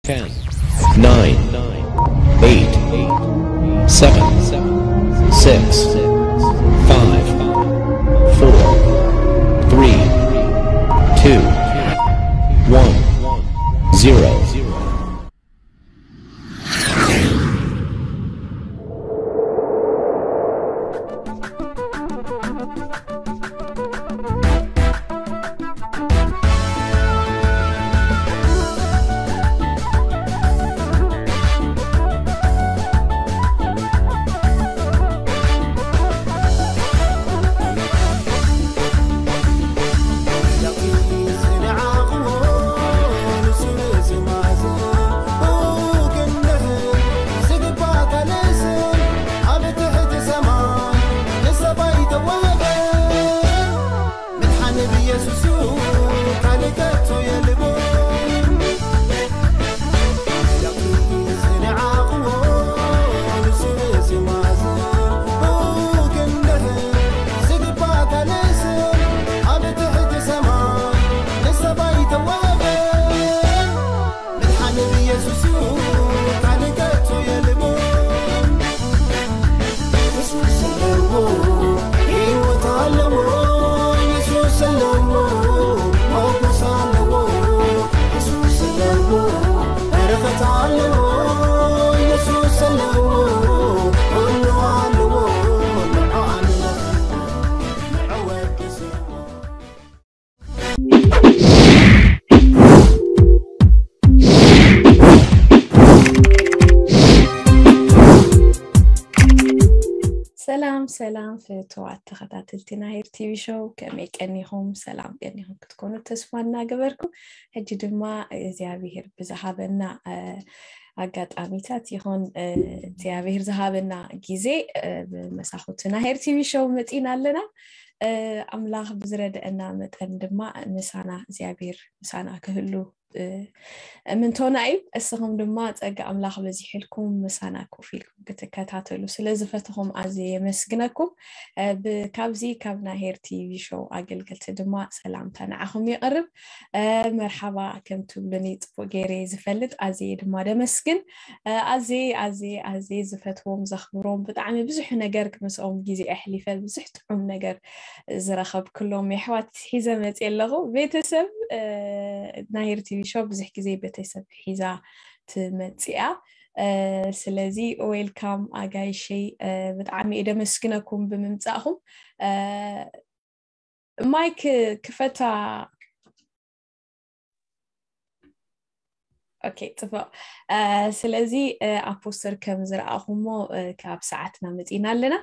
Ten, nine, eight, seven, six, five, four, three, two, one, zero. ሰላም ሰላም ፍትዋት ተኸታተልቲ ናሄር ቲቪ ሾው፣ ከመይ ቀኒኹም? ሰላም ቀኒኹም ክትኮኑ ተስፋ እናገበርኩ፣ ሕጂ ድማ እግዚኣብሄር ብዝሃበና ኣጋጣሚታት ይኹን እግዚኣብሄር ዝሃበና ግዜ ብመሳኹቲ ናሄር ቲቪ ሾው መፂና ኣለና። ኣምላኽ ብዝረድአና መጠን ድማ ምሳና እግዚኣብሄር ምሳና ክህሉ ምንቶና እዩ። እስኹም ድማ ጸጋ ኣምላኽ በዚሕልኩም ምሳና ኮፍ ኢልኩም ክትከታተሉ ስለ ዝፈትኹም ኣዝየ የመስግነኩም። ካብዚ ካብ ናሄር ቲቪ ሾው ኣገልገልቲ ድማ ሰላምታ ንዓኹም የቕርብ። መርሓባ ከም ትብሉኒ ጽቡቕ ገይረ ዝፈልጥ ኣዝየ ድማ ደመስግን። ኣዝየ ኣዝየ ኣዝየ ዝፈትዎም ዘኽብሮም ብጣዕሚ ብዙሕ ነገር ምስኦም ግዜ ኣሕሊፈ ብዙሕ ጥዑም ነገር ዝረኸብክሎም የሕዋት ሒዘ መፅየ ኣለኹ። ቤተሰብ ናሄር ቲቪ ሾው ብዙሕ ግዜ ቤተሰብ ሒዛ ትመፅያ። ስለዚ ዌልካም ኣጋይሸይ፣ ብጣዕሚ እየ ደመስግነኩም ብምምፃእኹም። ማይክ ክፈታ። ኦኬ፣ ፅቡቕ። ስለዚ ኣብ ፖስተር ከም ዝረኣኹሞ ካብ ሰዓትና መፂና ኣለና።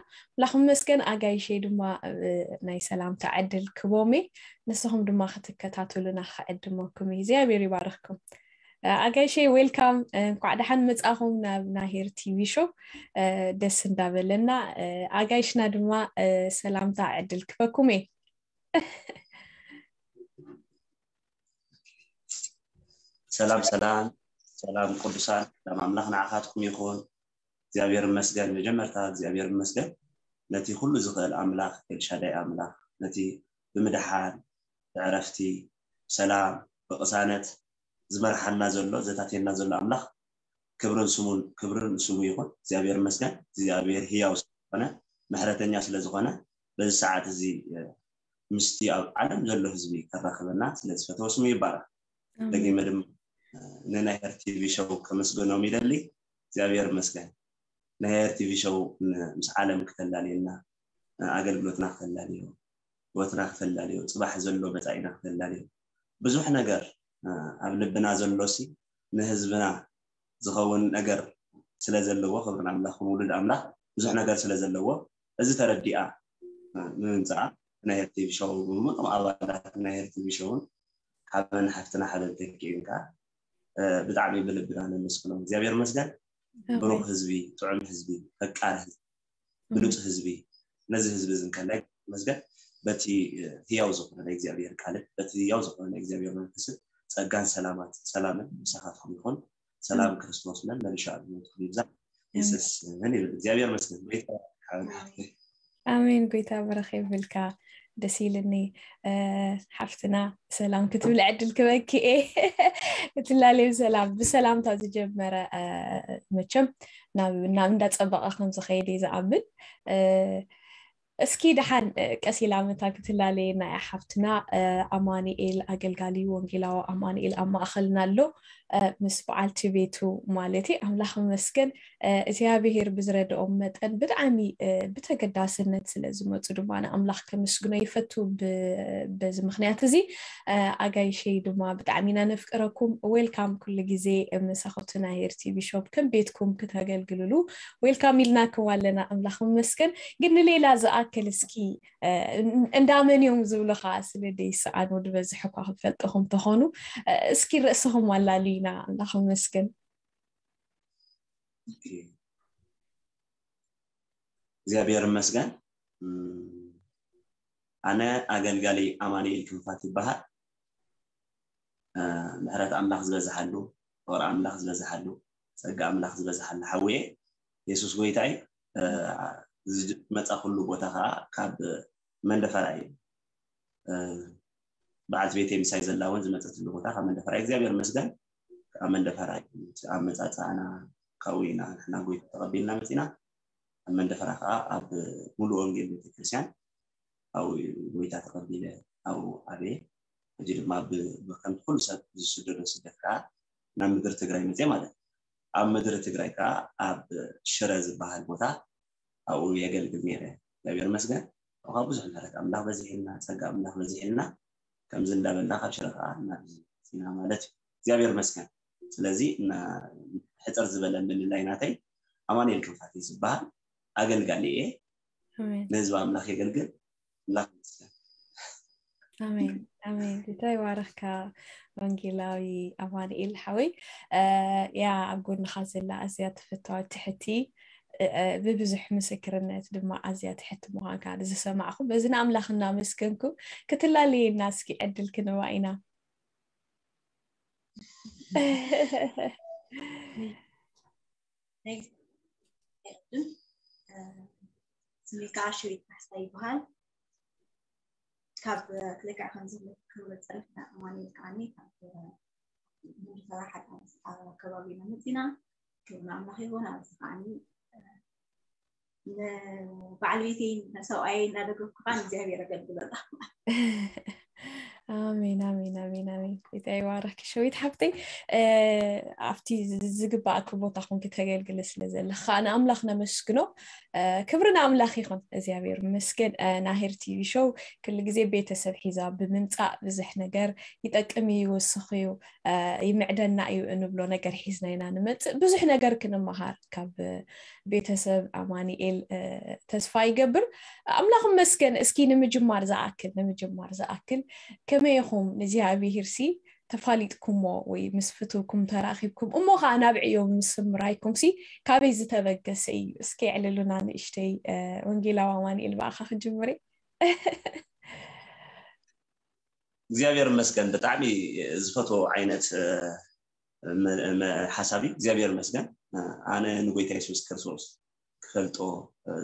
ላኹም መስገን ኣጋይሸይ ድማ ናይ ሰላምታ ዕድል ክቦሜ፣ ንስኹም ድማ ክትከታተሉና ክዕድመኩም እዩ። እግዚኣብሔር ይባርኽኩም። ኣጋይሸይ ዌልካም፣ እንኳዕ ደሓን መፃኹም ናብ ናሄር ቲቪ ሾው። ደስ እንዳበለና ኣጋይሽና ድማ ሰላምታ ዕድል ክበኩም እየ። ሰላም ሰላም ሰላም ቅዱሳን፣ ሰላም ኣምላኽ ንዓኻትኩም ይኹን። እግዚኣብሔር ይመስገን። መጀመርታ እግዚኣብሔር ይመስገን ነቲ ኩሉ ዝኽእል ኣምላኽ፣ ኤልሻዳይ ኣምላኽ፣ ነቲ ብምድሓን ብዕረፍቲ ብሰላም ብቕሳነት ዝመርሓና ዘሎ ዘታትየና ዘሎ ኣምላኽ ክብርን ስሙን ክብርን ስሙ ይኹን። እግዚኣብሔር ይመስገን። እግዚኣብሔር ህያው ስለዝኾነ ምሕረተኛ ስለዝኾነ በዚ ሰዓት እዚ ምስቲ ኣብ ዓለም ዘሎ ህዝቢ ከራኽበና ስለዝፈተወ ስሙ ይባረኽ። ደጊመ ድማ ንናይ ሄር ቲቪ ሾው ከመስገኖም ይደሊ። እግዚኣብሔር ይመስገን። ናይ ሄር ቲቪ ሾው ምስ ዓለም ክተላልየና፣ ኣገልግሎትና ክተላልዮ፣ ህይወትና ክተላልዮ፣ ጽባሕ ዘሎ መጻኢና ክተላልዮ፣ ብዙሕ ነገር ኣብ ልብና ዘሎ ሲ ንህዝብና ዝኸውን ነገር ስለ ዘለዎ፣ ክብሪ ንኣምላኽ፣ ውሉድ ኣምላኽ ብዙሕ ነገር ስለ ዘለዎ፣ እዚ ተረዲኣ ንምምፃኣ ናይ ሄር ቲቪ ሾው ብምሉኦም ኣባላት ናይ ሄር ቲቪ ሾውን ሓበን ሓፍትና ሓበን ተኪእን ከዓ ብጣዕሚ ብልብና ነመስግኖም። እግዚኣብሔር ይመስገን። ብሩኽ ህዝቢ፣ ጥዑም ህዝቢ፣ ፈቃር ህዝቢ፣ ብሉፅ ህዝቢ፣ ነዚ ህዝቢ እዚ እንከላይ መስገን በቲ ህያው ዝኾነ ናይ እግዚኣብሔር ቃልን በቲ ህያው ዝኾነ ናይ እግዚኣብሔር መንፈስን ጸጋን ሰላማት ሰላምን ምሳኻትኩም ይኹን። ሰላም ክርስቶስ መመልሻ ኣድነትኩም ይብዛ። ይሰስን ይብል። እግዚኣብሔር መስገን። ኣሜን። ጎይታ ብረኽ ይብልካ። ደስ ኢልኒ። ሓፍትና ሰላም ክትብል ዕድል ክበኪ እየ። ክትላለዩ ሰላም ብሰላምታ ዝጀመረ መቸም ናብ ናብ እንዳፀበቐ ከም ዝኸይድ እየ ዝኣምን። እስኪ ደሓን ቀሲላ መታ ክትላለየና እያ ሓፍትና። ኣማኒኤል ኣገልጋሊ ወንጌላዊ ኣማኒኤል ኣብ ማእኸልና ኣሎ፣ ምስ በዓልቲ ቤቱ ማለት እዩ። ኣምላኽ ይመስገን። እግዚኣብሄር ብዝረድኦም መጠን ብጣዕሚ ብተገዳስነት ስለ ዝመፁ ድማ ንኣምላኽ ከመስግኖ ይፈቱ። በዚ ምክንያት እዚ ኣጋይሸይ ድማ ብጣዕሚ ኢና ነፍቅረኩም። ዌልካም ኩሉ ግዜ መሳኹቲ ናይ ሄርቲ ቢሾፕ ከም ቤትኩም ክተገልግልሉ ዌልካም ኢልናኩም ኣለና። ኣምላኽ ይመስገን። ግን ንሌላ ዝኣክል እስኪ እንዳመን እዮም ዝብሉ ከዓ ስለ ደይሰኣኑ ዝበዝሕ እኳ ክፈልጥኹም ተኾኑ እስኪ ርእስኹም ኣላልዩና። ኣምላኽ ይመስገን። እግዚኣብሔር ይመስገን። ኣነ ኣገልጋሊ ኣማኑኤል ክንፋት ይበሃል። ምሕረት ኣምላኽ ዝበዝሓሉ፣ ፍቕሪ ኣምላኽ ዝበዝሓሉ፣ ጸጋ ኣምላኽ ዝበዝሓሉ ሓውየ የሱስ ጎይታ እዩ። ዝመጻኹሉ ቦታ ከዓ ካብ መንደፈራ እዩ። በዓልቲ ቤተይ ምሳይ ዘላ እውን ዝመጸትሉ ቦታ ካብ መንደፈራ እዩ። እግዚኣብሔር ይመስገን። ካብ መንደፈራ እዩ። ኣመጻጽኣና ካብኡ ኢና ንሕና ጎይታ ተቐቢልና መጺና። ኣብ መንደፈራ ከዓ ኣብ ሙሉ ወንጌል ቤተክርስትያን ኣብኡ እዩ ጎይታ ተቐቢለ ኣብኡ ዓብየ። ሕጂ ድማ ብከምቲ ኩሉ ሰብ ዝስደዶ ስደት ከዓ ናብ ምድሪ ትግራይ መፅየ ማለት እዩ። ኣብ ምድሪ ትግራይ ከዓ ኣብ ሽረ ዝበሃል ቦታ ኣብኡ የገልግል ነይረ። እግዚኣብሔር ይመስገን። ካብ ብዙሕ ምሕረት ኣምላኽ በዚሕልና፣ ፀጋ ኣምላኽ በዚሕልና ከምዚ እንዳበልና ካብ ሽረ ከዓ ናብዚ መፂና ማለት እዩ። እግዚኣብሔር ይመስገን። ስለዚ ሕፅር ዝበለ ምልላይ ናተይ ኣማኑኤል ክንፋት ዝበሃል ኣገልጋሊ እየ። ንህዝቢ ኣምላኽ የገልግል። ኣምላኽ ይመስገን። ኣሜን ኣሜን። ጌታ ይባረኽካ ወንጌላዊ ኣማኑኤል ሓወይ። ያ ኣብ ጎንኻ ዘላ ኣዝያ ተፈታዊ ትሕቲ ብብዙሕ ምስክርነት ድማ ኣዝያ ትሕቲ ምዃንካ ዝሰማዕኹ በዚ ንኣምላኽ እናመስገንኩ ክትላለየና እስኪ ዕድል ክንባ ኢና። ስሜ ከዓ ሽዊት ካሕሳ ይበሃል። ካብ ክልክዕ ከም ዝብለካ ክብረት ፀርፍና ኣማኑኤል ከዓኒ ካብ መንደፈራ ሓዳ ከባቢ ኢና መፂና። ክብሪ ንኣምላኽ ይኹን። ኣብዚ ከዓኒ ንበዓል ቤተይ ንሰብኣየይ እናደገፍኩ ከዓ ንእግዚኣብሔር ኣገልግሎ ኣለኹ። ኣሜን ኣሜን ኣሜን ኣሜን። ጌታ ይባረክ ሸዊት ሓብተይ። ኣብቲ ዝግባእኪ ቦታ ኮንኪ ተገልግሊ ስለ ዘለኺ ከዓ ንኣምላኽ ነመስግኖ። ክብሪ ንኣምላኽ ይኹን። እግዚኣብሔር ይመስገን። ናሄር ቲቪ ሾው ኩሉ ግዜ ቤተሰብ ሒዛ ብምምፃእ ብዙሕ ነገር ይጠቅም እዩ፣ ይወስኽ እዩ፣ ይምዕደና እዩ እንብሎ ነገር ሒዝና ኢና ንመፅእ። ብዙሕ ነገር ክንመሃር ካብ ቤተሰብ ኣማኒኤል ተስፋ ይገብር። ኣምላኽ ይመስገን። እስኪ ንምጅማር ዝኣክል ንምጅማር ዝኣክል ከመይ ኢኹም ንእግዚኣብሔር ሲ ተፋሊጥኩሞ ወይ ምስ ፍትውኩም ተራኺብኩም እሞ ከዓ ናብ ዕዮ ምስ ምራይኩም ሲ ካበይ ዝተበገሰ እዩ? እስኪ የዕልሉና ንእሽተይ። ወንጌላዊ ኣማኒኤል ብኣኻ ክጅምር እየ። እግዚኣብሔር ይመስገን። ብጣዕሚ ዝፈትዎ ዓይነት ሓሳብ እዩ። እግዚኣብሔር ይመስገን። ኣነ ንጎይታ የሱስ ክርስቶስ ክፈልጦ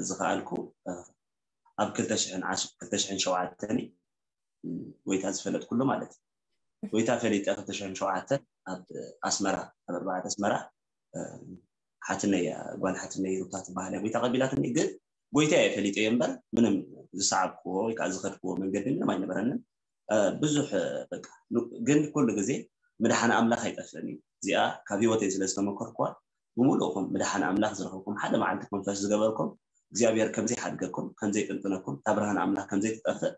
ዝኸኣልኩ ኣብ ክልተ ሽሕን ሸውዓተን እዩ። ጎይታ ዝፈለጥኩሉ ማለት እዩ። ጎይታ ፈሊጠ ክልተ ሽሕን ሸውዓተን ኣብ ኣስመራ ኣብ ኣርባዕተ ኣስመራ ሓትነይ ጓል ሓትነይ ሩታ ትበሃል እያ ጎይታ ቀቢላትኒ። ግን ጎይታ እየ ፈሊጠ እየ እምበር ምንም ዝሰዓብክዎ ወይ ከዓ ዝኸድክዎ መንገዲ ምንም ኣይነበረንን። ብዙሕ በቃ ግን ኩሉ ግዜ ምድሓን ኣምላኽ ኣይጠፍእን እዩ። እዚኣ ካብ ህይወተይ ስለ ዝተመኮርኩዋ ብምሉእኹም ምድሓን ኣምላኽ ዝረኸብኩም ሓደ መዓልቲ ኮንፈስ ዝገበርኩም እግዚኣብሔር ከምዘይሓድገኩም ከምዘይጥንጥነኩም እታ ብርሃን ኣምላኽ ከምዘይትጠፍእ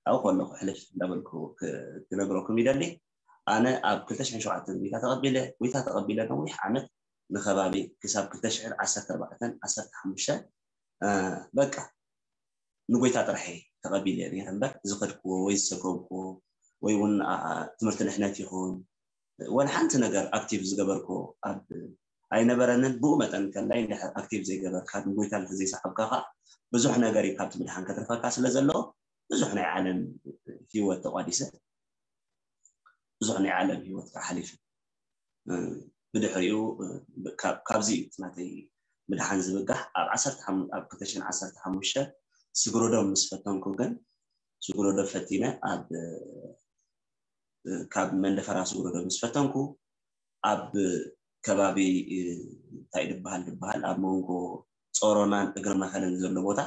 ኣብኡ ከለኹ ሕልፍ እንዳበልኩ ክነግረኩም ይደሊ። ኣነ ኣብ ክልተ ሽሕን ሸውዓተን ጎይታ ተቐቢለ ጎይታ ተቐቢለ ነዊሕ ዓመት ንኸባቢ ክሳብ ክልተ ሽሕን ዓሰርተ ኣርባዕተን ዓሰርተ ሓሙሽተን በቃ ንጎይታ ጥራሕ ተቐቢለ ነይረ እምበር ዝኸድክዎ ወይ ዝሰከምክዎ ወይ እውን ትምህርቲ ድሕነት ይኹን ወላ ሓንቲ ነገር ኣክቲቭ ዝገበርክዎ ኣብ ኣይነበረንን። ብኡ መጠን ከላይ ኣክቲቭ ዘይገበርካ ንጎይታ እንተዘይሰዓብካ ከዓ ብዙሕ ነገር እዩ ካብቲ ምድሓን ከትርፈካ ስለ ዘለዎ ብዙሕ ናይ ዓለም ህይወት ተቋዲሰ ብዙሕ ናይ ዓለም ህይወት ከዓ ሓሊፈ። ብድሕሪኡ ካብዚ እዩ ናተይ ምድሓን ዝብጋሕ ኣብ ዓሰርተ ኣብ ክልተ ሽሕን ዓሰርተ ሓሙሽተ ስግረዶም ምስ ፈተንኩ ግን ስጉረዶ ፈቲነ ኣብ ካብ መንደፈራ ስጉረዶ ምስ ፈተንኩ ኣብ ከባቢ እንታይ ድበሃል ድበሃል ኣብ መንጎ ጾሮናን እግሪ መኸለን ዘሎ ቦታ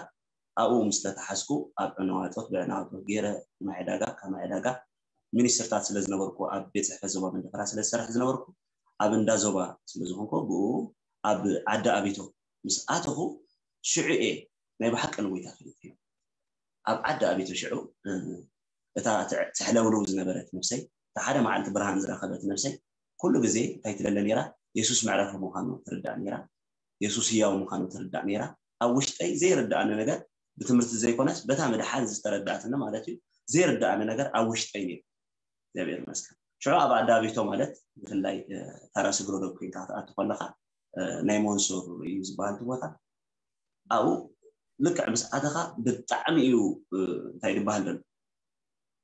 ኣብኡ ምስ ተተሓዝኩ ኣብ ዕነዋጦት ብዕናዋጦት ገይረ ማይ ዕዳጋ ካብ ማይ ዕዳጋ ሚኒስትርታት ስለ ዝነበርኩ ኣብ ቤት ጽሕፈት ዞባ መንደፈራ ስለ ዝሰርሕ ዝነበርኩ ኣብ እንዳ ዞባ ስለ ዝኾንኩ ብኡ ኣብ ዓዲ ኣቢቶ ምስ ኣተኹ ሽዑ እየ ናይ ብሓቂ ንጎይታ ፈሊጠዮ። ኣብ ዓዲ ኣቢቶ ሽዑ እታ ትሕለውልው ዝነበረት ነብሰይ እታ ሓደ መዓልቲ ብርሃን ዝረኸበት ነብሰይ ኩሉ ግዜ እንታይ ትለለ ነይራ? የሱስ መዕረፊ ምዃኑ ትርዳእ ነይራ። የሱስ ህያው ምዃኑ ትርዳእ ነይራ። ኣብ ውሽጠይ ዘይርዳኣኒ ነገር ብትምህርቲ ዘይኮነስ በታ ምድሓን ዝተረዳእትኒ ማለት እዩ ዘይርዳኣኒ ነገር ኣብ ውሽጠይ ነይሩ። እግዚኣብሔር ይመስገን። ሽዑ ኣብ ኣዳቢቶ ማለት ብፍላይ ታራ ስግሮ ዶ ኮይንካ ክትኣቱ ከለካ ናይ ሞንሱር እዩ ዝበሃል እቲ ቦታ ኣብኡ ልክዕ ምስ ኣተኻ ብጣዕሚ እዩ እንታይ ዝበሃል ዘሎ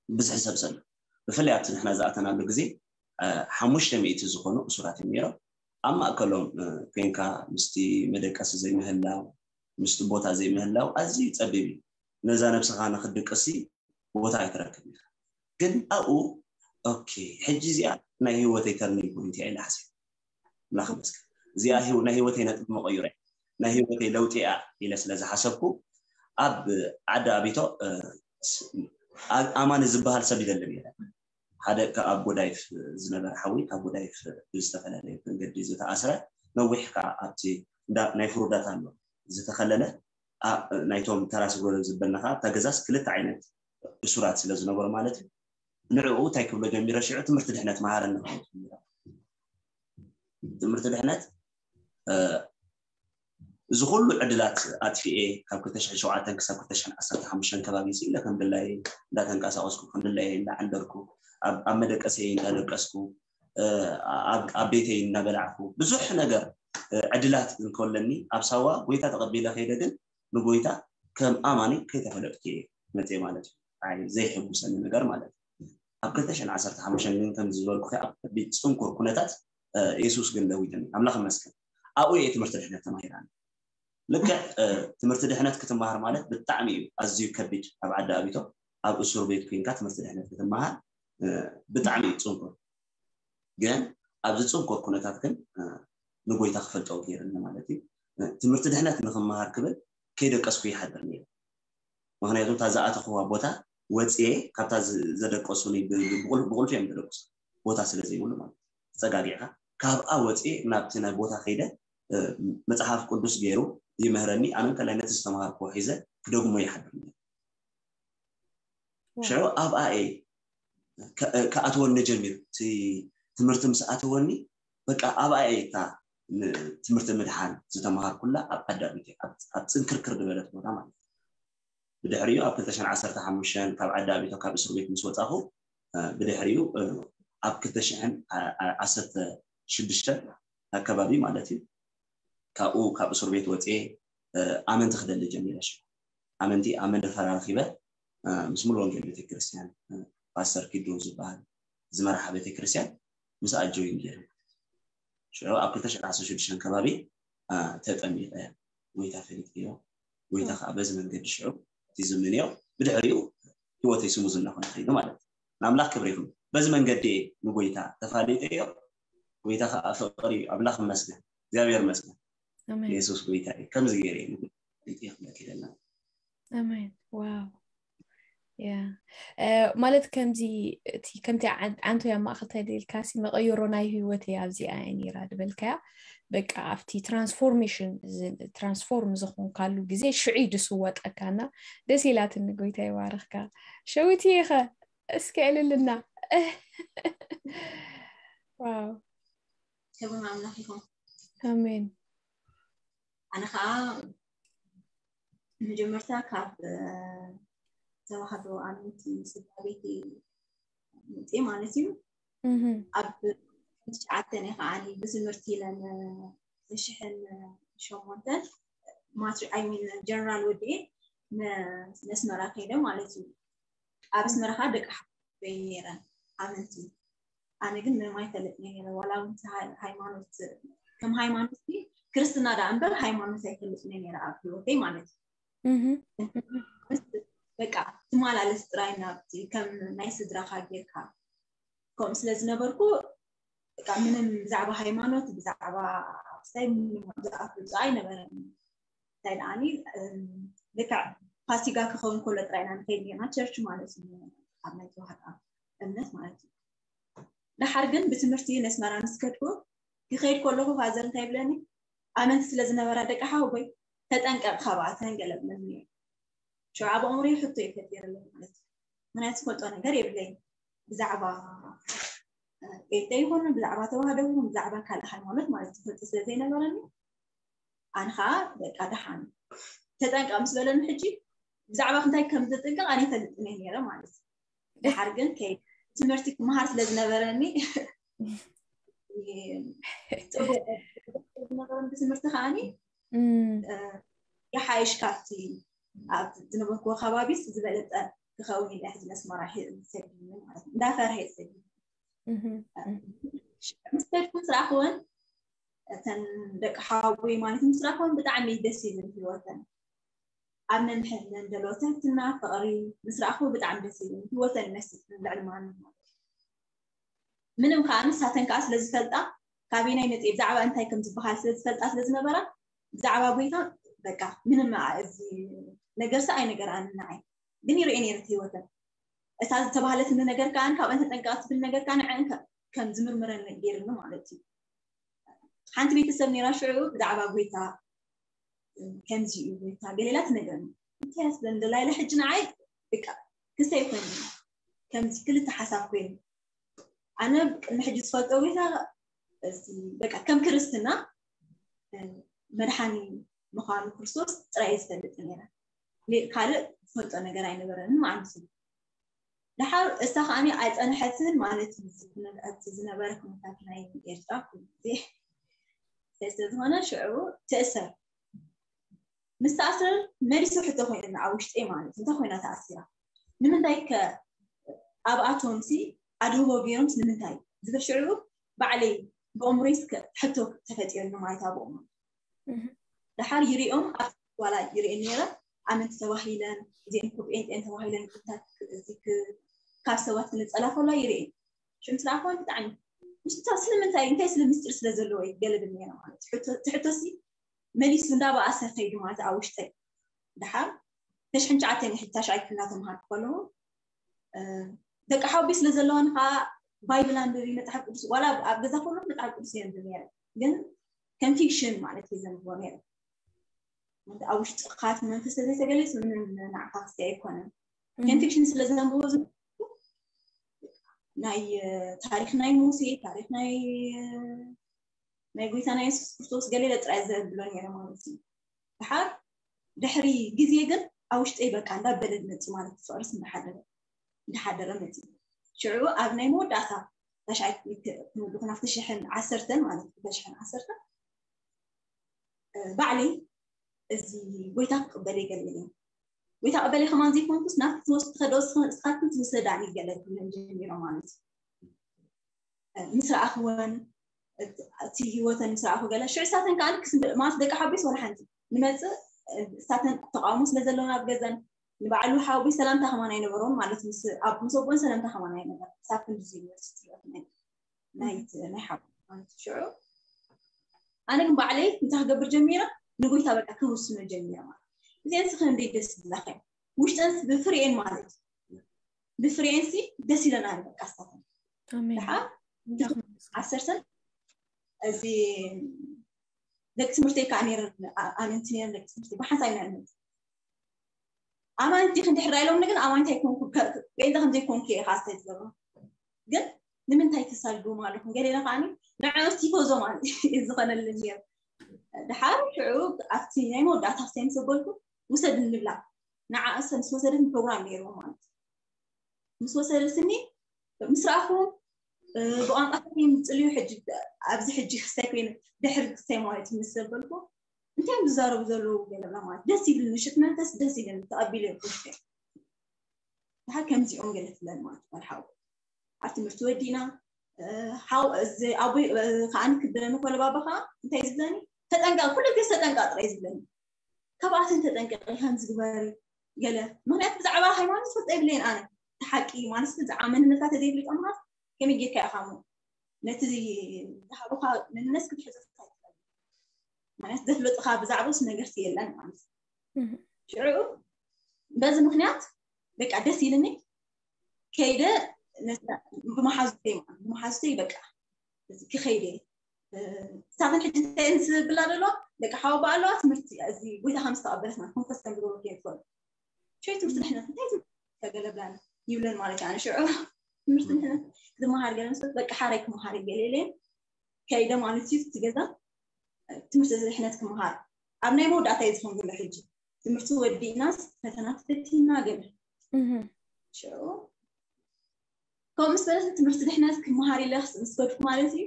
ብዝሒ ሰብ ዘሎ ብፍላይ ኣብቲ ንሕና ዝኣተናሉ ግዜ ሓሙሽተ ሚእቲ ዝኾኑ እሱራት እዮም ነይሮም ኣብ ማእከሎም ኮይንካ ምስቲ መደቀሲ ዘይምህላው ምስቲ ቦታ ዘይምህላው ኣዝዩ ጸቢብ እዩ ነዛ ነብስኻ ንክትድቅሲ ቦታ ኣይትረክብ ኢኻ ግን ኣብኡ ኦኬ ሕጂ እዚኣ ናይ ህይወተይ turning point እያ ኢለ ሓሲብ ኣምላኽ ይመስገን እዚኣ ናይ ህይወተይ ነጥቢ መቐይሮ ናይ ህይወተይ ለውጢ እያ ኢለ ስለ ዝሓሰብኩ ኣብ ዓዲ ኣቢቶ ኣማኒ ዝበሃል ሰብ ይደልን የለን ሓደ ካብ ጎዳይፍ ዝነበረ ሓዊ ካብ ጎዳይፍ ብዝተፈላለየ መንገዲ ዝተኣስረ ነዊሕ ከዓ ኣብቲ ናይ ፍሩዳት ኣሎ ዝተኸለለ ናይቶም ተራ ስግሮ ዝበልና ከዓ ኣብታ ገዛስ ክልተ ዓይነት እሱራት ስለ ዝነበሩ ማለት እዩ ንዕኡ እንታይ ክብሎ ጀሚረ ሽዑ ትምህርቲ ድሕነት መሃረኒ ትምህርቲ ድሕነት እዚ ኩሉ ዕድላት ኣጥፊኤ ካብ ክልተ ሽሕን ሸውዓተን ክሳብ ክልተ ሽሕን ዓሰርተ ሓሙሽተን ከባቢ ስኢለ ከም ድላየ እንዳተንቀሳቀስኩ ከም ድላየ እንዳዓንደርኩ ኣብ መደቀሰይ እንዳደቀስኩ ኣብ ቤተይ እናበላዕኩ ብዙሕ ነገር ዕድላት እንከለኒ ኣብ ሳዋ ጎይታ ተቐቢለ ከይደ ግን ንጎይታ ከም ኣማኒ ከይተፈለጥኩ እየ መፅየ ማለት እዩ። ኣይ ዘይሕጉሰኒ ነገር ማለት እዩ። ኣብ ክልተ ሽሕን ዓሰርተ ሓሙሽተን ግን ከም ዝበልኩ ኣብ ከቢድ ፅንኩር ኩነታት የሱስ ግን ለዊጥኒ። ኣምላኽ ይመስገን። ኣብኡ እየ ትምህርቲ ድሕነት ተማሂራኒ። ልክዕ ትምህርቲ ድሕነት ክትመሃር ማለት ብጣዕሚ እዩ ኣዝዩ ከቢድ ኣብ ዓዲ ኣቢቶ ኣብ እሱር ቤት ኮይንካ ትምህርቲ ድሕነት ክትመሃር ብጣዕሚ እዩ ፅንኩር። ግን ኣብዚ ፅንኩር ኩነታት ግን ንጎይታ ክፈልጦ ገይርኒ ማለት እዩ። ትምህርቲ ድሕነት ንክመሃር ክብል ከይደቀስኩ ይሓድር ነይረ። ምክንያቱ እታ ዝኣተኽዋ ቦታ ወፅየ ካብታ ዘደቀሱኒ ብቁልፊ እዮም ተደቅሱ ቦታ ስለ ዘይብሉ ማለት ተፀጋጊዕካ ካብኣ ወፅየ ናብቲ ናይ ቦታ ከይደ መፅሓፍ ቅዱስ ገይሩ ይምህረኒ ኣነ ከላይ ነቲ ዝተምሃርክዎ ሒዘ ክደግሞ ይሓድር ነይረ ሽዑ ኣብኣ እየ ክኣትወኒ ጀሚሩ እቲ ትምህርቲ ምስ ኣተወኒ በቃ ኣብኣ እየ እታ ትምህርቲ ምድሓን ዝተምሃርኩላ ኣብ ዓዲ ኣቢተ ኣብ ፅንክርክር ዝበለት ቦታ ማለት እዩ ብድሕሪኡ ኣብ ክልተ ሽሕን ዓሰርተ ሓሙሽተን ካብ ዓዲ ኣቢተ ካብ እስር ቤት ምስ ወፃኹ ብድሕሪኡ ኣብ ክልተ ሽሕን ዓሰርተ ሽዱሽተን ኣከባቢ ማለት እዩ ካብኡ ካብ እስር ቤት ወፅየ ኣመንቲ ክደሊ ጀሚረ ሽዑ ኣመንቲ ኣብ መንደፈራ ረኺበ ምስ ሙሉ ወንጌል ቤተክርስትያን ፓስተር ኪዱ ዝበሃል ዝመርሓ ቤተክርስትያን ምስኣ ጆይን ገይረ ሽዑ ኣብ ክልተ ሽሕን ዓሰርተ ሽዱሽተን ከባቢ ተጠሚቐ ጎይታ ፈሊጠዮ ጎይታ ከዓ በዚ መንገዲ ሽዑ እቲ ዝምንዮ ብድሕሪኡ ህይወተይ ስሙዝ እናኾነ ከይዱ ማለት እዩ ንኣምላኽ ክብሪ ይኹን በዚ መንገዲ ንጎይታ ተፋሊጠዮ ጎይታ ከዓ ፍቅሪ እዩ ኣምላኽ ይመስገን እግዚኣብሔር ይመስገን ኣሜን። የሱስ ጎይታ እዩ ከምዚ ገይረ እዩ ንጎይታ ክብለክ ይደልና ኣሜን። ዋው። ያ። እ፣ ማለት ከምዚ፣ እቲ፣ ከምቲ ዓን-፣ ዓንቶ ያ ማእኸል ተደልካሲ መቐየሮ ናይ ህይወት እያ ኣብዚኣ እያ ነይራ ዝበልካያ። በቃ ኣብቲ ትራንስፎርሜሽን፣ ዝ-፣ ትራንስፎርም ዝኾንካሉ ግዜ ሽዑ እዩ ዝስወጠካና። ደስ ኢላትኒ፣ ጎይታ ይባርኽካ። ሸዊትዬ ኸ እስኪ ዕልልና። ዋው። ክብሪ ንኣምላኽ ይኹን። ኣሜን። ኣነ ኸዓ መጀመርታ ካብ፣ እ፣ ተዋህዶ ኣመንቲ ስድራ ቤት መፅየ ማለት እዩ። እህ። ኣብ ትሽዓተ እየ ከዓ ብትምህርቲ ኢለን ሽሕን ሸሞንተን ማትሪ-፣ I mean ጀነራል ወዲኤ ነ-፣ ነስመራ ከይደ ማለት እዩ። ኣብ ኣስመራ ከዓ ደቂ ሓወይ ነይረን ኣመንቲ። ኣነ ግን ምንም ኣይፈልጥን እየ ነይረ። ዋላ እውን እቲ ሃይ-፣ ሃይማኖት፣ ከም ሃይማኖት ግን ክርስትና ደኣ እምበር ሃይማኖት ኣይፈልጥን እየ ነይረ ኣብ ህይወተይ ማለት እዩ። እህ። በቃ እቲ ትመላለስ ጥራይ ናብቲ ከም ናይ ስድራኻ ጌርካ ከምኡ ስለ ዝነበርኩ፣ በቃ ምንም ብዛዕባ ሃይማኖት፣ ብዛዕባ ክስታይ ምንም ዝኣፍልጦ ኣይነበረን። እንታይ ደኣኒ ልክዕ ፋሲጋ ክኸውን ከሎ ጥራይ ኢና ንኸይድ ኔርና፣ ቸርች ማለት እዩ፣ ኣብ ናይ ተዋህዶ እምነት ማለት እዩ። ደሓር ግን ብትምህርቲ ነስመራ ምስ ከድኩ፣ ክኸይድ ከለኹ ፋዘር እንታይ ይብለኒ፣ ኣመንቲ ስለ ዝነበራ ደቂ ሓወቦይ፣ ተጠንቀቕ ካብኣተን ገለ ብለኒ። ሽዑ ኣብ ኣእምሮይ ሕቶ ይፈጢርለይ ማለት እዩ። ምክንያቱ ዝፈልጦ ነገር የብለይ ብዛዕባ ጴንጤ ይኹን ብዛዕባ ተዋህዶ ይኹን ብዛዕባ ካልእ ሃይማኖት ማለት ትፈልጢ ስለ ዘይነበረኒ፣ ኣነ ከዓ በቃ ደሓን ተጠንቀቕ ምስ በለኒ፣ ሕጂ ብዛዕባ እንታይ ከም ዝጥንቀቕ ኣነ ይፈልጥን እየ ነይረ ማለት እዩ። ደሓር ግን ከይ ትምህርቲ ክመሃር ስለ ዝነበረኒ ጽቡቅ ዝነበረኒ ብትምህርቲ ከዓኒ ይሓይሽ ካብቲ ኣብ ዝነበርኩዎ ከባቢስ ዝበለጸ ክኸውን ኢለ ሕዚ ነስመራ ሰዲኒ ማለት እዩ። እንዳፈርሀ ሰዲኒ ምስ ከድኩ ስራሕወን እተን ደቂ ሓወቦይ ማለት ምስ ረኣኽወን ብጣዕሚ ደስ ይብል ህይወተን። ኣብ ነንሕድነን ዘለዎ ትሕትና፣ ፍቕሪ ምስ ረኣኽዎ ብጣዕሚ ደስ ይብል። ህይወተን ይመስል ልዕሊ ማንም ማለት እዩ። ምንም ከዓ ንሳተን ከዓ ስለ ዝፈልጣ ካበየናይ መፂኤ ብዛዕባ እንታይ ከም ዝበሃል ስለ ዝፈልጣ ስለ ዝነበራ ብዛዕባ ጎይታ በቃ ምንም እዚ ነገርሲ ኣይነገርኣንን ንዓይ። ግን ይርእየን እየ ነቲ ህይወተን። እታ ዝተባህለትኒ ነገር ከዓ ካብአን ተጠንቀቓ ትብል ነገር ከዓ ንዐን ከም ዝምርምረን ገይርኒ ማለት እዩ። ሓንቲ ቤተሰብ ነይራ ሽዑ ብዛዕባ ጎይታ ከምዚ እዩ ጎይታ ገሌላ ትነግረኒ። እንታይ ስለ እንደላይለ ሕጂ ንዓይ በቃ ክሰይ ኮይኑ ከምዚ ክልተ ሓሳብ ኮይኑ ኣነ ቅድሚ ሕጂ ዝፈልጦ ጎይታ በቃ ከም ክርስትና መድሓኒ ምዃኑ ክርስቶስ ጥራይ ዝፈልጥ ነይረ። ካልእ ዝፈልጦ ነገር ኣይነበረንን ማለት እዩ። ደሓር እሳ ከዓኒ ኣይጸንሐትን ማለት እዩ። ዝነበረ ኩነታት ናይ ኤርትራ ኩሉ ግዜ ስለዝኾነ ሽዑ ትእሰር ምስ ተኣስረ መሊሱ ሕቶ ኮይኑና ኣብ ውሽጠይ ማለት እንታይ ኮይና ተኣሲራ ንምንታይ ከ ኣብኣቶም ሲ ኣድህቦ ገይሮም ንምንታይ ዝብል ሽዑ ባዕለይ ብኣእምሮይ እስከ ሕቶ ተፈጢሩኒ ማለት ኣብኦም ደሓር ይሪኦም ኣብ ዋላ ይሪኤን ነይረ ኣመንቲ ተባሂለን እዚአን እኮ ጴንጤን ተባሂለን ኩነታት ካብ ሰባት ክንጸላ ከላ ይሪኤን ሽዑ ምስ ረኣኽወን ብጣዕሚ ምስታ ስለምንታይ እንታይ ስለ ምስጢር ስለ ዘለዎ ገለ ብል ነይረ ማለት ትሕቶ ሲ መሊሱ እንዳበኣሰ ከይዱ ማለት ኣብ ውሽጠይ ደሓር ተሽሕን ትሽዓተን ሕጂ ታሽዓይ ክፍሊ እናተምሃርኩ ከለኹ ደቂ ሓውቢ ስለ ዘለዋን ከዓ ባይብል ኣንብቢ መፅሓፍ ቅዱስ ዋላ ኣብ ገዛ ከለኹ መፅሓፍ ቅዱስ የንብብ ነይረ ግን ከም ፊክሽን ማለት እዩ ዘንብቦ ነይረ ኣብ ውሽጥካ እቲ መንፈስ ተዘይተገሊፁ ምንም ንዓካ ክስታይ ኣይኮነን ከም ፊክሽን ስለ ዘንብቦ ናይ ታሪክ ናይ ሙሴ ታሪክ ናይ ናይ ጎይታና የሱስ ክርስቶስ ገሌለ ጥራይ ዘብሎ ነይረ ማለት እዩ ድሓር ድሕሪ ግዜ ግን ኣብ ውሽጠይ በቃ እንዳበለ መፂ ማለት ፍቅርስ እንዳሓደረ እንዳሓደረ መፂ ሽዑ ኣብ ናይ መወዳእታ ታሽዓይ ክንወድኹ ናብቲ ሽሕን ዓሰርተን ማለት እዩ ሽሕን ዓሰርተን ባዕለይ እዚ ጎይታ ክቅበል ይገለኒ ጎይታ ቅበለይ ከማን ዘይኮንኩስ ናብቲ ትወስድ ትኸዶ እስኻትክን ትውሰዳኒ ገለ ክብለን ጀሚሮም ማለት እዩ ምስ ረኣኽወን እቲ ህይወተን ምስ ረኣኹ ገለ ሽዑ ሳተን ከዓ ክስንብል ማለት ደቂ ሓቢስ ወላ ሓንቲ ንመፅእ ሳተን ተቃውሞ ስለ ዘለውን ኣብ ገዘን ንባዕሉ ሓዊ ሰላምታ ከማን ኣይነበሮም ማለት ምስ ኣቦን ሰላምታ ከማን ኣይነበር ሳብ ክንዲ ዩኒቨርሲቲ ናይ ናይ ሓዊ ማለት ሽዑ ኣነ ግን ባዕለይ እንታይ ክገብር ጀሚረ ንጎይታ በቃ ክውስኖ ጀሚረ ማለት እዚአን ስኸ እንደ ደስ ዝብላኸ ውሽጠን ብፍሬኤን ማለት ብፍሬኤን ሲ ደስ ይለና በቃ ስታተን ደሓ ዓሰርተን እዚ ደቂ ትምህርቲ ከዓ ነይረን ኣመንቲ ነይረን ደቂ ትምህርቲ ብሓንሳብ ኢና ኣመንቲ ኣማንቲ ክንድሕር ኢሎም ግን ኣማንቲ ኣይኮንኩ ጴንጠ ከምዘይኮንኩ እየ ካስታይ ዝገብሮ ግን ንምንታይ ተሳድቦም ኣለኹም ገሌና ከዓ ንዕኦም ቲፎዞ ማለት እዩ ዝኮነልን ነይሩ ድሓር ሽዑ ኣብቲ ናይ መወዳእታ ክሳይ ምስ በልኩ ውሰድ ንብላ ንዓ እሰ ምስ ወሰደት ፕሮግራም ነይርዎ ማለት ምስ ወሰደትኒ ምስ ረኣኹም ብቋንቋ ተኮይኑ ዝፅልዩ ሕጂ ኣብዚ ሕጂ ክስታይ ኮይኑ ድሕሪ ክስታይ ማለት ምስ ዘበልኩ እንታይ ዝዛረቡ ዘለዉ ገለና ማለት ደስ ይብል ምሽት መንፈስ ደስ ይብል ተቐቢሉ ይኩሽከ ድሓር ከምዚኦም ገለ ትብለን ማለት ጓል ሓው ኣብ ትምህርቲ ወዲና ሓው ኣቦይ ከዓኒ ክብለኒ ኮለ ባባ ከዓ እንታይ ዝብለኒ ተጠንቀቅ ኩሉ ግዜ ተጠንቀቅ ጥራይ ዝብለኒ ካብኣተን ተጠንቀቂ ከምዚ ግበሪ ገለ ምክንያት ብዛዕባ ሃይማኖት ዝፈልጦ የብለይን ኣነ። እቲ ሓቂ ማለት ብዛዕባ መንነትካ ተዘይፍልጥ ኣምራት ከመይ ጌርካ ኢኻ እሞ ነቲ ዝሃቡካ መንነት ክትሕዞ ትኽእል? ማለት ዘፍለጡካ ብዛዕባስ ነገርስ የለን ማለት እዩ። ሽዑ በዚ ምክንያት በቃ ደስ ኢልኒ ከይደ ነዛ ብመሓዙተይ ማለት ብመሓዙተይ በቃ እዚ ክኸይደ ሳተን ሕጂ እንታይ ዝብላ ዘለዋ ደቂ ሓወባ ኣለዋ ትምህርቲ እዚ ጎይታ ከም ዝተቐበለትና ኮንፈስ ከም ዝገበሩ ከይትፈልጡ ሸይ ትምህርቲ ድሕነት እንታይ ተገለብላን ይብለን ማለት እዩ። ኣነ ሽዑ ትምህርቲ ድሕነት ዝመሃር ገለ ምስ በቃ ሓራይ ክመሃር ገለ ኢለ ከይደ ማለት እዩ። እቲ ገዛ ትምህርቲ ድሕነት ክመሃር ኣብ ናይ መወዳእታ እዩ ዝኸውን ዘሎ። ሕጂ ትምህርቲ ወዲእናስ ፈተና ተፈቲና ገለ ሽዑ ከምኡ ምስ በለት ትምህርቲ ድሕነት ክመሃር ኢለ ምስ ከድኩ ማለት እዩ።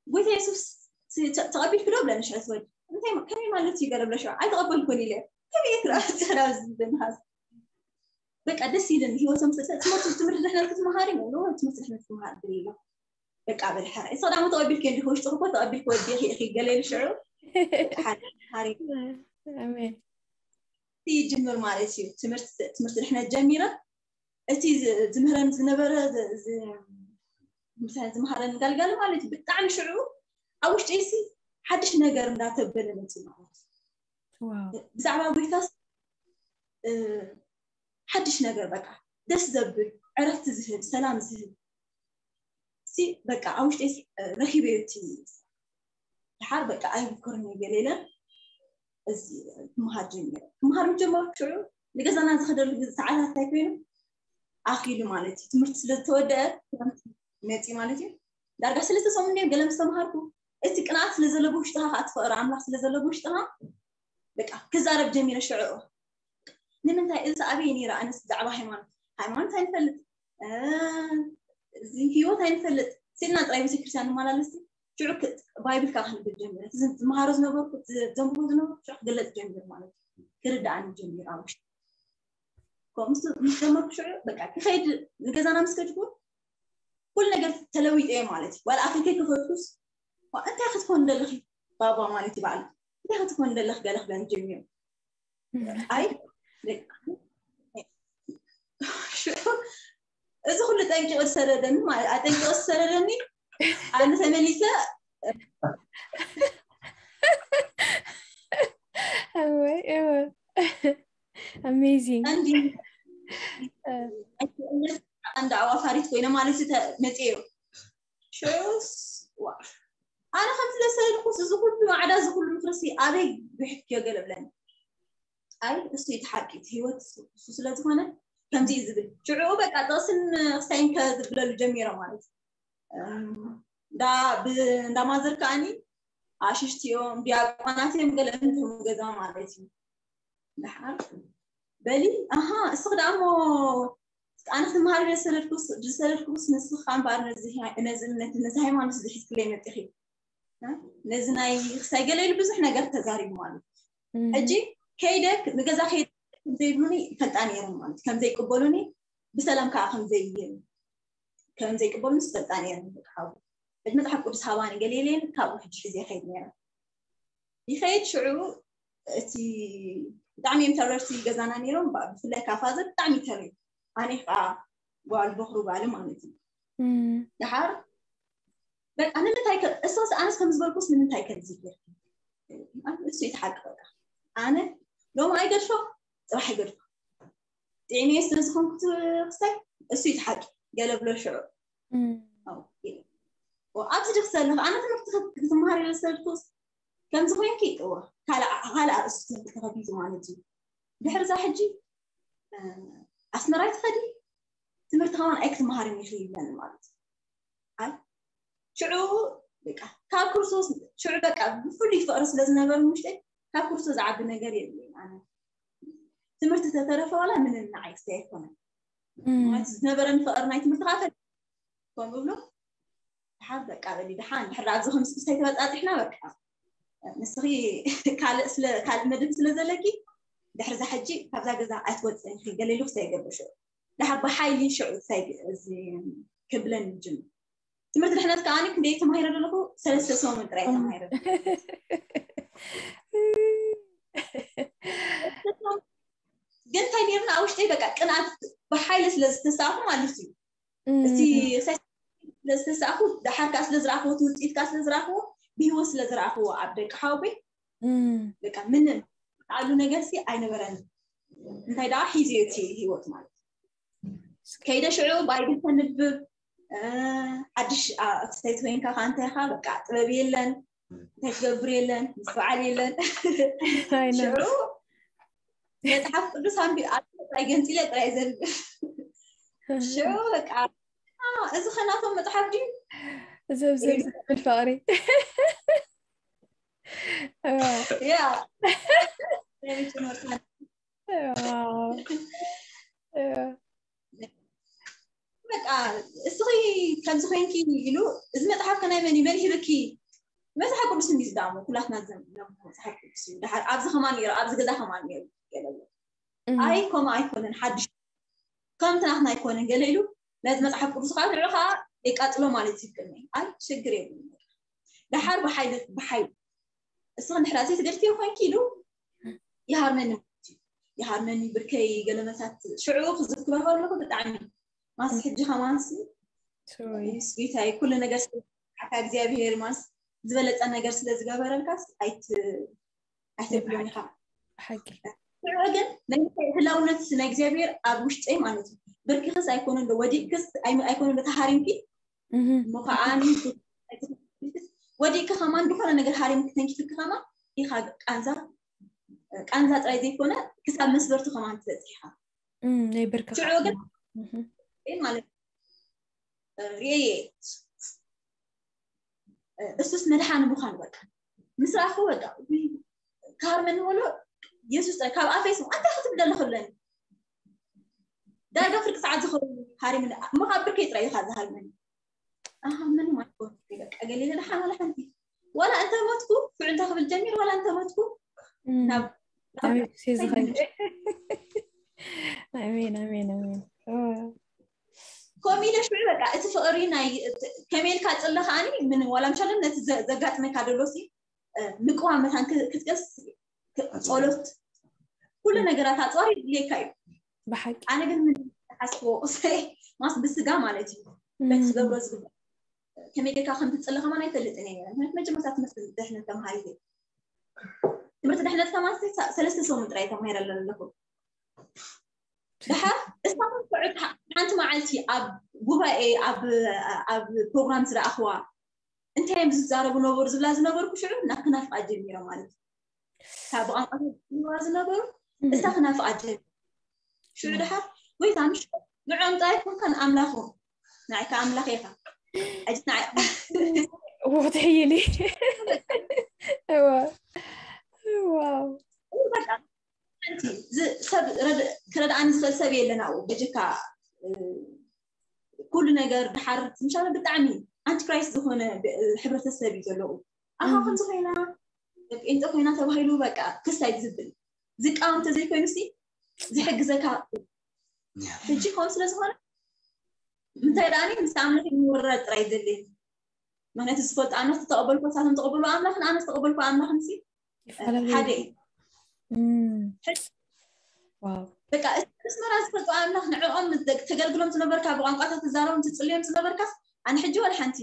ጎይታ የሱስ ተቐቢልክ ዶ ብለኒ ሽዑ ትወዲ እንታይ ከመይ ማለት እዩ ገለ ብለ ሽዑ ኣይተቐበልኩን ኢለ ከመይ ክረኣብዝብንሃዝ በቃ ደስ ኢልን ህይወቶም ትምህርቲ ትምህርቲ ድሕነት ክትመሃር ትምህርቲ ድሕነት ክትመሃር ድል ኢሎ በቃ በል ሕራይ እሱ ዳሞ ተቐቢልክ እንዲ ውሽጥክ እኮ ተቐቢልክ ወዲ ኢኺ ገለ ኢሉ ሽዑ በቃ ሓሪ ሓሪ ኣሜን ይጅምር ማለት እዩ። ትምህርቲ ትምህርቲ ድሕነት ጀሚረ እቲ ዝ- ዝምህረን ዝነበረ ዝ- ዝ- ምሳሌ ዝመሃረን ጋልጋል ማለት እዩ። ብጣዕሚ ሽዑ ኣብ ውሽጢ ሲ ሓድሽ ነገር እንዳተበለ መፅኡ ማለት እዩ። ዋው ብዛዕባ ጎይታስ እ፣ ሓድሽ ነገር በቃ ደስ ዘብል ዕረፍቲ ዝህብ ሰላም ዝህብ ሲ በቃ ኣብ ውሽጢ ረኪበዮ እቲ ድሓር በቃ ኣይምክርን ገለ ኢለ እዚ ክምሃር ጀሚረ። ክምሃር ምስ ጀመርኩ ሽዑ ንገዛና ዝኸደሉ ግዜ ሰዓታት እንታይ ኮይኑ ኣኺሉ ማለት እዩ። ትምህርቲ ስለ ዝተወደአ ክረምቲ መፂ ማለት እዩ። ዳርጋ ሰለስተ ሰሙን ድዮም ገለ ምስ ተምሃርኩ እቲ ቅንኣት ስለ ዘሎ ብውሽጥኻ ከዓ እቲ ፍቕሪ ኣምላኽ ስለ ዘሎ ብውሽጥኻ በቃ ክዛረብ ጀሚረ። ሽዑ ንምንታይ እዚ ኣበይ ነይረ ኣነስ ብዛዕባ ሃይማኖት ሃይማኖት ኣይንፈልጥ እዚ ህይወት ኣይንፈልጥ ስልና ጥራይ ቤተክርስትያን ንመላለስ ሽዑ ባይብል ከዓ ክንብል ጀሚረ። ዝመሃሮ ዝነበርኩ ዘንብቦ ዝነበርኩ ሽዑ ክገለፅ ጀሚሩ ማለት እዩ። ክርዳኣኒ ጀሚሩ ኣብ ውሽጢ ከምኡ ምስ ጀመርኩ ሽዑ በቃ ክኸይድ ንገዛና ምስ ከድኩ ኩሉ ነገር ተለዊጠ እየ ማለት እዩ። ዋላ ኣፈይ ከይከፈትኩስ እንታይ ክትኮን ደለኺ ባባ ማለት እዩ በዓል እንታይ ክትኮን ደለኽ ገለ ክብለኒ ጀሚሩ። ኣይ በቃ ሽዑ እዚ ኩሉ ጠንቂቑ ዝሰደደኒ ማለት ኣጠንቂቑ ዝሰደደኒ ኣነ ተመሊሰ ኣወይ እወ amazing እንዲ እንዳ ኣዋፋሪት ኮይነ ማለት መፅዮ ሽዑስ ዋ ኣነ ከም ስለሰልኩስ እዚ ኩሉ ማዕዳ እዚ ኩሉ ምክርሲ ኣበይ ብሕክዮ ገለ ብለኒ ኣይ እሱ እቲ ሓቂ እቲ ህይወት እሱ ስለ ዝኾነ ከምዚ እዩ ዝብል ሽዑ በቃ ጥቕስን ክሳይን ከዝብለሉ ጀሚሮም ማለት እዩ። እንዳ ብ- እንዳ ማዘር ከዓኒ ኣሽሽቲ እዮም ዲያቆናት እዮም ገለ እንተም ገዛ ማለት እዩ። ደሓር በሊ ኣሃ እስኺ ደኣ እሞ ኣነ ክትመሃር ዝሰደድኩስ ዝሰደድኩስ ንስኻ እምበኣር ነዚ ሃይ- ነዚ እምነት ነዚ ሃይማኖት እዚ ሒዝክለይ መጢኺ እ? ነዚ ናይ ክሳይ ገለ ኢሉ ብዙሕ ነገር ተዛሪቡ ማለት እዩ። ሕጂ ከይደ ንገዛ ከይደ ከምዘይብሉኒ ይፈልጣ ነይረን ማለት እዩ። ከምዘይቅበሉኒ ብሰላም ከዓ ከምዘይ ከምዘይቅበሉኒ ዝፈልጣ ነይረን በቃ ሓው ሕጂ መፅሓፍ ቅዱስ ሃባኒ ገለ ኢለን ካብኡ ሕጂ ሒዘ ይኸይድ ነይረ ይኸይድ ሽዑ እቲ ብጣዕሚ እዮም ተረርቲ ገዛና ነይሮም ባ- ብፍላይ ካብ ፋዘር ብጣዕሚ ተሪ ኣነ ከዓ ጓል በኽሩ ጓል ማለት እዩ። ደሓር በቃ ንምንታይ ከ እሶስ ኣነስ ከም ዝበልኩስ ንምንታይ ከምዚ ጌርኪ? ኣነ እሱ እዩ እቲ ሓቂ በቃ ኣነ ሎሚ ኣይገድፎ ፅባሕ ኣይገድፎ ጥዕመየ ስለ ዝኾንኩ ክስታይ እሱ እዩ እቲ ሓቂ ገለ ብሎ ሽዑ ኣው ኢለ። ኦ፣ ኣብዚ ድክ ዘለኽ ኣነ ትምህርቲ ክት- ክትመሃር ኢለ ዝሰልኩስ ከምዚ ኮይንኪ እወ ካልእ ዓ- ካልእ ኣርእስቲ ትምህርቲ ተኸፊቱ ማለት እዩ። ድሕሪ እዛ ሕጂ እ፣ ኣስመራ ትኸዲ ትምህርቲ ከማን ኣይክትመሃርን ኢኺ ይብለኒ ማለት እዩ። ኣይ ሽዑ በቃ ካብ ክርስቶስ ሽዑ በቃ ብፍሉይ ፍቕሪ ስለ ዝነበሩ ውሽጠይ ካብ ክርስቶስ ዝዓቢ ነገር የብለይን ኣነ ትምህርቲ ተተረፈ ዋላ ምንም ንዓይ ክስታይ ኣይኮነን ማለት ዝነበረኒ ፍቕሪ ናይ ትምህርቲ ከዓ ፈል ከም እብሎ ድሓር በቃ በሊ ድሓን ድሕር ኣብዚ ከምዚ ክስታይ ተበፃፂሕና በቃ ንስኺ ካልእ ስለ ካልእ መድብ ስለ ዘለኪ ድሕር እዛ ሕጂ ካብዛ ገዛ ኣይትወፅእን ኢኺ ገለ ኢሉ ክስታይ ይገብር ሽዑ ድሓር ብሓይሊ ሽዑ ክስታይ እዚ ክብለኒ ጅምር ትምህርቲ ድሕነት ከዓ ክንደይ ተማሂረ ዘለኹ ሰለስተ ሰሙን ጥራይ ተማሂረ እንታይ ነርና ኣብ ውሽጠይ በቃ ቅንኣት ብሓይሊ ስለ ዝተሳእኹ ማለት እዩ። እቲ ክሳይ ስለ ዝተሳእኹ፣ ደሓር ከዓ ስለ ዝረኣኽዎ፣ እቲ ውፅኢት ከዓ ስለ ዝረኣኽዎ፣ ብህይወት ስለ ዝረኣኽዎ ኣብ ደቂ ሓወቦይ፣ በቃ ምንም ዝኣሉ ነገር ሲ ኣይነበረን። እንታይ ደኣ ሒዝዮ እቲ ህይወት ማለት እዩ። ከይደ ሽዑ ባይብል ተንብብ፣ ሓድሽ ክስተይቲ ኮይንካ ከዓ እንታይ ኢኻ፣ በቃ ጥበብ የለን፣ እንታይ ትገብር የለን፣ ምስትውዓል የለን። ሽዑ መፅሓፍ ቅዱስ ኣንቢ ጥራይ ገንፂለ ጥራይ ዘንብ። ሽዑ በቃ እዚ ከናቶም መፅሓፍ ድዩ? ዘብዘብ ዝብል ፍቕሪ። ያ ዋው። በቃ እስኺ ከምዚ ኮይንኪ ኢሉ፣ እዚ መፅሓፍ ከናይ መን እዩ፣ መን ሂብኪ? መፅሓፍ ቅዱስ እንዲ ዝዳሞ ኩላትና ዘንብሎ መፅሓፍ ቅዱስ እዩ። ደሓር ኣብዚ ከማን ነይሩ፣ ኣብዚ ገዛ ከማን ነይሩ ገለሉ። እም። ኣይ ከምኡ ኣይኮነን፣ ሓድሽ ከምቲ ናትና ኣይኮነን ገለ ኢሉ፣ ነዚ መፅሓፍ ቅዱስ ከዓ ንዑ ከዓ የቃፅሎ ማለት እዩ። ቅድሚ ኣይ ሽግር የብሉን። ደሓር ብሓይሊ ብሓይሊ እስኺ እንድሕር ዘይትገድፍዮ ኮይንኪ ኢሉ ይሃርመኒ ማለት እዩ። ይሃርመኒ ብርከይ ገለመታት ሽዑ ክዝክሮ ከለኹ ብጣዕሚ ማስ ሕጂ ከማንሲ ሶሪ ስዊታይ ኩሉ ነገር ስካ እግዚኣብሔር ማስ ዝበለፀ ነገር ስለ ዝገበረልካስ ኣይት ኣይተብሎን ኢኻ። ሓቂ ሽዑ ግን ናይ ህላውነት ናይ እግዚኣብሔር ኣብ ውሽጠይ ማለት እዩ። ብርክኽስ ኣይኮነን ዶ ወዲቅክስ ኣይ- ኣይኮነን ዶ ተሃሪምኪ እህ እሞ ከዓ ኣነ ወዲቅኪ ከማን ዝኾነ ነገር ሃሪምኪ ተንኪፍኪ ከማን ኢኻ ቃንዛ ቃንዛ ጥራይ ዘይኮነ ክሳብ መስበርቲ ከማን ትበፅሕ ኢኻ። እም ናይ ብርክኻ ሽዑ ግን እህ ይህ ማለት ርኤየ እሱስ መድሓኒ ምዃኑ በቃ ምስ ረኣኹ በቃ ውይ፣ ክሃርመኒ ከሎ የሱስ ጥራይ ካብ ኣፈይ ስም ኣንታይ ክትብል ደለኹ ብለኒ ዳርጋ ፍርቂ ሰዓት ዝኸውን ሃሪምኒ እሞ ካብ ብርከይ ጥራይ ኢኻ ዝሃርመኒ ኣሃ ምንም ኣይኮንኩ በቃ ገለ ኢለ ደሓን ዋላ ሓንቲ ዋላ እንተ ሞትኩ ሽዑ እንታይ ክብል ጀሚር ዋላ እንተ ሞትኩ እም ናብ ኣሜን ሴ ዝኸይድ ኣሜን ኣሜን ኣሜን ኦ ከምኡ ኢለ ሽዑ በቃ እቲ ፍቕሪ ናይ ከመይ ኢልካ ፅለ ከዓኒ ምን ዋላ ምሻለን ነቲ ዘ- ዘጋጥመካ ደሎ ሲ እ፣ ምቅዋም መታን ክ- ክትቀስ ክ- ጸሎት ኩሉ ነገራት ኣፅዋር ይድልየካ እዩ። ብሓቂ ኣነ ግን ምን ሓስቦ ማስ ብስጋ ማለት እዩ በቲ እም ክገብሮ ዝግባእ ከመይ ጌርካ ከም ትፅለ ከማን ኣይፈልጥን እየ። ምክንያቱ መጀመርታ ትምህርቲ ድሕነት ተምሃሪት እየ። ትምህርቲ ድሕነት ከማን ሰ- ሰለስተ ሰሙን ጥራይ ተማሂረ ኣለኹ። ድሓር እስታኹም ትዑት ሓ- ሓንቲ መዓልቲ ኣብ ጉባኤ ኣብ ኣብ ፕሮግራም ዝረኣኽዋ እንታይ እዮም ዝዛረቡ ነበሩ ዝብላ ዝነበርኩ ሽዑ ናብ ክናፍቃ ጀሚረ ማለት እዩ። ካብ ብቋንቋ ዝዛረባ ዝነበሩ እም እስታ ክናፍቃ ጀሚረ። ሽዑ ድሓር ወይ ዛምሽ ንዖም ጥራይ ኮንካ ንኣምላኽ ንዓይካ ኣምላኽ ኢኻ። ሕጂ ንዓይ ወትሕይሊ እዋ ዋው በቃ ሓንቲ ዝ- ሰብ ረድ- ክረድኣኒ ዝኽእል ሰብ የለን ኣብኡ በጀካ እ፣ ኩሉ ነገር ድሓር ምሻለ ብጣዕሚ ኣንቲክራይስት ዝኾነ ብ- ሕብረተሰብ እዩ ዘለዉ ኣኻ እም ከምዚ ኮይና ጴንጠ ኮይና ተባሂሉ በቃ ክስ ኣይዝብል ዝቃወም ተዘይኮይኑ ሲ ዝሕግዘካ ሕጂ ከምኡ ስለ ዝኾነ እንታይ ደኣ ምስ ኣምላኽ ምውራድ ጥራይ ዘድልየኒ ምክንያቱ ዝፈልጡ ኣምላኽ ዝተቐበልኩ ሳቶም ተቐበሉ ኣምላኽን ኣነ ዝተቐበልኩ ኣምላኽን ሲ ይፈላለዩ ሓደ እዩ እም ሕጂ ዋው በቃ እቲ ኣስመራ ዝፈልጡ ኣምላኽ ንዕኦም ተገልግሎም ዝነበርካ ብቋንቋታት ትዛረቦም ትፅልዮም ዝነበርካስ ኣነ ሕጂ ዋላ ሓንቲ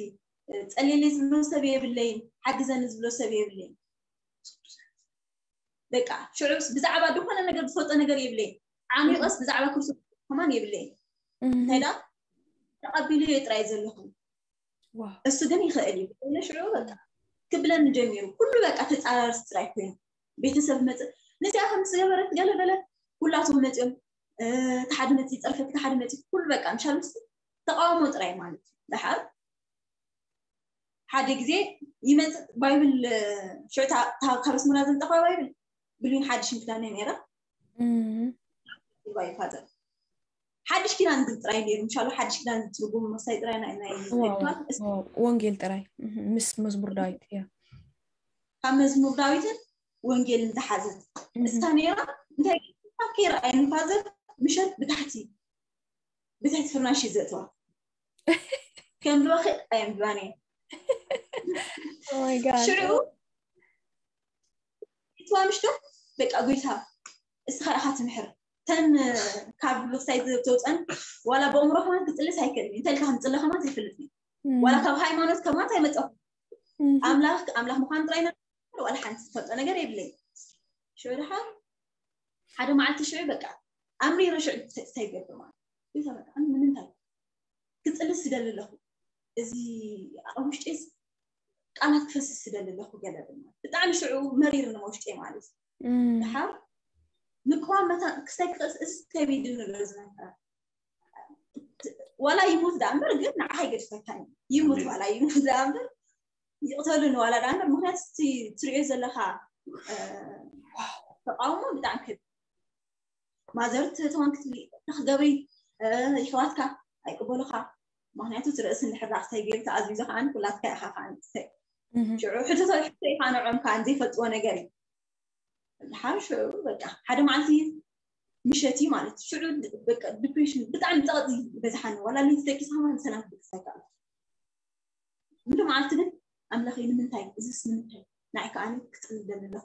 ፀልየለይ ዝብሎ ሰብ የብለይን ሓግዘኒ ዝብሎ ሰብ የብለይን በቃ ሽዑስ ብዛዕባ ዝኾነ ነገር ዝፈልጦ ነገር የብለይን ዓሚቆስ ብዛዕባ ክርስቶስ ከማን የብለይን እንታይ ዳ ተቐቢሉ እየ ጥራይ ዘለኹ ዋው እሱ ግን ይኽእል እዩ ኢለ ሽዑ በቃ ክብለኒ ጀሚሩ ኩሉ በቃ ተፃራርስ ጥራይ ኮይኑ ቤተሰብ መፅ ንዚኣ ከም ዝገበረት ገለ በለ ኩላቶም መፅኦም እቲ ሓደ መፂ ፀርፈት ሓደ መፂ ኩሉ በቃ ምሻል ምስ ተቃውሞ ጥራይ ማለት እዩ ደሓር ሓደ ግዜ ይመፅእ ባይብል ሽዑ ካብ ኣስመራ ዘምፀእኳ ባይብል ብሉይን ሓድሽን ክዳን እየ ነይረ ባይ ፋዘር ሓድሽ ኪዳን ግን ጥራይ ነይሩ ምሻሉ ሓድሽ ኪዳን ትርጉም መሳይ ጥራይ ናይ ናይ ወንጌል ጥራይ ምስ መዝሙር ዳዊት እያ ካብ መዝሙር ዳዊትን ወንጌልን ዝሓዘት እሳ ነይራ እንታይ ከይረኣየኒ ፋዘር ምሸት ብታሕቲ ብትሕቲ ፍርናሽ እዩ ዘእተዋ ከም ብባኺ ኣየንብባን እየ ሽዑ እትዋ ምሽቶ በቃ ጎይታ እስኻ ኢኻ ትምሕር ተን ካብ ልክሳይ ዘውፀን ዋላ ብእምሮ ከማን ክፅልስ ኣይክእል እንተ ኢልካ ክንፅለ ከማን ኣይፈልጥ እዩ። ዋላ ካብ ሃይማኖት ከማን ኣይመፀኹ ኣምላኽ ኣምላኽ ምዃን ጥራይ ዋላ ሓንቲ ዝፈልጦ ነገር የብለይ። ሽዑ ድሓር ሓደ መዓልቲ ሽዑ በቃ ኣምሪረ ሽዑ እንታይ ይገብር ማለት እዩ። በቃ ንምንታይ ክፅልስ ዝደሊ ኣለኹ፣ እዚ ኣብ ውሽጢ ቃላት ክፈስስ ዝደሊ ኣለኹ ገለ ድማ ብጣዕሚ ሽዑ መሪር ንመውሽጢ ማለት እዩ። ድሓር ምቅዋም መታ ክስታይ ክቐስ እዚ ከቢድ ንብሎ ዝነበረ ዋላ ይሙት ዳ እምበር ግን ንዓኻ ይገድፈካ እዩ። ይሙት ዋላ ይሙት ዳ እምበር ይቕተሉ ንዋላ ዳ እምበር ምክንያቱ እቲ ትሪኦ ዘለካ ተቃውሞ ብጣዕሚ ከቢድ ማዘር ትህትዋን ክትብሊ ንክገብሪ ይሕዋትካ ኣይቅበሉካ። ምክንያቱ እቲ ርእሲ እንድሕር ዳኣ ክሳይ ገይሩ ተኣዚዙ ከዓ ኩላትካ ኢኻ ከዓ ንክሳይ ሽዑ ሕቶ ሕቶ ኢኻ ንዖም ከዓ ዘይፈልጥዎ ነገር እዩ። ድሓር ሽዑ በቃ ሓደ መዓልቲ ምሸት እዩ ማለት ሽዑ ዲፕሬሽን ብጣዕሚ ፀቕጢ በዝሓኒ ዋላ ለይቲ ደቂሰ ከማን ሰላም ክብቅስ ኣይከኣልኩ። ምሉ መዓልቲ ግን ኣምላኸይ ንምንታይ እዚስ ንምንታይ ንዓይ ከዓኒ ክፅልል ደሊ ኣለኹ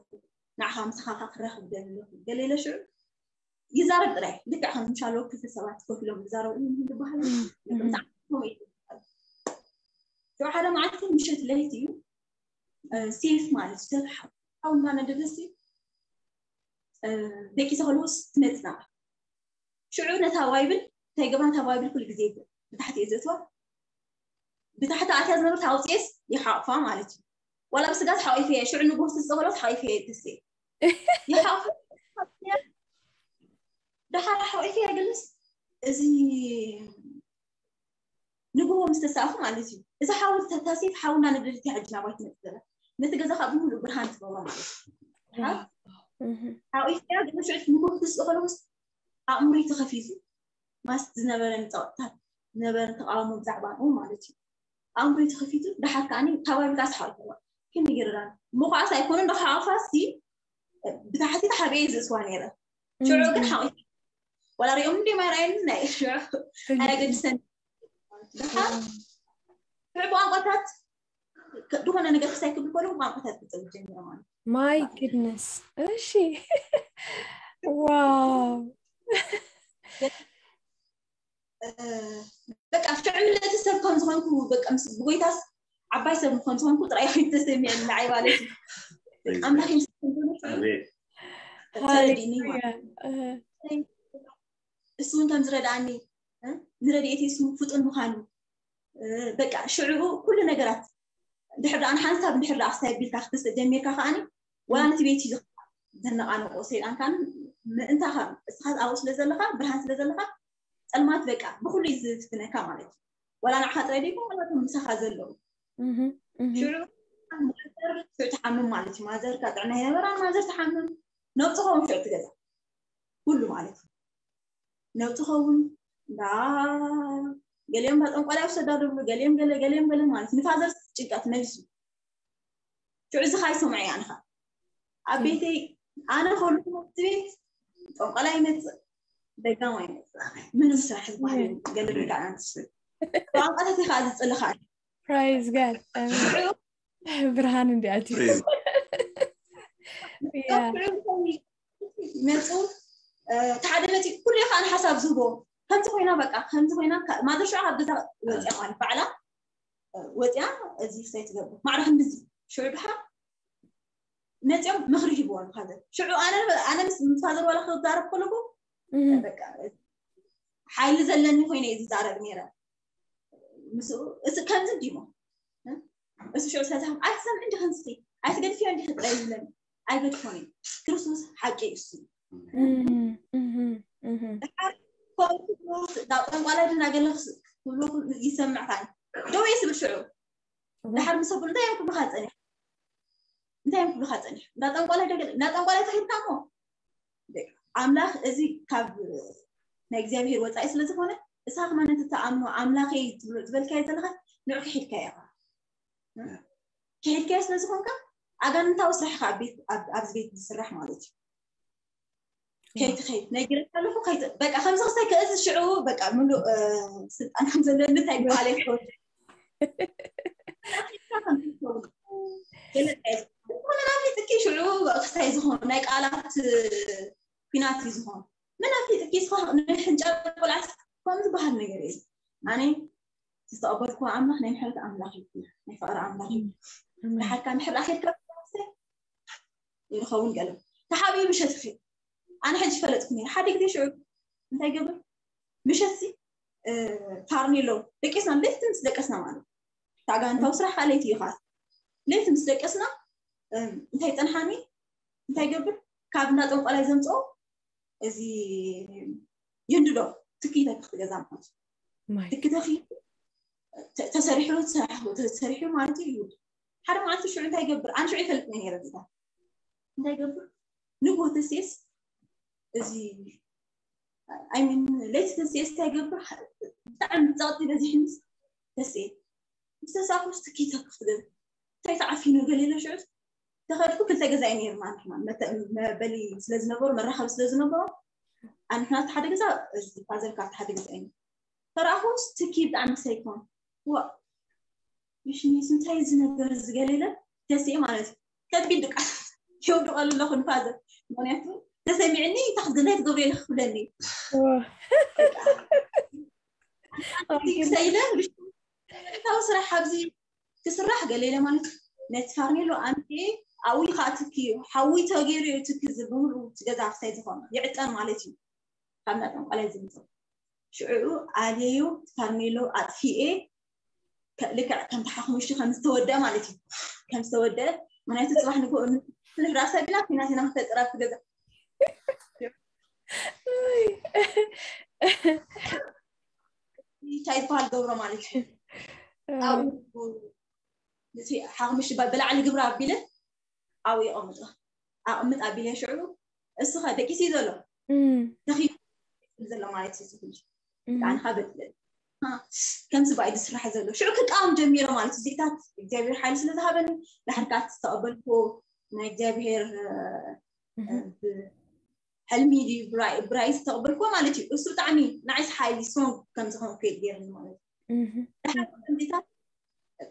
ንዓኻ ምሳኻኻ ክራኸብ ደሊ ኣለኹ ገለ ኢለ ሽዑ ይዛረብ ጥራይ ልክዕ ከም ምሻሎ ክልተ ሰባት ኮፍ ኢሎም ዝዛረቡ እዮም ዝበሃል ሽዑ ሓደ መዓልቲ ምሸት ለይቲ እዩ ሴፍ ማለት ሰብ ሓውና ነደደሲ ደቂሰ ከለውስ ትመፅና ሽዑ ነታ ባይብል እንታይ ገባን እታ ባይብል ኩሉ ግዜ ብታሕቲ እየ ዘእትዋ ብታሕቲ ኣትያ ዝነበርት ኣውፅኤስ ይሓቕፋ ማለት እዩ ዋላ ብስጋት ሓቂፈ ሽዑ ንጎስቲ ዝፀበሎት ሓቂፈ ተስ ይሓቕፋ ደሓር ሓቂፈ ግልስ እዚ ንግሆ ምስ ተሳእኹ ማለት እዩ እዚ ሓወልቲ ተታሲፍ ሓውና ንብልቲ ሕጂ ናባይ ትመፅእ ዘላ ነቲ ገዛ ካብ ብምሉእ ብርሃን ትገብሮ ማለት እዩ ሓቂፈ ግን ሽዑ ንጎስቲ ዝፀበሎ ኣእምሮይ ተኸፊቱ ማስ ዝነበረኒ ፀቕጥታት ዝነበረኒ ተቃውሞ ብዛዕባ ንኡ ማለት እዩ ኣእምሮይ ተኸፊቱ ድሓር ከዓኒ ካባቢ ካስ ሓልፈዋ ክንግርራን ምኳዓስ ኣይኮኑን ንክሓቕፋ ሲ ብታሕቲ ተሓቢኤ ዝእስዋ ነይረ ሽዑ ግን ሓቒፍ ወላ ሪኦም እንዲ ማይ ርኣየኒ ናይ ሽዑ ኣየገድሰኒ ድሓር ሽዑ ብቋንቋታት ዝኾነ ነገር ክሳይ ክብል ከሎ ቋንቋታት ክፅል ጀሚረ ማለት my goodness እሺ wow በቃ ሽዑ ምልእቲ ሰብ ከም ዝኾንኩ በቃ ምስ ብጎይታስ ዓባይ ሰብ ከም ዝኾንኩ ጥራይ ኮይኑ ተሰሚዐኒ ንዓይ ማለት እዩ ኣምላኽ ይምስገን ተረዲኒ ማለት እሱ እውን ከም ዝረድኣኒ ንረድኤት ስሙ ፍጡን ምዃኑ በቃ ሽዑ ኩሉ ነገራት ድሕር ደኣ ንሓንሳብ ድሕር ደኣ ክሳይ ቢልካ ክትስእ ጀሚርካ ከዓኒ ወላ ነቲ ቤት እዩ ዘነቓንቆ ሰይጣን ካን ምእንታኻ እስኻ ኣብኡ ስለ ዘለኻ ብርሃን ስለ ዘለኻ ፀልማት በቃ ብኩሉ እዩ ዝፍትነካ ማለት እዩ ወላ ንዓኻ ጥራይ ደይኮን ወላ ምሳኻ ዘለዉ ሽዑ ሽዑ ትሓምም ማለት እዩ ማዘርካ ጥዕና ይነበራን ማዘር ትሓምም ነብፅኸውን ሽዑ ትገዛ ኩሉ ማለት እዩ ነብፅኸውን እንዳ ገሊኦም እንዳ ጠንቋላይ ውሰዳ ዝብሉ ገሊኦም ገለ ገሊኦም ገለ ማለት ንፋዘር ጭንቀት መሊሱ ሽዑ እዚ ካይሰምዐ እያ ንኻ ኣብ ቤተይ ኣነ ከሉ ቤት ጠንቋላይ ይመፅእ ደጋም ኣይመፅእ ምንም ስራሕ ዝበሃል ገለ ብልካ ኣንስ ቋንቋታት ኢኻ ዝፅልኻ praise God ብርሃን እንዲኣት መፁ እቲ ሓደ መፂ ኩሉ ከዓ ንሓሳብ ዝህቦ ከምዚ ኮይና በቃ ከምዚ ኮይና ማዘር ሽዑ ካብ ገዛ ወፅያ ማለት ባዕላ ወፅያ እዚ ክሳይ ትገብር ማዕረ ክንድዚ ሽዑ ድሓ መፅኦም ምኽሪ ሂብዎ ንፋዘር ሽዑ ኣነ ኣነ ምስ ፋዘር ዋላ ክዛረብ ከለኩ በቃ ሓይሊ ዘለኒ ኮይነ እዩ ዝዛረብ ነይረ ምስኡ እዚ ከምዚ እንዲሞ እሱ ሽዑ ስለዚ ኣይትሰምዕ እንዲ ክንስቲ ኣይትገድፍዮ እንዲ ክጥረ ይብለኒ ኣይገድፎን እዩ ክርስቶስ ሓቂ እዩ እሱ ድሓር ከምኡ ጠንቋላይ ድና ገለ ክብሎ ይሰምዕካ ደው እየ ስብል ሽዑ ድሓር ምስ ኣቦ እንታይ እዮም ክብሉካ ፀኒሕ እንታይ እዮም ክብሉካ ፀኒሕ እንዳ ጠንቋላይ ዶ ገለ እንዳ ጠንቋላይ ተኺድካ እሞ ኣምላኽ እዚ ካብ ናይ እግዚኣብሔር ወፃኢ ስለ ዝኾነ እሳ ከማን እቲ ተኣምኖ ኣምላኸይ ትብሎ ዝበልካዮ ዘለኻ ንዑ ክሒድካዮ ኢኻ ክሒድካዮ ስለ ዝኾንካ ኣጋንንታዊ ስራሕ ኢኻ ኣብ ቤት ኣብዚ ቤት ዝስራሕ ማለት እዩ ከይትኸይድ ነጊረካ ኣለኹ ከይት በቃ ከምዚ ክስታይ ከእዚ ሽዑ በቃ ምሉእ ስልጣን ከም ዘለኒ እንታይ በዓል ይኸውን ገለፀ ዝኾነ ናፊጥኪ ሽዑ ክስታይ ዝኾኑ ናይ ቃላት ኲናት እዩ ዝኾኑ መናፊጥ ኣምላኽ ናይ ምሕረት ኣምላኽ እዩ፣ ናይ ፍቕሪ ኣምላኽ እዩ። ንሓድካ ምሕር ኣኺልካ ይኸውን ገለ ተሓቢኡ ምሸት ኺ ኣነ ሕጂ ፈለጥኩ ነይረ። ሓደ ግዜ ሽዑ እንታይ ገብር ምሸት ሲ ፋርኔሎ ደቂስና፣ ለይቲ ምስ ደቀስና ማለት ታጋንታዊ ስራሕ ከዓ ለይቲ እዩ። ለይቲ ምስ ደቀስና እንታይ ፀንሓኒ፣ እንታይ ገብር ካብ እንዳ ጠንቋላይ ዘምፅኦ እዚ ይንድዶ ትኪ ተክኽ ገዛ ማለት ትኪ ተኺ ተሰሪሑ ተሰሪሑ ማለት እዩ። ሓደ መዓልቲ ሽዑ እንታይ ገብር ኣነ ሽዑ ይፈልጥ ነይረ ጌታ እንታይ ገብር ንጎ ተሴስ እዚ ኣይሚን ለይቲ ተሴስ እንታይ ገብር ብጣዕሚ ጸቕጢ በዚሕንስ ተሴ ምስ ተሳፍርስ ትኪ ተክፍ ትገብ እንታይ ተዓፊኑ ገለ ኢለ ሽዑ ተኸድኩ። ክልተ ገዛ እዩ ነይርና ንሕና መበሊ ስለ ዝነበሩ መራኸቢ ስለ ዝነበሩ ኣንሕና ሓደ ገዛ ፋዘር ካብቲ ሓደ ገዛ እዩ ተረኣኹስ ትኪ ብጣዕሚ ሰይኮን ዋ ምሽኒስ እንታይ እዚ ነገር እዚ ገለ ኢለ ተስኤ ማለት እዩ ከቢድ ድቃስ የውድቐሉ ኣለኹ ንፋዘር ምክንያቱ ተሰሚዕኒ እንታይ ክትገብረ ኢለ ክብለኒ ክሰይለ ታው ስራሕ ኣብዚ ክስራሕ ገለ ኢለ ማለት ነቲ ፋርኔሎ ኣምጥኤ ኣብኡ ከዓ ትኪ እዩ ሓዊ ተገይሩ እዩ ትኪ እዚ ብምሉ እቲ ገዛ ክሳይ ዝኾነ ይዕጠን ማለት እዩ ካብ ናጠንቋላይ ዝምፅእ ሽዑ ኣልየዮ ፋርኔሎ ኣጥፊኤ ልክዕ ከምቲ ሓሙሽቲ ከም ዝተወደአ ማለት እዩ ከም ዝተወደአ ምክንያቱ ፅባሕ ንግሆ ንሕዳ ሰብ ኢና ኩናት ኢና ክፈጥር ኣብቲ ገዛ እንታይ ዝበሃል ገብሮ ማለት እዩ ኣብኡ ሓሙሽቲ ብላዕሊ ግብሪ ኣቢለ ኣብኡ የቐምጦ ኣቕምጥ ኣቢለ ሽዑ እስኸ ደቂሲ ዘሎ ተኺ ዘሎ ማለት እዩ ዝብል ኣንኻ በጥለ ከምዚ ባይ ዝስራሕ ዘሎ ሽዑ ክቃወም ጀሚረ ማለት እዚታት እግዚኣብሔር ሓይሊ ስለ ዝሃበኒ ዳሕርካ ዝተቐበልኩ ናይ እግዚኣብሔር ሕልሚ ድዩ ብራይ ብራይ ዝተቐበልኩዎ ማለት እዩ እሱ ብጣዕሚ ንዓይስ ሓይሊ ስትሮንግ ከም ዝኾንኩ ገይርኒ ማለት እዩ ዳሕር ከምዚታት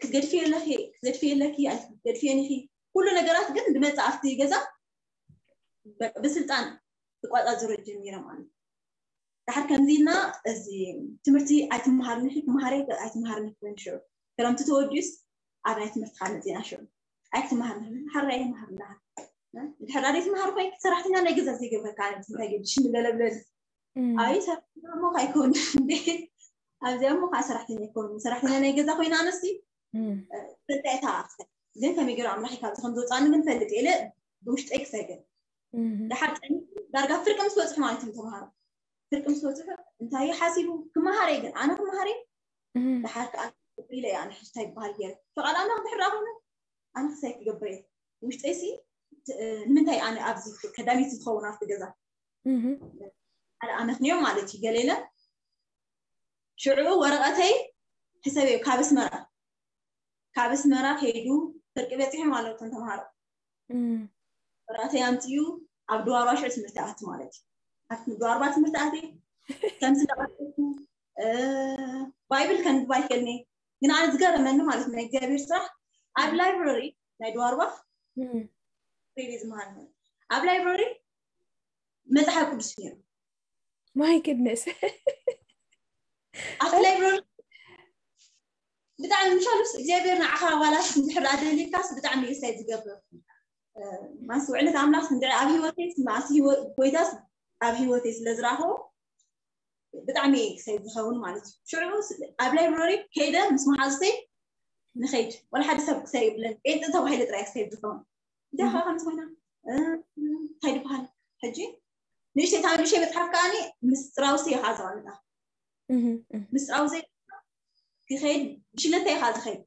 ክትገድፊ የለኺ ክትገድፊ የለኪ ኣይትገድፊ የኒኺ ኩሉ ነገራት ግን ዝመፅእ ኣብቲ ገዛ ብስልጣን ክቋፃፅሮ ጀሚረ ማለት እዩ ዳሕር ከምዚ ኢልና እዚ ትምህርቲ ኣይትመሃርኒ ክመሃረ ኣይትመሃርኒ ክበን ሽዑ ክረምቲ ተወዲኡስ ኣብ ናይ ትምህርቲ ካብ መፅና ሽዑ ኣይክትመሃርኒ ሓራ ይመሃር እንዳሃር ድሕር ኣደይ ትመሃር ኮይን ሰራሕተኛ ናይ ገዛ ዘይገብረካ ኣነ እንታይ ገድሽ ንገለብለል ኣይ ሰራሕተኛ እሞ ኣይከውን እንዴ ኣብዚኣ እሞ ከዓ ሰራሕተኛ ይከውን ሰራሕተኛ ናይ ገዛ ኮይና ኣነሲ ፈልጣ እታ ግን ከመይ ገይሩ ኣምላኽ ካብ ከም ዝወፃኒ ግን ፈልጥ ኢለ ብውሽጠይ ክሰግር ድሓር ዳርጋ ፍርቂ ምስ በፅሑ ማለት እዩ ተምሃሮ ፍርቂ ምስ በፅሑ እንታይ ሓሲቡ ክመሃረ ግን ኣነ ክመሃረ ድሓር ከዓ ኢለ እያ ንሕዝታ ይበሃል ገይረ ፍቓድ ኣምላኽ ድሕር ኮይኑ ኣነ ክሳይ ክገብር እየ ውሽጠይ ሲ ንምንታይ ኣነ ኣብዚ ከዳሚት ዝኸውን ኣብቲ ገዛ ሓደ ኣመክንዮ ማለት እዩ ገሌለ ሽዑ ወረቐተይ ሕሰብ ካብ ኣስመራ ካብ ኣስመራ ከይዱ ፍርቂ በፂሖም ኣለዉ እቶም ተምሃሮ ወረቐተይ ኣምፅኡ ኣብ ድዋርባ ሽዑ ትምህርቲ ኣት ማለት እዩ ኣብቲ ድዋርባ ትምህርቲ ኣት ከምዚ እንዳቐሰልኩ ባይብል ከንብብ ኣይክእልኒ ግን ኣነ ዝገረመኒ ማለት ናይ እግዚኣብሔር ስራሕ ኣብ ላይብረሪ ናይ ድዋርባ ሬዲ ዝመሃር ኣብ ላይብረሪ መፅሓፍ ቅዱስ ነይሩ my goodness ኣብቲ ላይብረሪ ብጣዕሚ ምሻሉስ እግዚኣብሔር ንዓኻ ዋላስ እንድሕር ኣደሊልካስ ብጣዕሚ እዩ ሳይ ዝገብር ማስ ውዕለት ኣምላክ እንድዒ ኣብ ህይወተይ ማስ ጎይታስ ኣብ ህይወተይ ስለ ዝረኸቦ ብጣዕሚ ክሳይ ዝኸውን ማለት እዩ ሽዑ ኣብ ላይብረሪ ከይደ ምስ መሓዙተይ ንኸይድ ወላ ሓደ ሰብ ክሳይ ይብለን ጴንጢ ተባሂለ ጥራይ ክሳይ ዝኸውን እንታይ ከዓ ከም ዝኾይና እንታይ ዝበሃል ሕጂ ንእሽተይ ታብ ንእሽተይ መፅሓፍ ከዓ ምስጢራዊ እየ ከዓ ዘቐምጣ ምስጢራዊ ዘይ ክኸይድ ብሽለተ እየ ከዓ ዝኸይድ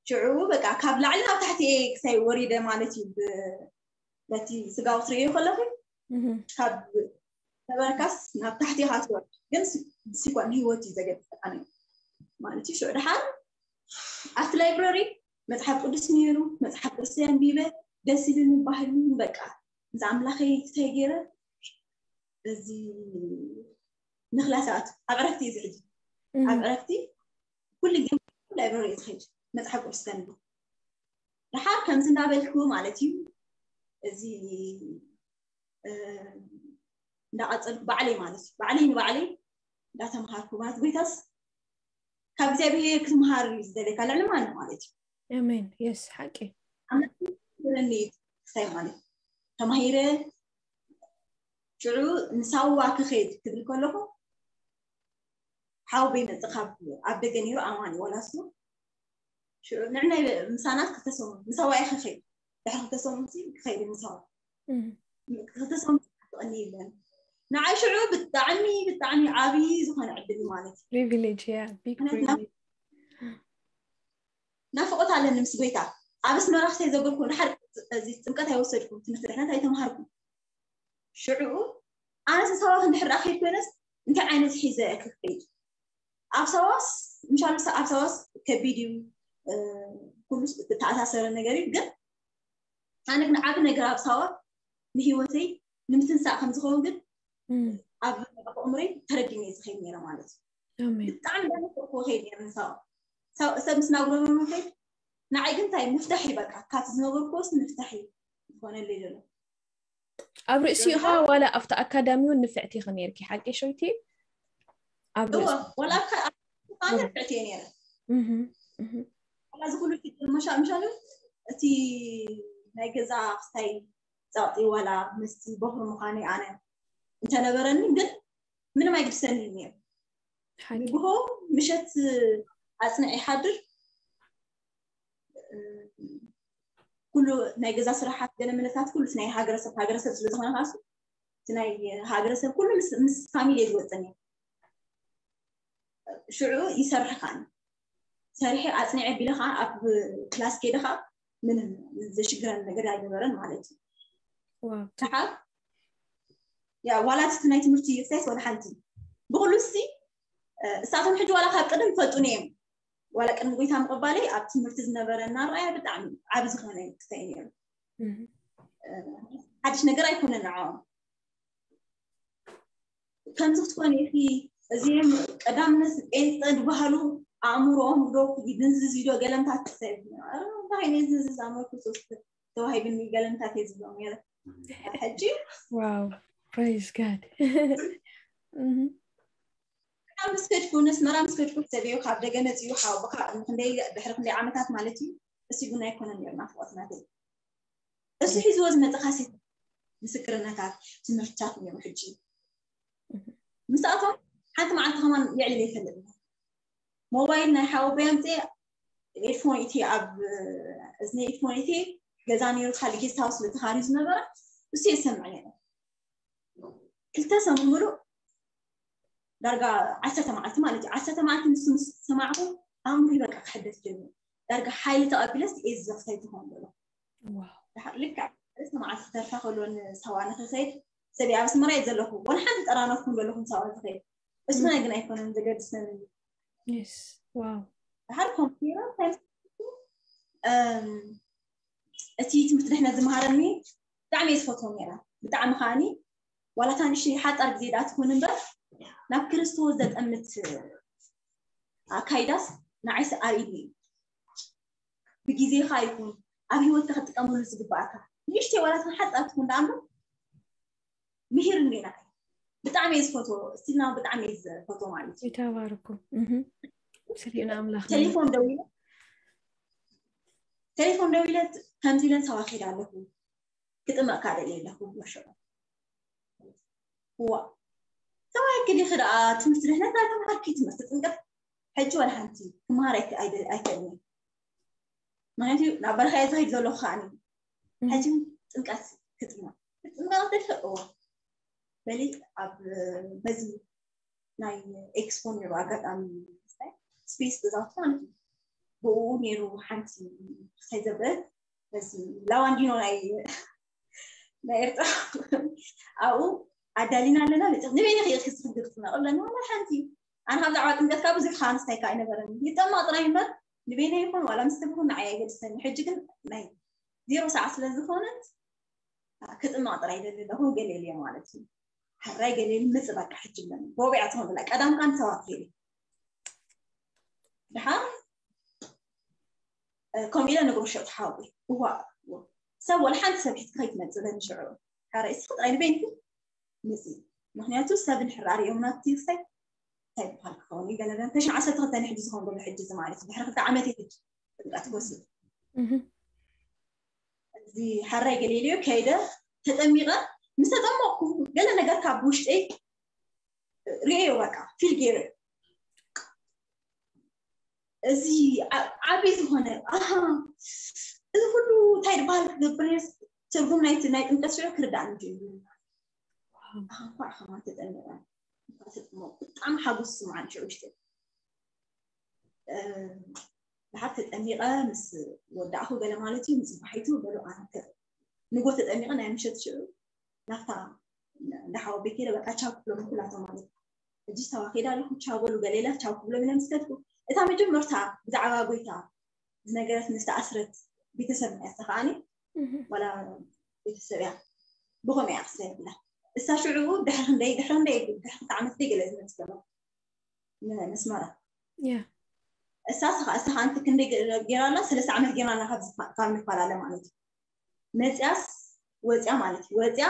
ሽዑ በቃ ካብ ላዕሊ ናብ ታሕቲ እየ ክሳይ ወሪደ ማለት እዩ በቲ ስጋዊ ትርእዮ ከለኹ ካብ ነበርካስ ናብ ታሕቲ ኢኻ ትወርድ ግን ብሲኳ ንህይወት እዩ ዘገድሰካ ማለት እዩ ሽዑ ድሓር ኣብቲ ላይብረሪ መፅሓፍ ቅዱስ ነይሩ መፅሓፍ ቅዱስ ኣንቢበ ደስ ኢሉኒ ባህሉን በቃ ምስ ኣምላኸይ ክታይ ገይረ እዚ ንክላስ ኣቱ ኣብ ዕረፍቲ እዩ ዝሕጂ ኣብ ዕረፍቲ ኩሉ ግዜ ላይብረሪ እዩ ዝኸይድ መፅሓፍ ቅዱስ ከንብብ ድሓር ከምዚ እንዳበልኩ ማለት እዩ እዚ እንዳቐፀልኩ ባዕለይ ማለት እዩ ባዕለይ ንባዕለይ እንዳተምሃርኩ ማለት ጎይታስ ካብ እግዚኣብሔር ክትምሃር እዩ ዝደለካ፣ ልዕሊ ማንም ማለት እዩ። ኣሜን። የስ፣ ሓቂ። ኣምላኽ ይረኒ ክሳይ ማለት ተማሂረ ሽዑ ንሳዋ ክኸይድ ክብል ከለኹ ሓውበይ መጽእ ካብ ኣብ ደገ ነይሩ፣ ኣማን ወላሱ ሽዑ ንዕናይ ምሳናት ክልተ ሰሙን ንሳዋ እየ ክኸይድ። ድሕሪ ክልተ ሰሙን ሲ ክኸይድ ንሳዋ። እም፣ ክልተ ሰሙን ትቐኒ የለን። ንዓይ ሽዑ ብጣዕሚ ብጣዕሚ ዓብዪ ዝኾነ ዕድል እዩ ማለት እዩ። ፕሪቪሌጅ፣ ያ፣ ቢግ ምኽንያቱ ፕሪቪሌጅ። ናፍቆት ኣለኒ ምስ ጎይታ። ኣብ ኣስመራ ክሳይ ዘበልኩ ድሓር እዚ ጥምቀት ኣይወሰድኩም፣ ትምህርቲ ድሕነት ኣይተምሃርኩም። ሽዑ ኣነስ ሳዋ ክንድሕር ዳኣ ከይድ ኮይነስ እንታይ ዓይነት ሒዘ እየ ክኸይድ? ኣብ ሳዋስ ምሻሉ ኣብ ሳዋስ ከቢድ እዩ፣ እ፣ ኩሉ ዝተኣሳሰረ ነገር እዩ። ግን ኣነ ግን ዓቢ ነገር ኣብ ሳዋ ንህይወተይ ንምትንሳእ ከም ዝኸውን ግን እም፣ ኣብ ኣእምሮይ ተረዲነ እየ ዝኸይድ ነይረ ማለት እዩ። ኣሜን። ብጣዕሚ እንዳነፈርኩ ከይድ ነይረ ንሳዋ። ሳው-፣ ሰብ ምስ ናጉረመረመ ከይድ ንዓይ ግን እንታይ ምፍታሕ እዩ በቃ፣ ካብቲ ዝነበርኩዎስ ምፍታሕ እዩ ዝኾነለይ ዘሎ። ኣብ ርእሲኡ ኸዓ ዋላ ኣብቲ ኣካዳሚ እውን ንፍዕቲ ኢኺ ነይርኪ፣ ሓቂ ሾይቲ? ኣብ እወ፣ ርእሲ ዋላ ኣብ ካ-፣ ኣብ ካ-፣ ንፍዕቲ እየ ነይረ። እህ፣ እህ። ዋላ እዚ ኩሉ ፊት መሻ-፣ ምሻሉ እቲ ናይ ገዛ ክስታይ ጸቕጢ ዋላ ምስቲ በኹሪ ምዃነይ ኣነ እንተነበረኒ ግን ምንም ኣይግድሰኒ እዩ ነይሩ። ሓቂ። ንግሆ ምሸት ኣጽንዕ ይሓድር። ኩሉ ናይ ገዛ ስራሓት ገለ መለታት ኩሉ እቲ ናይ ሃገረሰብ፣ ሃገረሰብ ስለ ዝኾነ ካሱ እቲ ናይ ሃገረሰብ ኩሉ ምስ፣ ምስ ፋሚሊ እየ ዝወፅን እየ። ሽዑ ይሰርሕ ከዓኒ። ሰሪሐ ኣጽኒዐ ቢለ ከዓ ኣብ ክላስ ከይደ ከዓ ምንም ዘሽግረን ነገር ኣይነበረን ማለት እዩ። ዋው። ደሓር ያ ዋላ እቲ ናይ ትምህርቲ ይፍሳይስ ዋላ ሓንቲ ብኩሉ ሲ፣ እ፣ እሳቶም ሕጂ ዋላ ካብ ቅድም ይፈልጡኒ እዮም። ዋላ ቅድሚ ጎይታ ምቕባለይ ኣብ ትምህርቲ ዝነበረና ራእያ ብጣዕሚ ዓቢ ዝኾነ ክስታይ ነይሩ። እህ። ሓድሽ ነገር ኣይኮነን ንዓኦም። ከምዚ ክትኮን ኢኺ፣ እዚኦም ቀዳምነት ጴንጠ ዝበሃሉ ኣእምሮኦም ዶ ይድንዝዝ እዩ ዶ ገለምታት ክሰብ እንታይ ይድንዝዝ ኣእምሮ ክርስቶስ ተዋሂብኒ ገለምታት እየ ዝብሎም ነይረ። ሕጂ ዋው፣ ፕሬዝ ጋድ። እህ። ኣብ ምስ ከድኩ፣ ነስመራ ምስ ከድኩ ክሰብዮ ካብ ደገ መፅዩ ሓወቦኻ ክንደይ፣ ድሕሪ ክንደይ ዓመታት ማለት እዩ። እሱ እውን ኣይኮነን ነይሩ ናፍቆት ናተይ። እሱ ሒዝዎ ዝመፀ ካሴት ምስክርነታት ትምህርትታት ነይሩ። ሕጂ ምስኣቶም ሓንቲ መዓልቲ ከማን የዕልል ኣይፈልጥን። ሞባይል ናይ ሓወቦይ ኣምፅኤ ኤድፎን እቲ ኣብ እዝኒ ኤድፎን እቲ ገዛ ነይሩ፣ ካልእ ጌስት ሃውስ ስለ ተኻርዩ ዝነበረ እሱ የሰምዕ ነይረ። ክልተ ሰሙን ሙሉእ ዳርጋ ዓሰርተ መዓልቲ ማለት እዩ። ዓሰርተ መዓልቲ ንሱ ምስ ሰማዕኩ ኣእምሮይ በቃ ክሕደስ ጀሚሩ። ዳርጋ ሓይሊ ተቐቢለስ እየ ዝዘኽሰይ ትኾን ዘሎ። ዋው። ድሓር ልክዕ ዓሰርተ መዓልቲ ተርፋ ከሎ ንሳዋ ንኽኸይድ ሰብ ኣብ ኣስመራ እየ ዘለኹ። ወላ ሓንቲ ጠራነፍኩም ዘለኹም ሳዋ ዝኸይድ። እሱ ናይ ግን ኣይኮነን ዘገድሰኒ። የስ። ዋው። ድሓር ኮምፒተር እንታይ ምስ-፣ እም፣ እቲ ትምህርቲ ድሕነት ዝመሃረኒ ብጣዕሚ እየ ዝፈትዎ ነይረ። ብጣዕሚ ከዓኒ ዋላ እታ ንእሽተይ ሓጻር ግዜ ደኣ ትኹን እምበር ናብ ክርስቶስ ዘጠምት ኣካይዳስ ንዓይስ ኣርእይኒ እዩ። ብግዜኻ ይኹን ኣብ ህይወትካ ክትጥቀመሉ ዝግባኣካ ንእሽተይ ዋላ እታ ሓጻር ትኹን ደኣ እምበር ምሂር እንዴና ብጣዕሚ እየ ዝፈትዎ። ስቲልና ብጣዕሚ እየ ዝፈትዎ ማለት እዩ። ይተባርኩ። እህ። ስሪኡና ኣምላኽ። ቴሌፎን ደዊለ፣ ቴሌፎን ደዊለ ከምዚ ኢለን ሳዋ ከይደ ኣለኹ፣ ክጥመቕካ ደልየ ኣለኹ። ወሸ ዋ፣ ሰማይ ክሊኺ ደኣ ትምህርቲ ድሕነት ኣይተምሃርኪ፣ ትምህርቲ ጥምቀት ሕጂ ዋላ ሓንቲ ክመሃር ኣይክ-፣ ኣይደ-፣ ኣይክእልን እየ። ምክንያቱ ናብ በረኻ እየ ዝኸይድ ዘለኹ ከዓኒ። ሕጂ ጥምቀት ክጥመቕ፣ ክጥመቕ ደልየ እዎ። በሊ ኣብ በዚ ናይ ኤክስፖ ነይሩ ኣጋጣሚ ስታይ ስፔስ ገዛውቲ ማለት እዩ። ብኡ ነይሩ ሓንቲ ክሳይ ዘበለት በዚ ላዋንዲኖ ናይ ናይ ኤርትራ ኣብኡ ኣዳሊና ኣለና። ንበይነ ክየ ክስፍግር ትነቕ ኣለና ዋላ ሓንቲ። ኣነ ካብ ዛዕባ ጥምቀትካ ብዙሕ ከዓ ንስታይ ከዓ ኣይነበረን። ይጠመቕ ጥራይ እምበር ንበይነ ይኹን ዋላ ምስ ትብኹን ንዓይ ኣይገድሰኒ። ሕጂ ግን ናይ ዜሮ ሰዓት ስለ ዝኾነት ክጥመቕ ጥራይ ይደሊ ኣለኹ። ገለ ኢለ ማለት እዩ። ሕራይ ገለ ኢሉ ምጽእ በቃ ሕጂ ብለኒ። ቦቢዓ ትኾን ብላ ቀዳም ከዓ ንሰባት ከይደ። ድሓር፣ እ፣ ከምኡ ኢለ ነግሮ ሸጡ ሓወይ። እዋ፣ እዋ። ሰብ ወላ ሓንቲ ሰብ ሒዝኪ ከይትመጽእ በኒ ሽዑ። ሕራይ እስኺ ጥራይ ንበይንኪ ምጺ። ምኽንያቱ ሰብ እንድሕር ኣርእዮም ናብቲ ክሳይ እንታይ ይበሃል ክኸውን እዩ? ገለ ገለ ተሽዓሰርተ ክልተ ሕጂ ዝኸውን ዘሎ ሕጂ እዚ ማለት እዩ። ድሕሪ ክልተ ዓመት እዩ ሕጂ ጥምቀት ክወስድ። እዚ ሓራይ ገሊልዮ ከይደ ተጠሚቐ፣ ምስ ተጠመቕኩ ገለ ነገር ካብ ውሽጠይ ርእዮ፣ በቃ ፊል ገይረ። እዚ ዓብዪ ዝኾነ ኣሃ፣ እዚ ኩሉ እንታይ ድበሃል ክገብር እየ? ትርጉም ናይ ናይ ጥምቀት ሽዑ ክርዳእኒ ጀሚሩ። ኣሃ፣ እንኳዕ ከማን ተጠመቐ፣ እንኳዕ ተጠመቑ። ብጣዕሚ ሓጎስ ስምዓን ሽዑ ውሽጢ። ድሓር ተጠሚቐ ምስ ወዳእኹ ገለ ማለት እዩ፣ ንፅባሒቱ በሉ ኣነ ንጎ ተጠሚቐ ናይ ምሸት ሽዑ ናብታ እንዳሓወ ቤት ከይደ በቃ ቻው ክብሎም ኩላቶም ማለት እዩ። ሕጂ ተዋኺዳ ኣለኹ ቻው በሉ ገለ ኢላ ቻው ክብሎም ኢለ ምስ ከድኩ፣ እታ መጀመርታ ብዛዕባ ጎይታ ዝነገረትኒ ዝተኣስረት ቤተሰብ እያ። እሳ ከዓኒ ዋላ ቤተሰብ እያ፣ ብኸመይ እያ ክስታይ ብላ። እሳ ሽዑ ድሕሪ ክንደይ ድሕሪ ክንደይ ድሕሪ ክልተ ዓመት ደይ ገለ ዝመፅእ ዘሎ መስመራ። እሳ ስኻ እሳ ከዓንቲ ክንደይ ገይራ ኣላ? ሰለስተ ዓመት ገይራ ኣላ ካብ ንፈላለ ማለት እዩ። መፅያስ ወፅያ ማለት እዩ። ወፅያ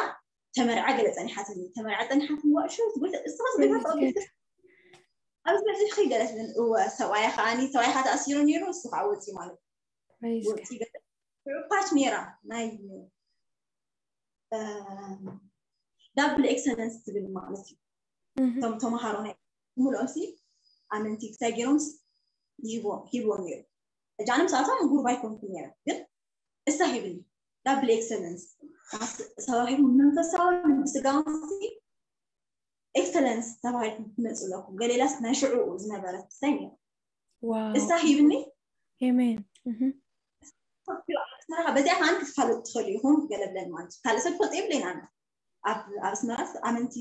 ተመርዓ ገለ ፀኒሓትኒ፣ ተመርዓ ፀኒሓትኒ። ዋእሾ ትጎተ እስኻስ ገታ ኣብዚ በፂ ኸይገለት ምን እወ ሰብኣያ ከዓኒ ሰብኣያ ተኣሲሩ ነይሩ፣ እሱ ከዓ ወፂ ማለት እዩ። ወፂ ገለ ፓች ነይራ ናይ ዳብል ኤክሰለንስ ትብል ማለት እዩ። እቶም ተምሃሮ ናይ ሙሉኦም ሲ ኣመንቲ ክሳይ ገይሮም ሂቦም ነይሩ። ሕጂ ኣነ ምስኣቶም ጉሩብ ኣይኮንኩ ነይረ፣ ግን እሳ ሂብኒ ዳብል ኤክሰለንስ ሰባኺ መንፈሳዊ ብስጋውን ኤክሰለንስ ተባሂልኩም ትመፁ ኣለኩም። ገሌላስ ናይ ሽዑ ዝነበረት ክሳይ ነይሩ። እሳ ሂብኒ ሜን በዚኣ ከዓን ክትፋለጡ ትኽእሉ ኢኹም። ገለ ብለን ማለት እዩ። ካልእ ሰብ ክፈልጦ የብለይን። ኣነ ኣብ ኣስመራስ ኣመንቲ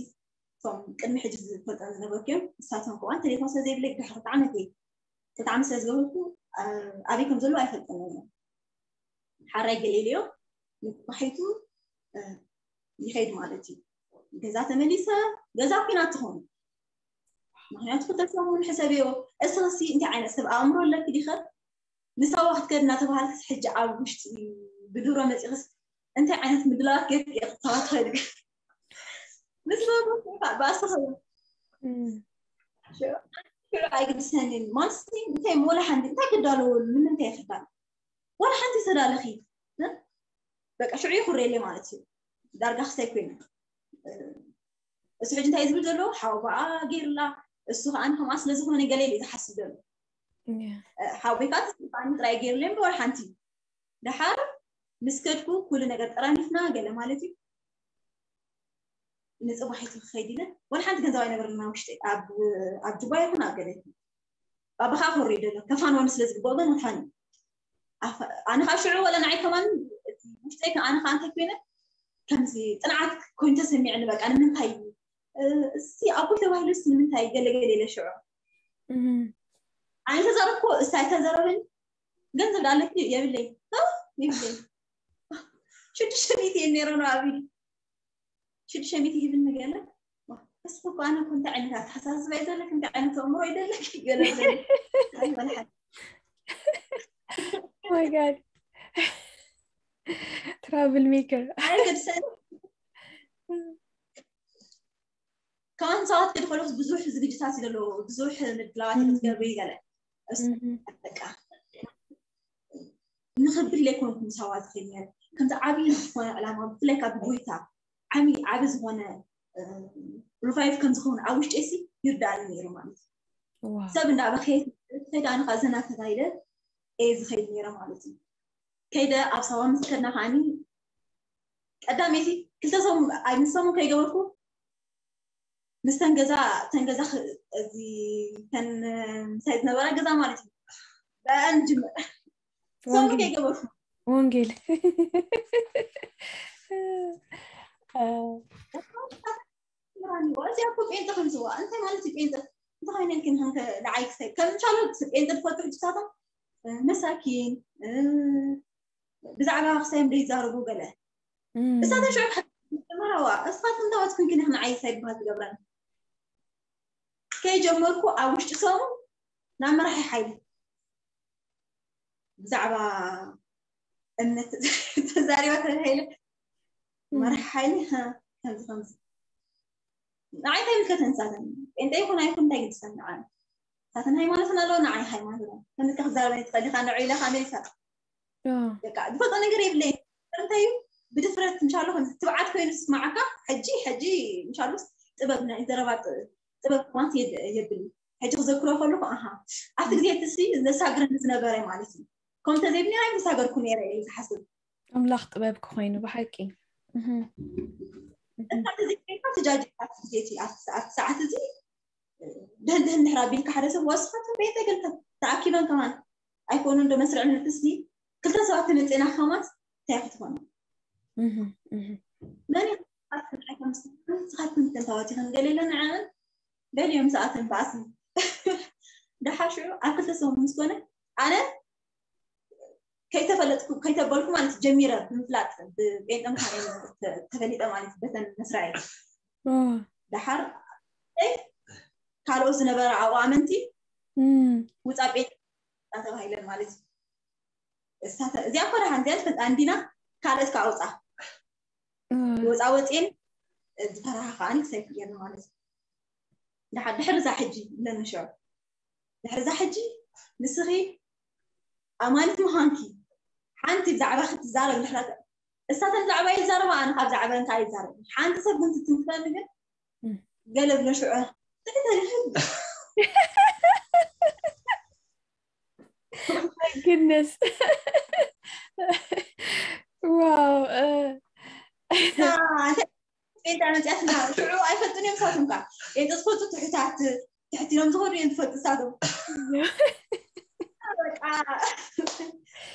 እቶም ቅድሚ ሕጂ ዝፈልጦም ዝነበርኩ እዮም። ንሳቶም ከዋን ቴሌፎን ስለ ዘይብለይ ድሕሪ ክልተ ዓመት እየ ክልተ ዓመት ስለ ዝገበርኩ ኣበይ ከም ዘለዉ ኣይፈልጦም እዮም። ሓራይ ገሌልዮ ንባሒቱ ይኸይድ ማለት እዩ። ገዛ ተመሊሰ ገዛ ኩናት ትኾኑ። ምክንያቱ ክልተ ሰሙን ሕሰብዮ። እስኽሲ እንታይ ዓይነት ሰብ ኣእምሮ ኣለኪ ዲኸ? ንሳዋ ክትከድ እናተባሃልክስ ሕጂ ኣብ ውሽጢ ብድሮ መፂኽስ እንታይ ዓይነት ምድላዋት ገይርኪ ኢኺ ክትተባተኺ? ምስ በሉ ብኣስኻ ኣይግድሰንን ማንስ እንታይ ወላ ሓንቲ እንታይ ክዳለወሉ ንምንታይ ክዳል ወላ ሓንቲ ተዳለኺ በቃ ሽዑ ይኹረየለይ ማለት እዩ። ዳርጋ ክሳይ ኮይነ እሱ ሕጂ እንታይ ዝብል ዘሎ ሓው በኣ ገይርላ እሱ ከዓ ከምኣ ስለ ዝኾነ ገለ ኢሉ ዝሓስብ ዘሎ ሓው ቤካት ጥራይ ገይርለይ እምበር ሓንቲ ደሓር ምስ ከድኩ ኩሉ ነገር ጠራኒፍና ገለ ማለት እዩ። ንፅባሒቱ ክኸይድ ኢለ ወላ ሓንቲ ገንዘብ ኣይነበረና ውሽጢ ኣብ ጁባ ይኹን ኣብ ገለ ባባኻ ኮሪ ደሎ ከፋን ወን ስለ ዝግብኦ ግን ከፋን ኣነ ካብ ሽዑ ወላ ንዓይ ከማን ውሽጠይ ኣነ ከዓ እንታይ ኮይነ ከምዚ ፅንዓት ኮይኑ ተሰሚዕኒ። በቃ ንምንታይ እዩ እሲ ኣኩል ተባሂሉ ስ ንምንታይ ገለገለ ኢለ ሽዑ ኣነ ተዘረብኮ እሳ ኣይተዘረበኒ ገንዘብ ዳለክ የብለይ የብለይ ሽዱሽተ ሚእቲ እየ ነይረ ነው ኣብ ኢዱ ሽዱሽተ ሚእቲ ሂብኒ ገለ እስኪ እኮ ኣነ እኮ እንታይ ዓይነት ኣተሓሳስባ እዩ ዘለክ እንታይ ዓይነት ኣእምሮ እዩ ዘለክ ገለ my god trouble maker ኣይገድሰኒ ከማን ሰባት ክድኸሉ ብዙሕ ዝግጅታት እዩ ዘለዎ ብዙሕ ምድላዋት ክትገብሪ ገለ በቃ ንኽብል ዘይኮንኩ ምሳዋ ዝኽእል ነረ ከምዚ ዓብዪ ዝኾነ ዕላማ ብፍላይ ካብ ጎይታ ዓብዪ ዓቢ ዝኾነ ሪቫይቭ ከም ዝኸውን ኣብ ውሽጢ ሲ ይርዳእኒ ነይሩ ማለት እዩ ሰብ እንዳበኸየት ከይደ ኣነ ከዓ ዘና ተባሂለ እየ ዝኸይድ ነይረ ማለት እዩ ከይደ ኣብ ሳዋ ምስ ከድና ከዓኒ ቀዳመይቲ ክልተ ሰሙን ኣይምሰሙን ከይገበርኩ ምስተን ገዛ ተን ገዛ እዚ ተን ምሳይ ዝነበራ ገዛ ማለት እዩ በአን ጅምር ሰሙን ከይገበርኩ ወንጌል እዚኣ እኮ ጴንጠ ከምዝዋ እንታይ ማለት እዩ ጴንጠ እንታይ ኮይነ ኢልክን ንዓይ ክሳይ ከም ቻሎት ጴንጠ ዝፈልጡ ሕጅሳቶም መሳኪን ብዛዕባ ክሳዮም ዘይዛረቡ ገለ እሳተ ሽዑ መራዋ እስኻትኩም ተወትኩን ግን ንዓይ ሳይ በሃል ትገብረን ከይጀመርኩ ኣብ ውሽጢ ሰሙ ናብ መራሒ ሓይሊ ብዛዕባ እምነት ተዛሪባ ተባሂለ መራሒ ሓይሊ ከምዚ ከምዚ ንዓይ እንታይ ምልከተን ንሳተን? ጴንጤ ይኹን ኣይኹን እንታይ ግድሰን ንዓይ? ንሳተን ሃይማኖተን ኣለዎ፣ ንዓይ ሃይማኖት ኣለዎ። ከምዚ ክዛረበኒ ትኽእል ኢኻ፣ ንዑ ኢለ ካሜራ ይሳት። ኦ፣ በቃ ዝፈልጦ ነገር የብለይ። እንታይ እዩ? ብድፍረት ምሻሎ ከም ትብዓት ኮይኑ ዝስማዓካ። ሕጂ ሕጂ ምሻሎ ጥበብ ናይ ዘረባ ጥ- ጥበብ ማለት የድ- የብል። ሕጂ ክዘክሮ ከለኩ ኣሃ፣ ኣብቲ ግዜ እቲ ሲ ዘሳግረኒ ዝነበረ ማለት እዩ። ከምኡ ተዘይብኒ ኣይምሳገርኩ ነይረ ኢሉ ዝሓስብ። ኣምላኽ ጥበብ ክኾይኑ ብሓቂ። እህ። እንታ ተዘይብካ ትጃጅ ኣብቲ ግዜ እቲ ኣብቲ ሰዓት ሰዓት እዚ ድህን ድህን ድሕር ኣቢልካ ሓደ ሰብ ወስኻት ቤተ ገልተ ተኣኪበን ከማን ኣይኮኑ እንዶ መስርዕ ምልክስኒ ክልተ ሰባት ተመፅና ከማት እንታይ ክትኾኑ እህ፣ እህ። መን ንስኻትኩም ተንታዋቲኽን ገሌለ ንዐን በልዮም ሰኣተን በኣስን ደሓር ሽዑ ኣብ ክልተ ሰሙን ምስ ኮነ ኣነ ከይተፈለጥኩ ከይተበልኩ ማለት ጀሚረ ብምፍላጥ ብጴንጠ ምዃነ ተፈሊጠ ማለት በተን መስራይ ኦ፣ ደሓር ካልኦት ዝነበረ ኣብኡ ኣመንቲ እም፣ ውፃ ጴንጠ ተባሂለን ማለት እዩ። እሳተ- እዚኣ እኮ ደሓን እዚኣ ትፈልጣ እንዲና ካልኦት ከዓ ውፃ እ፣ ወፃ ወፅኤን ዝፈራሃ ከዓኒ ክሳይ ክየን ማለት እዩ። ደሓ- ድሕሪ እዛ ሕጂ ኢለኒ ሽዑ ድሕሪ እዛ ሕጂ ንስኺ ኣማኒት ምዃንኪ ሓንቲ ብዛዕባ ክትዛረብ ድሕራት እሳተን ብዛዕባ ይዛረባ ኣነ ካብ ዛዕበን ከዓ ይዛረብ ሓንቲ ሰብ ግን ትትንክፈኒ ግን እም። ገለ ብሎ ሽዑ ትሕተ ድሕሪ My goodness. Wow. እ፣ ጴንጣ መፅያትና ሽዑ ኣይፈልጡን እዮም ሳቶም ከዓ ጴንጠ ዝፈልጡ ትሕታት ትሕት ኢሎም ዝኸዱ እዮም ዝፈልጡ ሳቶም በቃ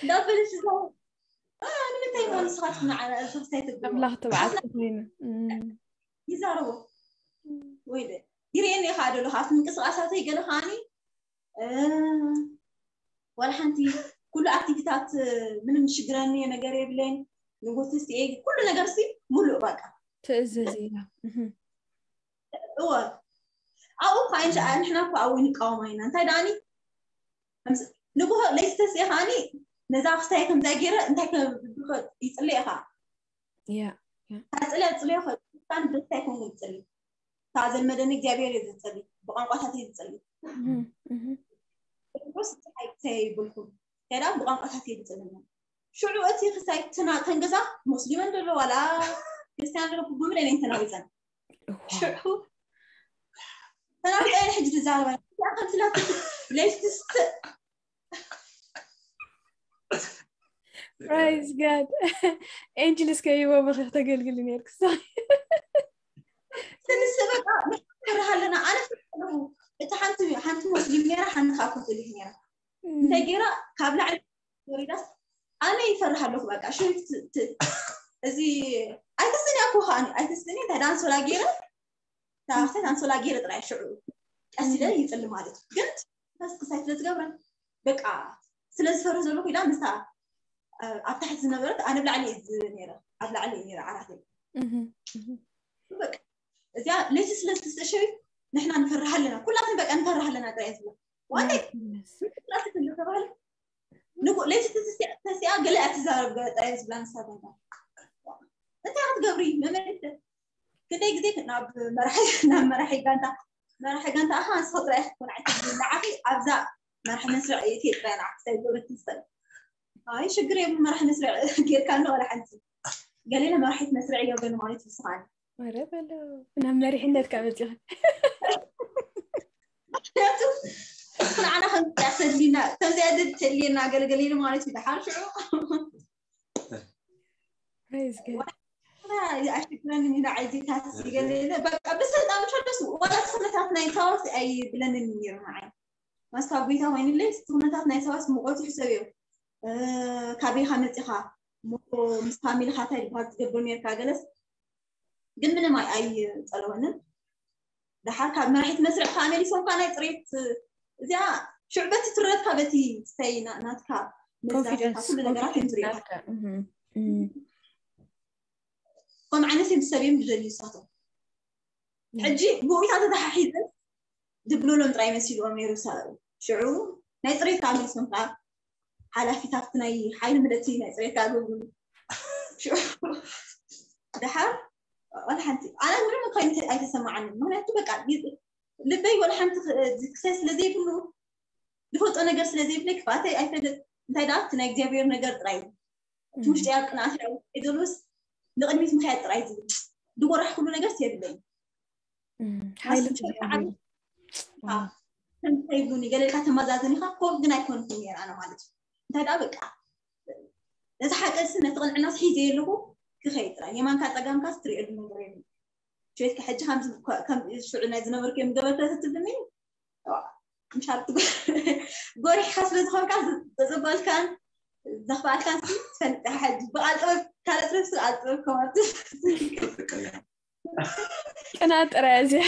እንዳበለሽ እዛ ንምንታይ ሞ ንስኻትኩም ንዓና እርፍርሳይ ትብልዎ ኣምላኽ ትብዓት ኮይኑ እም፣ ይዛረቡ ወይ ደ ይርእየኒ ኢኻ ደሎ ካብቲ ምንቅስቃሳተይ ገለ ከዓኒ እ፣ ዋላ ሓንቲ ኩሉ ኣክቲቪታት ምንም ሽግረኒ ነገር የብለይን ንጉስ ሲ ኩሉ ነገር ሲ ሙሉእ በቃ ትእዝዝ እያ እህ፣ እወ ኣብኡ እኳ እንሻ ንሕና እኳ ኣብኡ ንቃወማ ኢና እንታይ ደኣኒ ንጉሆ ለይቲ ተስኤ ከዓኒ ነዛ ክስታይ ከምዛ ገይረ እንታይ ይፅለ ኢኻ እያ ታፅለ ፅለ ይኽእል ደስታ ይኮን ዝፅል ካብ ዘልመደኒ እግዚኣብሔር እዩ ዝፅል ብቋንቋታት እዩ ዝፅል እህ፣ እህ፣ ስ ይብልኩም ከዳ ብቋንቋታት እዩ ዝፅል ሽዑ እቲ ክሳይ ተናተን ገዛ ሙስሊመን ደሎ ዋላ ክርስቲያን ደሎ ብሙለ ነን ተናዊፀን ሽዑ ተናዊፀ ሕጂ ዝዛረባ ከምስላ ለይቲ Praise God. Angels ከይቦ ብኺ ክተገልግሊ ነርክ ስንስ በቃ ንፈርሃ ኣለና ኣነ ኣለኹ እቲ ሓንቲ ሓንቲ ሙስሊም ነራ ሓንቲ ካብ ኮቶሊክ ነራ እንታይ ገይራ ካብ ላዕሊ ወሪዳስ ኣነ ይፈርሃ ኣለኹ በቃ ሽው እዚ ኣይተስኒ ኣኮ ከዓኒ ኣይተስኒ እንታይ ዳንሶላ ገይረ ታክተ ኣንሶላ ገይረ ጥራይ ሽዑ ቀስ ኢለ ይፅሊ ማለት እዩ ግን ፈስ ክሳይ ስለ ዝገብረን በቃ ስለ ዝፈርህ ዘለኩ ኢላ ምስታ ኣብ ታሕቲ ዝነበረት ኣነ ብላዕሊ እዩ ነረ ኣብ ላዕሊ እዩ ነረ ዓራት በቃ እዚኣ ለይቲ ስለ ዝተሸዩ ንሕና ንፈርሃ ኣለና ኩላትን በቃ ንፈርሃ ኣለና ጥራይ ዝብላ ዋንታይ ተባህለ ንጉ ለይቲ ተሲኣ ገለ እያ ትዛረብ ጥራይ ዝብላ ንሳ እንታይ ክትገብሪ መመልሰ ክንደይ ግዜ ናብ መራሒ ናብ መራሒ ጋንታ መራሒ ጋንታ ኣኻ ንስኻ ጥራይ ክትኮን ኣይትብልን ንዓኺ ኣብዛ መራሒ መስርዕ እየ ጥራይ ንዓኺ ሳይ ገብረት ትስል ኣይ ሽግር የብሉ መራሒ መስርዕ ጌርካ ኣሎ ወላ ሓንቲ ገሌለ መራሒት መስርዕ ይገብረኒ ማለት እዩ ስኻኒ ኧረ በለው ናብ መሪሕነት ካብ መፂኻ ምክንያቱ ንዓና ከምዚኣ ተድሊና ከምዚኣ ተድልየና ገለገለ ኢሉ ማለት እዩ ደሓር ሽዑ Praise God. ኣሽግረኒ ኢና ዓይዚታት ገለ በቃ ብሰልጣን ሸደስ ዋላ ስነታት ናይ ታወስ ኣይብለንን ነይሩ ንዓይ ማስካ ጎይታ ኮይኑለይ ኩነታት ናይ ሰባት ሙቐት ይሕሰብ እዮም ካበይካ መፂኻ ምስ ፋሚልካ እንታይ ዝበሃል ትገብር ነርካ ገለስ ግን ምንም ኣይፀለወንን ደሓር ካብ መራሒት መስርዕ ከዓ መሊሶም ከዓ ናይ ፅሬት እዚኣ ሽዑ በቲ ትረትካ በቲ ስተይ ናትካ መዛካ ኩሉ ነገራት እዮም ዝሪእካ ከም ዓይነት እዮም ዝሰብዮም ዝደልዩ ንሳቶም ሕጂ ብኡታ ተተሓሒዘ ዝብሉሎም ጥራይ መሲልዎም ነይሩ ሽዑ ናይ ፅሬት ከዓ መሊሶም ከዓ ሓላፊታት ናይ ሓይሊ ምለቲ ናይ ፅሬት ከዓ ዝብሉ ሽዑ ደሓር ዋላ ሓንቲ ኣነ ምንም እኳ ኣይተ- ኣይተሰማዓንን። ምክንያቱ በቃ ይ- ልበይ ዋላ ሓንቲ ክ- ክሳይ ስለ ዘይብሉ ዝፈልጦ ነገር ስለ ዘይብለይ ክፍኣተይ ኣይፈልጥ። እንታይ ደኣ እቲ ናይ እግዚኣብሔር ነገር ጥራይ እዩ። እቲ ውሽጢ ኣብ ቅንኣት ይደሉስ ንቕድሚት ምክያድ ጥራይ ዝብል ዝጎራሕ ኩሉ ነገር የብለይ። ሓይሊ ከምተይብሉኒ ገለልካ ተመዛዘን ኢኻ ኮፍ ግን ኣይኮንኩን ነይረ ኣነ ማለት እዩ። እንታይ ደኣ በቃ ነዚ ሓቀሲ ነቲ ቅንዕናስ ሒዘ ኣለኹ ክኸይድ ጥራይ የማንካ ጸጋምካ ትሪእሉ ነገር የብሉ። ሸትካ ሕጂ ከም ሽዑ ናይ ዝነበርኩ እዮም ገበርተ ትብልኒ ምሻል ጎሪሕካ ስለ ዝኾንካ ዘጸበልካን ዘኽፍኣልካን ትፈልጥ ሕጂ ብቃል ጥበብ ካልእ ትረፍስ ቃል ጥበብ ከማት ቅና ጥራይ እዚያ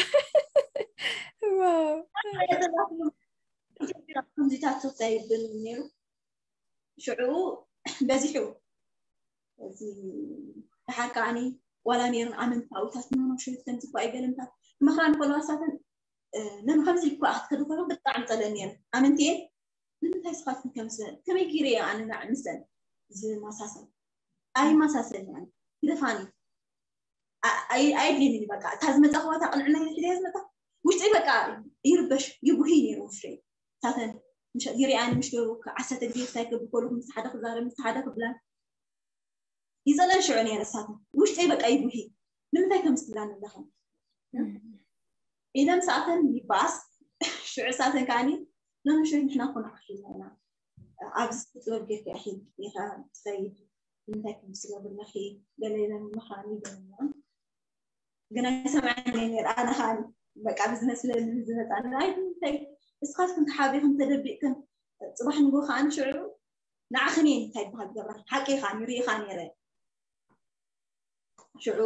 ከምዚታት ሶፍታ ይብል ነይሩ ሽዑ በዚሑ እዚ ደሓር ከዓኒ ዋላ ነይረን ኣመንታዊታት ንኖኖ ሸዊት ከምዚ እኳ ኣይገለምታት ምኽራን ኮለዋሳትን ነን ከምዚ እኳ ክትከዱ ከሎ ብጣዕሚ ጠለን ነይረ ኣመንትየ ንምንታይ ስኻትኩም ከምስለን ከመይ ገይረ እየ ኣነ ናዕ ምሰን ዝመሳሰል ኣይመሳሰል ግደፋኒ ኣይድልኒ በቃ እታ ዝመፃ ከዋታ ቅንዕና ይሕደ ዝመፃ ውሽጠይ በቃ ይርበሽ ይጉሂ ነይሩ ውሽጠይ ሳተን ይሪኣኒ ምሽ ገቡ ዓሰርተ ግዜ ክሳይ ክብል ከለኩ ምስ ሓደ ክዛረብ ምስ ሓደ ክብላን ይፀለን ሽዑ ነይረ ሳተን ውሽጠይ በቃ ይጉሂ ንምንታይ ከም ስትብላኒ ኣለኸ ኢለ ምስ ኣተን ይባስ ሽዑ ሳተን ከዓኒ ነምሽት ንሕና ኮነ ዓኺልና ኢና ኣብዚ ጥበብ ጌርካ ኢኺ ኢኻ ትኸይድ እንታይ ከም ትገብር ኣለኺ ገለ ኢለን ምዃኑ ይገርምና ግን ኣይሰምዐን እየ ነይረ ኣነ ከዓ በቃ ብዝመስለኒ ዝመፃኒ ኣይ እንታይ እስኻትክን ተሓቢኽን ተደቢቕክን ፅባሕ ንጎ ከዓ ንሽዑ ንዓኽን እየ እንታይ ይበሃል ዝገብራ ሓቂ ከዓ ንሪኢኻ ነይረ ሽዑ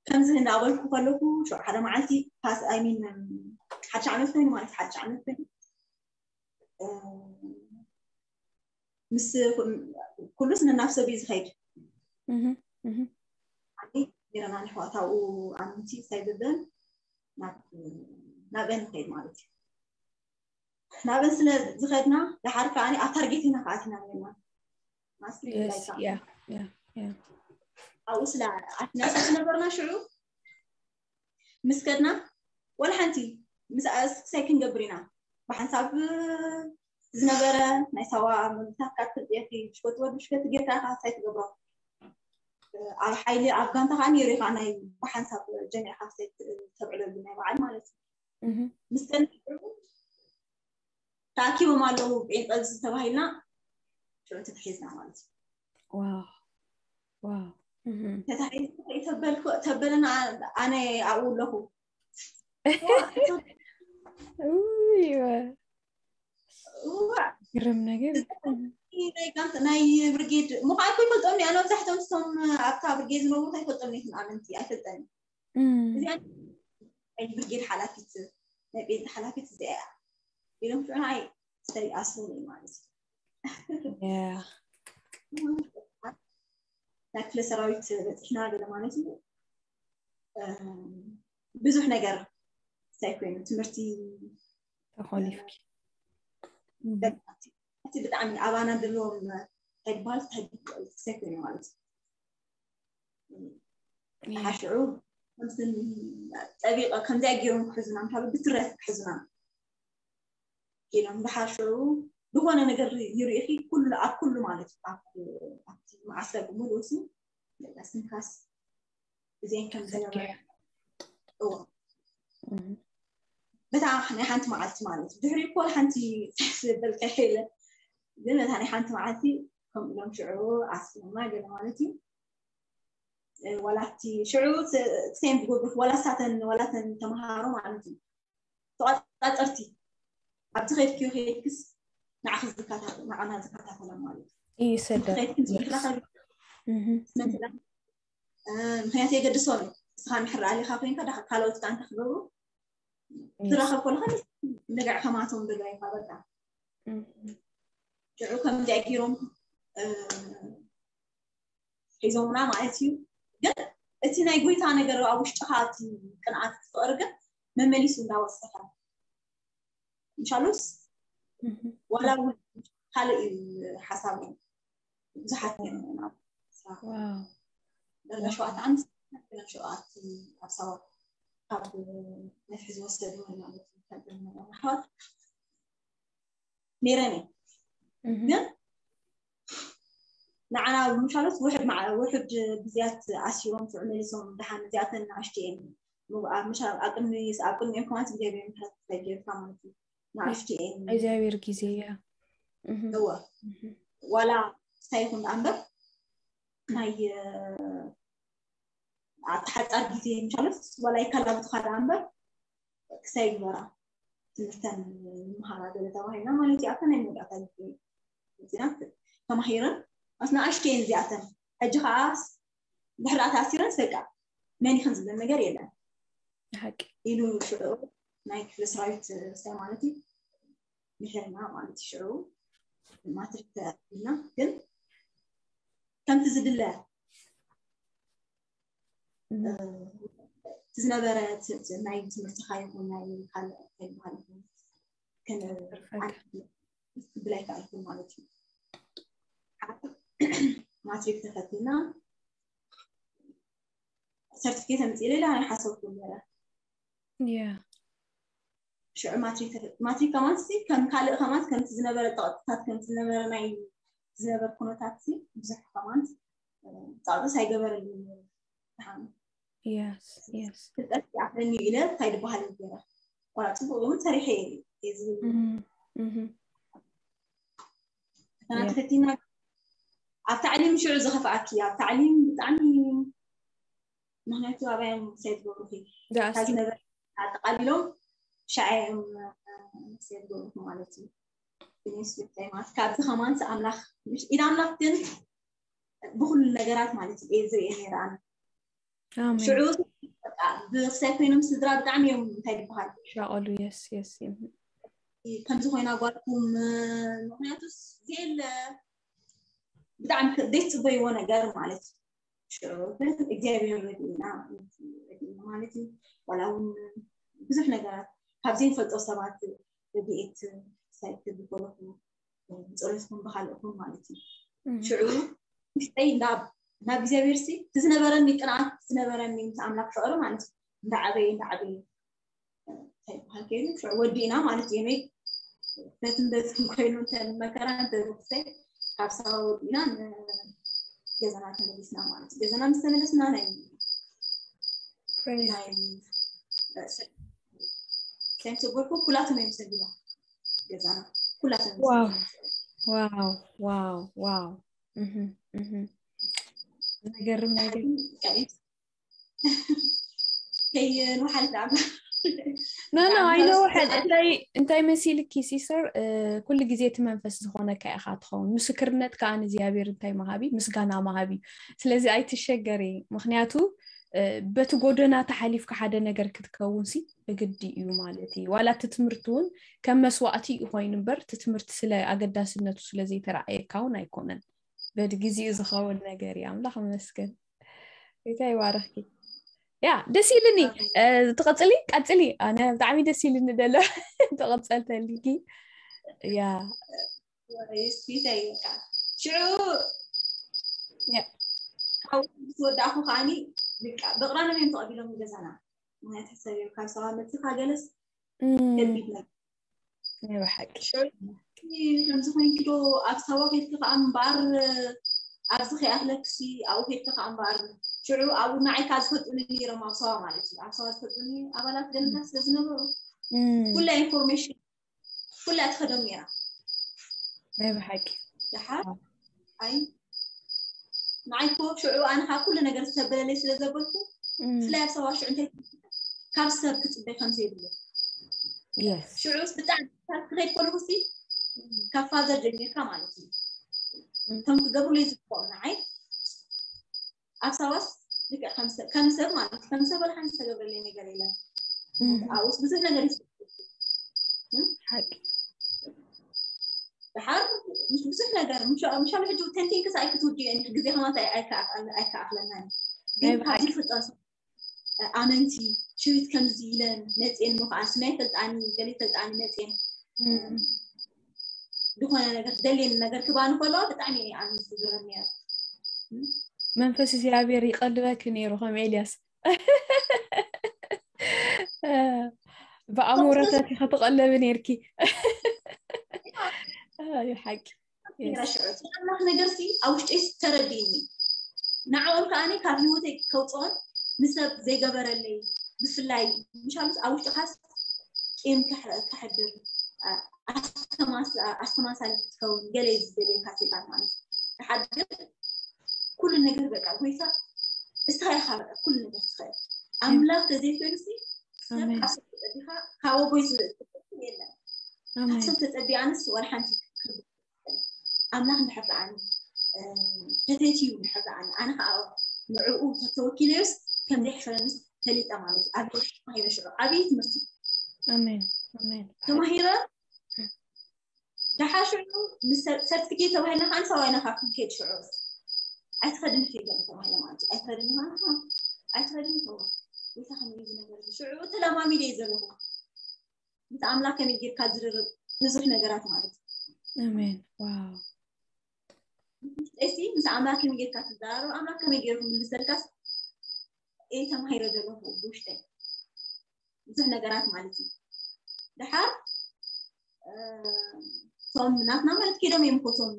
ከምዚ እንዳበልኩ ከለኩ ሽዑ ሓደ መዓልቲ ፓስ ኣይሚን ሓድሽ ዓመት ኮይኑ ማለት ሓድሽ ዓመት ኮይኑ ምስ ኩሉስ ነናብ ሰብ እዩ ዝኸይድ ጌረና ንሕዋታኡ ኣምንቲ ሳይብብን ናብአን ንኸይድ ማለት እዩ ናብአን ስለ ዝኸድና ድሓር ከዓ ኣብ ታርጌት ኢና ከኣትና ነና ማስትሪ Yes, ላይካ yeah, yeah, yeah. ኣብኡ ስለ ኣትና ስለ ዝነበርና ሽዑ ምስ ከድና ወላ ሓንቲ ምስ ኣስክሳይ ክንገብር ኢና ብሓንሳብ ዝነበረ ናይ ሳዋ መግብታት ካብ ትልጥየቲ ሽኮት ወዲ ሽኮት ጌርካ ኢኻ ሳይ ትገብሮ ኣብ ሓይሊ ኣብ ጋንታ ከዓ ነይሩ ኢኻ ናይ ብሓንሳብ ጀሚዕካ ሳይ ተብዕለሉ ናይ በዓል ማለት እዩ Mhm. ምስ ከድና ተኣኪቦም ኣለዉ ጴንጠ ዝተባሂልና ሽዑ ተታሒዝና ማለት እዩ Wow. Wow. Mhm. ተታሒዝና ተበልና ኣነ ኣብኡ ኣለኹ Ooh, you were እዋ ግርም ነገር። ናይ ጋንት ናይ ብርጌድ ምዃን እኮ ይፈልጦም እያ መብዛሕትኦም ስቶም ኣብታ ብርጌድ ዝነብሩ ኣይፈልጦም ኔትን ኣመንቲ ኣይፈልጠን እም፣ እዚኣ ናይ ብርጌድ ሓላፊት ናይ ቤት ሓላፊት እዚኣ እያ ኢሎም ሽዑ ንዓይ ሰይ ኣስሩኒ ማለት እዩ yeah. ናይ ክፍለ ሰራዊት በፂሕና ገለ ማለት እዩ እም፣ ብዙሕ ነገር ሳይ ኮይኑ ትምህርቲ ተኾሊፍኪ። እም፣ ደቂ እቲ ብጣዕሚ ኣባና ዘለዎም እንታይ ይበሃል ሳይ ኮይኑ ማለት እዩ yeah. ሓሽዑ ከምዚ ጠቢቐ ከምዚኣ ገይሮም ክሕዙና ምሓሉ ብትረት ክሕዙና ኢሎም ብሓሽዑ ዝኾነ ነገር ይርእኺ ኩሉ ኣብ ኩሉ ማለት እዩ ኣብ ኣብቲ መዓስከር ብምሉኡ ሲ ስንካስ እዚአን ከም ዝነበረ ዘኪረ። እዎ እም፣ በታ ናይ ሓንቲ መዓልቲ ማለት እዩ ድሕሪ እኮ ሓንቲ ዝበልካ የለ ግን በታ ናይ ሓንቲ መዓልቲ ከምኡ ኢሎም ሽዑ ኣስሎማ ገለ ማለት እዩ እ፣ ዋላ እቲ ሽዑ ሴም ዝገብሩ ዋላ ሳተን ዋላተን ተምሃሮ ማለት እዩ ተቋፃፀርቲ ኣብቲ ከድክዮ ከድክስ ንዓኺ ዝከታተል ንዓና ዝከታተላ ማለት እዩ ይሰደድ። ከድኪ ምስ ምትራኸቢ እም፣ መሰላ ምክንያቱ የገድሶም እዩ እስኻ ምሕር ኣሊኻ ኮይንካ ዳኻ ካልኦት ጋንታ ክገብሩ yes. ትራኸብ ከለኻ ልግዕ ከማቶም ደሎ ኢኻ በቃ እም፣ ሽዑ ከምዚኣ ገይሮም እ፣ ሒዞምና ማለት እዩ ግን እቲ ናይ ጎይታ ነገር ኣብ ውሽጥኻ እቲ ቅንዓት ፍቅሪ ግን መመሊሱ እንዳወሰኸ ምሻሉስ እም፣ ዋላ እውን ካልእ እዩ ሓሳብ ብዙሓት ነይሮም ኢና wow. ደረጃ ሸውዓተ ዓመት ሸውዓተ ኣብ ሳዋ ካብ ነፍሒ ዝወሰዱ ማለት እዩ። ኣሕዋት ነይረን እየ። ግን ንዓና ምሻሎት ውሕድ ውሕድ ግዜያት ኣሲሮም ሽዑ መሊሶም ደሓን እዚኣተን ንኣሽቱ እየን። ኣብ ቅድሚ ኣብ ቅድሚኦም ከማን እግዚኣብሔር ምሕረት ተገይርካ ማለት እዩ። ንኣሽቱ እየን። እግዚኣብሔር ግዜ እያ። እወ ዋላ እንታይ ይኹን ደኣ እምበር ናይ ኣብቲ ሓፃር ግዜ ምሻሎት ዋላ ይከላብትኻ ደኣ እምበር ክሳይ ግበራ ትምህርተን ይመሃራ ገለ ተባሂልና ማለት እዩ። ኣብታ ናይ መወዳእታ ግዜ እዚና ተማሂረን ኣስ ንኣሽቱ እየን እዚኣተን። ሕጂ ከዓ ድሕሪ ተኣሲረን በቃ መን ይኽን ዝብል ነገር የለን ሓቂ ኢሉ ሽዑ ናይ ክፍለ ሰራዊት ርሳይ ማለት እዩ ምሕርና ማለት እዩ። ሽዑ ማትሪክ ተኢልና ግን ከምቲ ዝድለ ዝነበረ ናይ ትምህርትኻ ይኹን ናይ ካልእ ይበሃል ይኹን ክብል ኣይከኣልኩን ማለት እዩ። ማትሪክ ተፈቲና ሰርቲፊኬት ኣምፂእ ሌላ ናይ ሓሰብኩ ነበረ ሽዑ ማትሪክ ከማን ከም ካልእ ከማን ከምቲ ዝነበረ ፀቕጥታት ከምቲ ዝነበረ ናይ ዝነበረ ኩነታት ብዙሕ ከማን ፃቕጥስ ኣይገበረልኝ። Yes, yes. ፍልጠት ይኣኽለኒ ኢለ እንታይ ዝበሃል ገይረ ቆላ ፅቡቅ እውን ሰሪሐ እየ ዝብል ፈተና ተፈቲና ኣብ ታዕሊም ሽዑ ዝኸፍኣኪ ኣብ ታዕሊም ብጣዕሚ ምክንያቱ ኣባዮም ሳይ ትገብሩኺ ዝነበረ ኣጠቃሊሎም ሻዓዮም ሳይ ትገብሩኺ ማለት እዩ። ብኔስ ብታይ ማለት ካብዚ ከማንስ ኣምላኽ ኢድ ኣምላኽ ግን ብኩሉ ነገራት ማለት እዩ ዝርእየ ነይረ ኣነ ሽዑ ብክሳይ ኮይኖም ስድራ ብጣዕሚ እዮም እንታይ ዝበሃል ሻቀሉ የስ የስ ከምዚ ኮይና ጓልኩም ምክንያቱስ ዜለ ብጣዕሚ ዘይትፅበይዎ ነገር ማለት እዩ። ሽዑ ግን እግዚኣብሔር ረድኡና ማለት እዩ። ዋላ እውን ብዙሕ ነገራት ካብ ዘይንፈልጦ ሰባት ረድኤት ሳይክል ዝኮለኩ ብፀሎትኩም ብካልእኩም ማለት እዩ። ሽዑ ውሽጠይ ናብ እግዚኣብሔር ሲ እቲ ዝነበረኒ ቅንኣት ዝነበረኒ ምስ ኣምላክ ፍቅሪ ማለት እዩ እንዳዓበየ እንዳዓበየ እንታይ ይበሃል ከይኑ ሽዑ ወዲእና ማለት እዩ። ነይ በትን በትን ኮይኑ እንተ መከራ እንተ ዝክሰይ ካብ ሳዋ ወዲእና ገዛና ተመሊስና ማለት እዩ። ገዛና ምስ ተመለስና ናይ ናይ ሰንት ጎርኩ ኩላቶም እዮም ሰቢና ገዛና ኩላቶም እዮም ዋው ሰቢና። ዋው ዋው ዋው እህ እህ ዘገርም ነገር ከይንውሓል ዳዕባ ኖ ኖ ኣይነውሐል እንታይ እንታይ መሲልኪ ሲስተር ኩሉ ግዜ እቲ መንፈስ ዝኾነካ ኢኻ ትኸውን ምስክርነት ከዓ ንእግዚኣብሔር እንታይ መሃቢ ምስጋና መሃቢ ስለዚ ኣይትሸገሪ ምክንያቱ በቲ ጎደና ተሓሊፍካ ሓደ ነገር ክትከውን ሲ ብግዲ እዩ ማለት እዩ ዋላ እቲ ትምህርቲ እውን ከም መስዋእቲ እዩ ኮይኑ እምበር እቲ ትምህርቲ ስለ ኣገዳስነቱ ስለ ዘይተረኣየካ እውን ኣይኮነን በቲ ግዜኡ ዝኸውን ነገር እዩ ኣምላኽ ይመስገን ጌታ ይባረኽኪ ያ ደስ ኢልኒ ትቐፅሊ ቀፅሊ ኣነ ብጣዕሚ ደስ ኢልኒ ደሎ ተቐፀልተልጊ ያ ስፒተይ በቃ ሽዑ ካብኡ ምስ ወዳእኩ ከዓኒ በቃ ብቕራኖም እዮም ተቐቢሎም ገዛና ምክንያት ሕሰብ እዮም ካብ ሰባ መፅኻ ገለስ ከቢድ ነገር ናይ ብሓቂ ከምዚ ኮይንኪ ዶ ኣብ ሳዋ ከድኪ ከዓ እምበኣር ኣብዚ ከይኣክለክሲ ኣብኡ ከድኪ ከዓ እምበኣር ሽዑ ኣብኡ ንዓይ ከዓ ዝፈልጡኒ ነይሮም ኣብ ሳዋ ማለት እዩ ኣብ ሳዋ ዝፈልጡኒ ኣባላት ገለታት ስለ ዝነበሩ ኩላ ኢንፎርሜሽን ኩላ ትኸዶም ነይራ ናይ ብሓቂ ደሓር ኣይ ንዓይ ኮ ሽዑ ኣነ ካብ ኩሉ ነገር ዝተበለለይ ስለ ዘበልኩ ብፍላይ ኣብ ሳዋ ሽዑ እንታይ ካብ ሰብ ክፅበይ ከም ዘይብሉ የስ ሽዑ ብጣዕሚ ካብ ክኸይድ ከለኩ ሲ ካብ ፋዘር ጀሚርካ ማለት እዩ እቶም ክገብሩለይ ዝግብኦም ንዓይ ኣብ ሳዋስ ልክዕ ከም ሰብ ከም ሰብ ማለት ከም ሰብ ወላ ሓንቲ ዝተገብረለይ ነገር የለን ኣብኡስ ብዙሕ ነገር ይስ ሓቂ ድሓር ምስ ብዙሕ ነገር ምሻሉ ሕጂ ተንቲንክስ ኣይክትውድዮ ግዜ ከማታ ኣይከኣኽለናን ግን ካብዚ ፍልጠት ኣመንቲ ሽዊት ከምዚ ኢለን መፅኤን ምኸዓ ስናይ ፈልጣኒ ገሊ ፈልጣኒ መፅኤን ዝኾነ ነገር ደልየን ነገር ክባኒ ከለዋ ብጣዕሚ ኣነ ዝዝረብ ነረ መንፈስ እግዚኣብሔር ይቐልበኪ ነይሩ ከም ኤልያስ። ብኣእምሮታት ኢኻ ትቐለቢ ነይርኪ። እዩ ሓቂ። ሽዑ ኣምላኽ ነገር ሲ ኣብ ውሽጢ ተረዲእኒ። ንዕኦም ከዓኒ ካብ ህይወተይ ከውፅኦም ንሰብ ዘይገበረለይ፣ ብፍላይ ምሻሉስ ኣብ ውሽጥኻስ ቂም ከሕድር፣ ኣስተማሳሊ ክትከውን ገለ ዝደልየካ ሰይጣን ማለት። ንሓድር ኩሉ ነገር በቃ ጎይታ እስኻ ኢኻ በቃ ኩሉ ነገር ትኽእል። ኣምላኽ ተዘይኮይኑ ሲ ሰብ ካብ ሰብ ተጸቢኻ ካብ ኣቦይ ዝብል የለን። ካብ ሰብ ተጸቢኣ ኣነስ ወላ ሓንቲ ኣምላኽ እንድሕር ደኣኒ ተተትዩ እንድሕር ደኣኒ ኣነ ከዓ ንዕኡ ተተወኪለዮስ ከም ዘይሕፈረንስ ፈሊጠ ማለት እዩ። ኣብ ተማሂረ ሽዑ ዓብዪ ትምህርቲ ኣሜን ኣሜን። ተማሂረ ደሓር ሽዑ ሰርቲፊኬት ተባሂልና ከዓ ንሰብኣይና ካብ ክንከይድ ሽዑ ኣይትኸድን ፌገን ተባሂለ ማለት እዩ። ኣይትኸድን ማለት ነው። ኣይትኸድን ተባሂለ። እንታይ ከመይ እዩ ዝነገር ሽዑ ተለማሚደ እዩ ዘለኹ። ምስ ኣምላኽ ከመይ ጌርካ ዝርርብ ብዙሕ ነገራት ማለት እዩ። ኣሜን ዋው። ውሽጠይሲ ምስ ኣምላኽ ከመይ ጌርካ ትዘራረብ ኣምላኽ ከመይ ገይሩ ክምልሰልካስ እየ ተማሂረ ዘለኹ ብውሽጠይ ብዙሕ ነገራት ማለት እዩ። ደሓር እቶም ናትና ማለት ከይዶም እዮም እኮ እቶም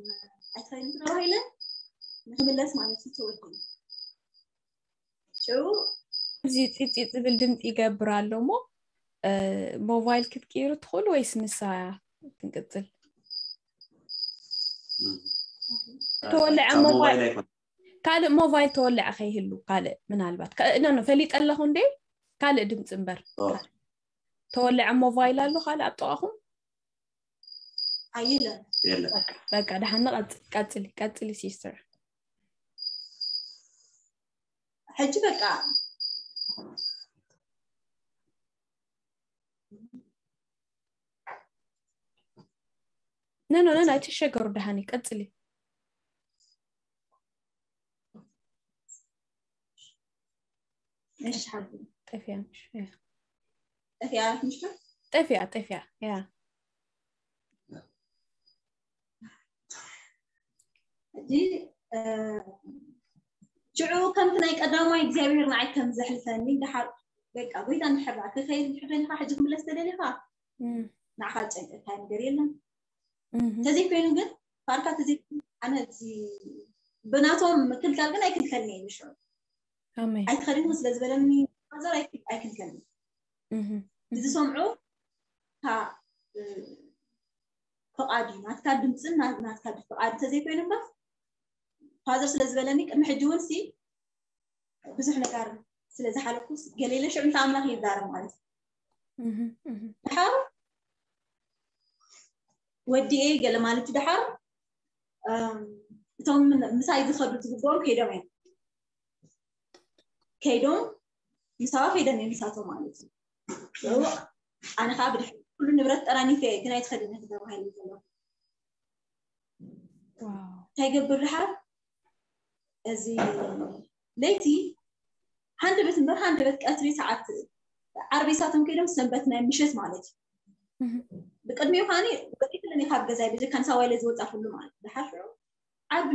ኣይትኸይልን ተባሂለ ንክምለስ ማለት እዩ ተወዲኡ ሽዑ እዚ ፂፂ ዝብል ድምፂ ይገብር ኣሎ እሞ ሞባይል ክትቅይሩ ትኽእሉ ወይስ ንሳ ክንቅፅል? ተወልዐ ሞባይል ካልእ ሞባይል ተወልዐ ከይህሉ ካልእ ምናልባት ኖ ፈሊጠ ኣለኹ እንዴ ካልእ ድምፂ እምበር ተወልዐ ሞባይል ኣሎ ካልእ ኣብ ጥቓኹም? ኣይለን የለን በቃ ደሓን ቀፅሊ ቀፅሊ ሲስተር። ሕጂ በቃ ነኖ ነን ኣይትሸገሩ ደሃኒ ቀፅሊ። እሺ ሓቢ ጠፊያ ምሽ ጠፊያ ምሽ ጠፊያ ጠፊያ ያ ሕጂ ሽዑ ከምቲ ናይ ቀዳማይ እግዚኣብሔር ንዓይ ከም ዘሕልፈኒ ደሓር በቃ ጎይታ እንድሕር ደኣ ክኸይድ እንድሕር ደሊኻ ሕጂ ክምለስ ተደሊኻ ንዓኻ ዝጨንቀካ ነገር የለን። ተዘይኮይኑ ግን ፋርካ ተዘይ ኣነ እዚ ብናቶም ምክልካል ግን ኣይክልከልኒ እዩ ሽዑ ኣሜን ኣይትኸድን ስለ ዝበለኒ ማዘር ኣይክልከልኒ ዝሰምዑ ፍቓድ እዩ ናትካ ድምፅን ናትካ ፍቓድ እንተዘይኮይኑ እምበር ፋዘር ስለ ዝበለኒ ቅድሚ ሕጂ እውን ሲ ብዙሕ ነገር ስለ ዝሓለፍኩ ገሌለ ሽዑ ምስ ኣምላኽ ይዛረብ ማለት እዩ ድሓር ወዲኤ ገለ ማለት እዩ ድሓር እቶም ምሳይ ዝኸዱ ዝግብኦም ከይዶም እዮም ከይዶም ምሳዋ ከይዶም እዮም ምሳቶም ማለት እዩ ኣነ ከዓ ብድሕሪ ኩሉ ንብረት ጠራኒፈ እየ ግን ኣይትኸድነ ተባሂለ ዘለኹ እንታይ ገብር ድሓር እዚ ለይቲ ሃንደበት እምበር ሃንደበት ቀትሪ ሰዓት ዓርቢ ሳቶም ከይዶም ሰንበት ናይ ምሸት ማለት እዩ ብቅድሚኡ ከዓኒ ወፂእ ክለኒ ካብ ገዛይ ብጀካ ንሳዋ ኢለ ዝወፃ ኩሉ ማለት እዩ ድሓር ሽዑ ዓርቢ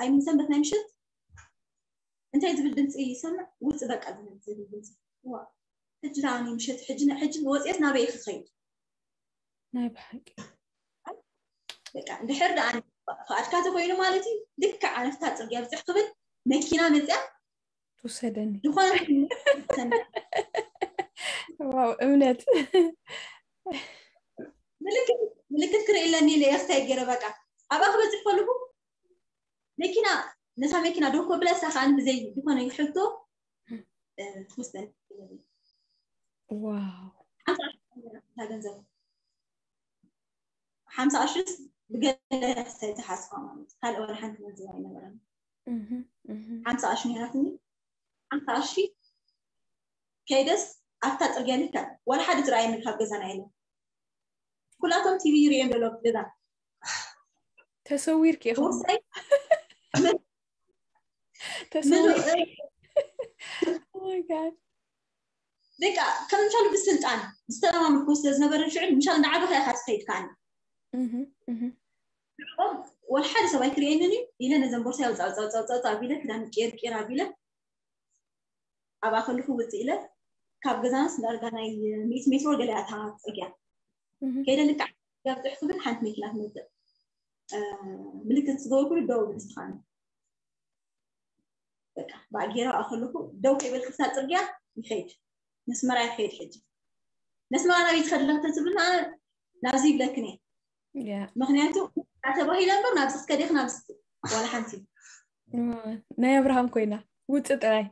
ኣይምን ሰንበት ናይ ምሸት እንታይ ዝብል ድምፂ ይሰምዕ ውፅ በቃ ዝብል ድምፂ ዋ ሕጂ ደኣኒ ምሸት ሕጂ ሕጂ ወፅኤስ ናበይ ክኸይድ ናይ ብሓቂ በቃ እንድሕር ደኣ ፍቓድካ ተኮይኑ ማለት እዩ ልክዕ ኣነፍታ ፅርግያ ብፅሕ ክብል መኪና መፅያ ትውሰደኒ ዝኾነ ዋው እምነት ምልክት ምልክት ክርኢ ኣለኒ ኢለ እየ ክታይ ገይረ በቃ ኣብኣ ክበፅሕ ከለኹ መኪና ነታ መኪና ደው ከብላ እሳ ከዓ ብዘይ ዝኾነ ሕቶ ትወስደኒ ዋው ሓምሳ ገንዘብ ሓምሳ ቅርሽስ ብገለ ዝተሓስባ ማለት ካልእ ዋላ ሓንቲ ገንዘብ ኣይነበረን ሓምሳ ቅርሺ ነይራትኒ ሓምሳ ቅርሺ ከይደስ ኣብታ ፅርግያ ልክዕ ዋላ ሓደ ዝረኣየኒ ካብ ገዛና የለን ኩላቶም ቲቪ ይርእዮም ዘሎ ገዛ ተሰዊርኪ ኢኹም ወሳይ ተሰዊርኪ በቃ ከም ምሻሉ ብስልጣን ዝተለማመድኩ ስለ ዝነበረ ሽዑ ምሻሉ ንዓበኻ ኢኻ ትኸይድ ከዓኒ ወላ ሓደ ሰብ ኣይክርእየንን እዩ ኢለ ነዘን ቦርሳ ኣውፃ ኣውፃ ኣውፃ ኣውፃ ኣቢለ ክዳን ቄር ቄር ኣቢለ ኣብኣ ከለኹ ውፅእ ኢለ ካብ ገዛናስ ዳርጋ ናይ ሚእቲ ሜትሮ ገለ እያ እታ ፅርግያ ከይደ ልክዕ ጋብፅሕ ክብል ሓንቲ መኪና ትመፅእ ምልክት ዝገበርኩሉ ደው ብል ንስኻን በቃ ብኣጌራ ከለኹ ደው ከይበልክሳ ፅርግያ ይኸይድ ነስመራ ይኸይድ ሕጂ ነስመራ ናበይ ትኸድላ ተትብልና ናብዚ ይብለክን እየ ምክንያቱ ተባሂለ እምበር ናብዚ ክትከዲ ኢኺ ናብዚ ዋላ ሓንቲ ናይ ኣብርሃም ኮይና ውፅእ ጥራይ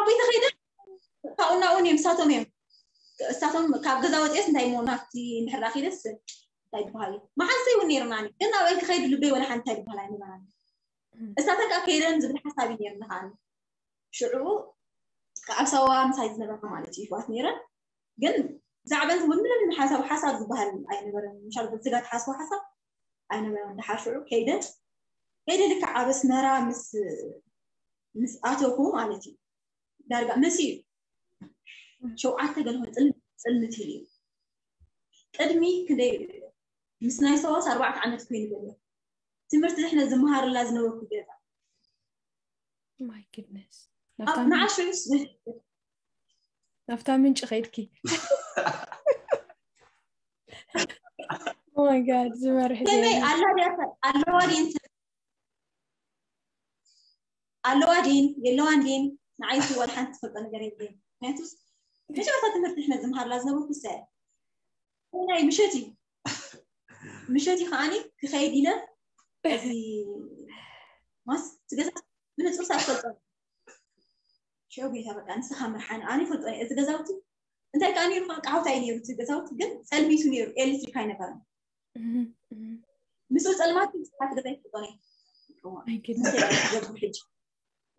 ቤተ ከይደ ካብኡ ናብኡ እዮም እሳቶም እዮም እሳቶም ካብ ገዛ ወፅኦስ እንታይ እሞ ናብቲ እንድሕር ዳኺደስ እንታይ ይበሃል እዩ መሓንሰ ይውን ነይርና ግን ናበይ ክኸይድ ልበይ ወላ ሓንቲ እንታይ ይበሃል ኣይነበራን እሳተን ከዓ ከይደን ዝብል ሓሳብ እዩ ነይርና ከዓ ሽዑ ኣብ ሳዋ ምሳይ ዝነበርና ማለት እዩ ይሕዋት ነይረን ግን ዛዕበን እውን ምንም ሓሳብ ሓሳብ ዝበሃል ኣይነበረን ምሻል ብዝጋ ትሓስቦ ሓሳብ ኣይነበረን ድሓር ሽዑ ከይደ ከይደ ልክዕ ኣብ ኣስመራ ምስ ምስ ኣተኩ ማለት እዩ ዳርጋ ምስ እዩ ሸውዓተ ገለ ጽልምት ኢሉ እዩ ቅድሚ ክንደይ ምስ ናይ ሰዋስ ኣርባዕተ ዓመት ኮይኑ ዘሎ ትምህርቲ ዝሕነ ዝመሃርላ ዝነበርኩ ገዛ my goodness ንዓሽዑ ናብታ ምንጭ ከይድኪ my god ዝመርሕ ከመይ ኣላ ኣለዋ ድዩ ኣለዋ ድን የለዋን ድን ንዓይቱ ዋላ ሓንቲ ትፈልጦ ነገር የለን ምክንያቱስ መጀመርታ ትምህርቲ ሕነ ዝምሃርላ ዝነበርኩ ሰ ናይ ምሸት እዩ ምሸት እዩ ከዓኒ ክኸይድ ኢለ እዚ ማስ ትገዛ ብንፁር ሳትፈልጦ ሽዑ ጌታ በቃ ንስኻ ምርሓን ኣነ ይፈልጦ እዚ ገዛውቲ እንታይ ከዓ ነይሩ ከዓ ቃውታ እዩ ነይሩ እቲ ገዛውቲ ግን ፀልሚቱ ነይሩ ኤሌክትሪክ ኣይነበረን ምስኡ ፀልማት ስሓት ገዛ ይፈልጦ ነይ ገብሩ ሕጂ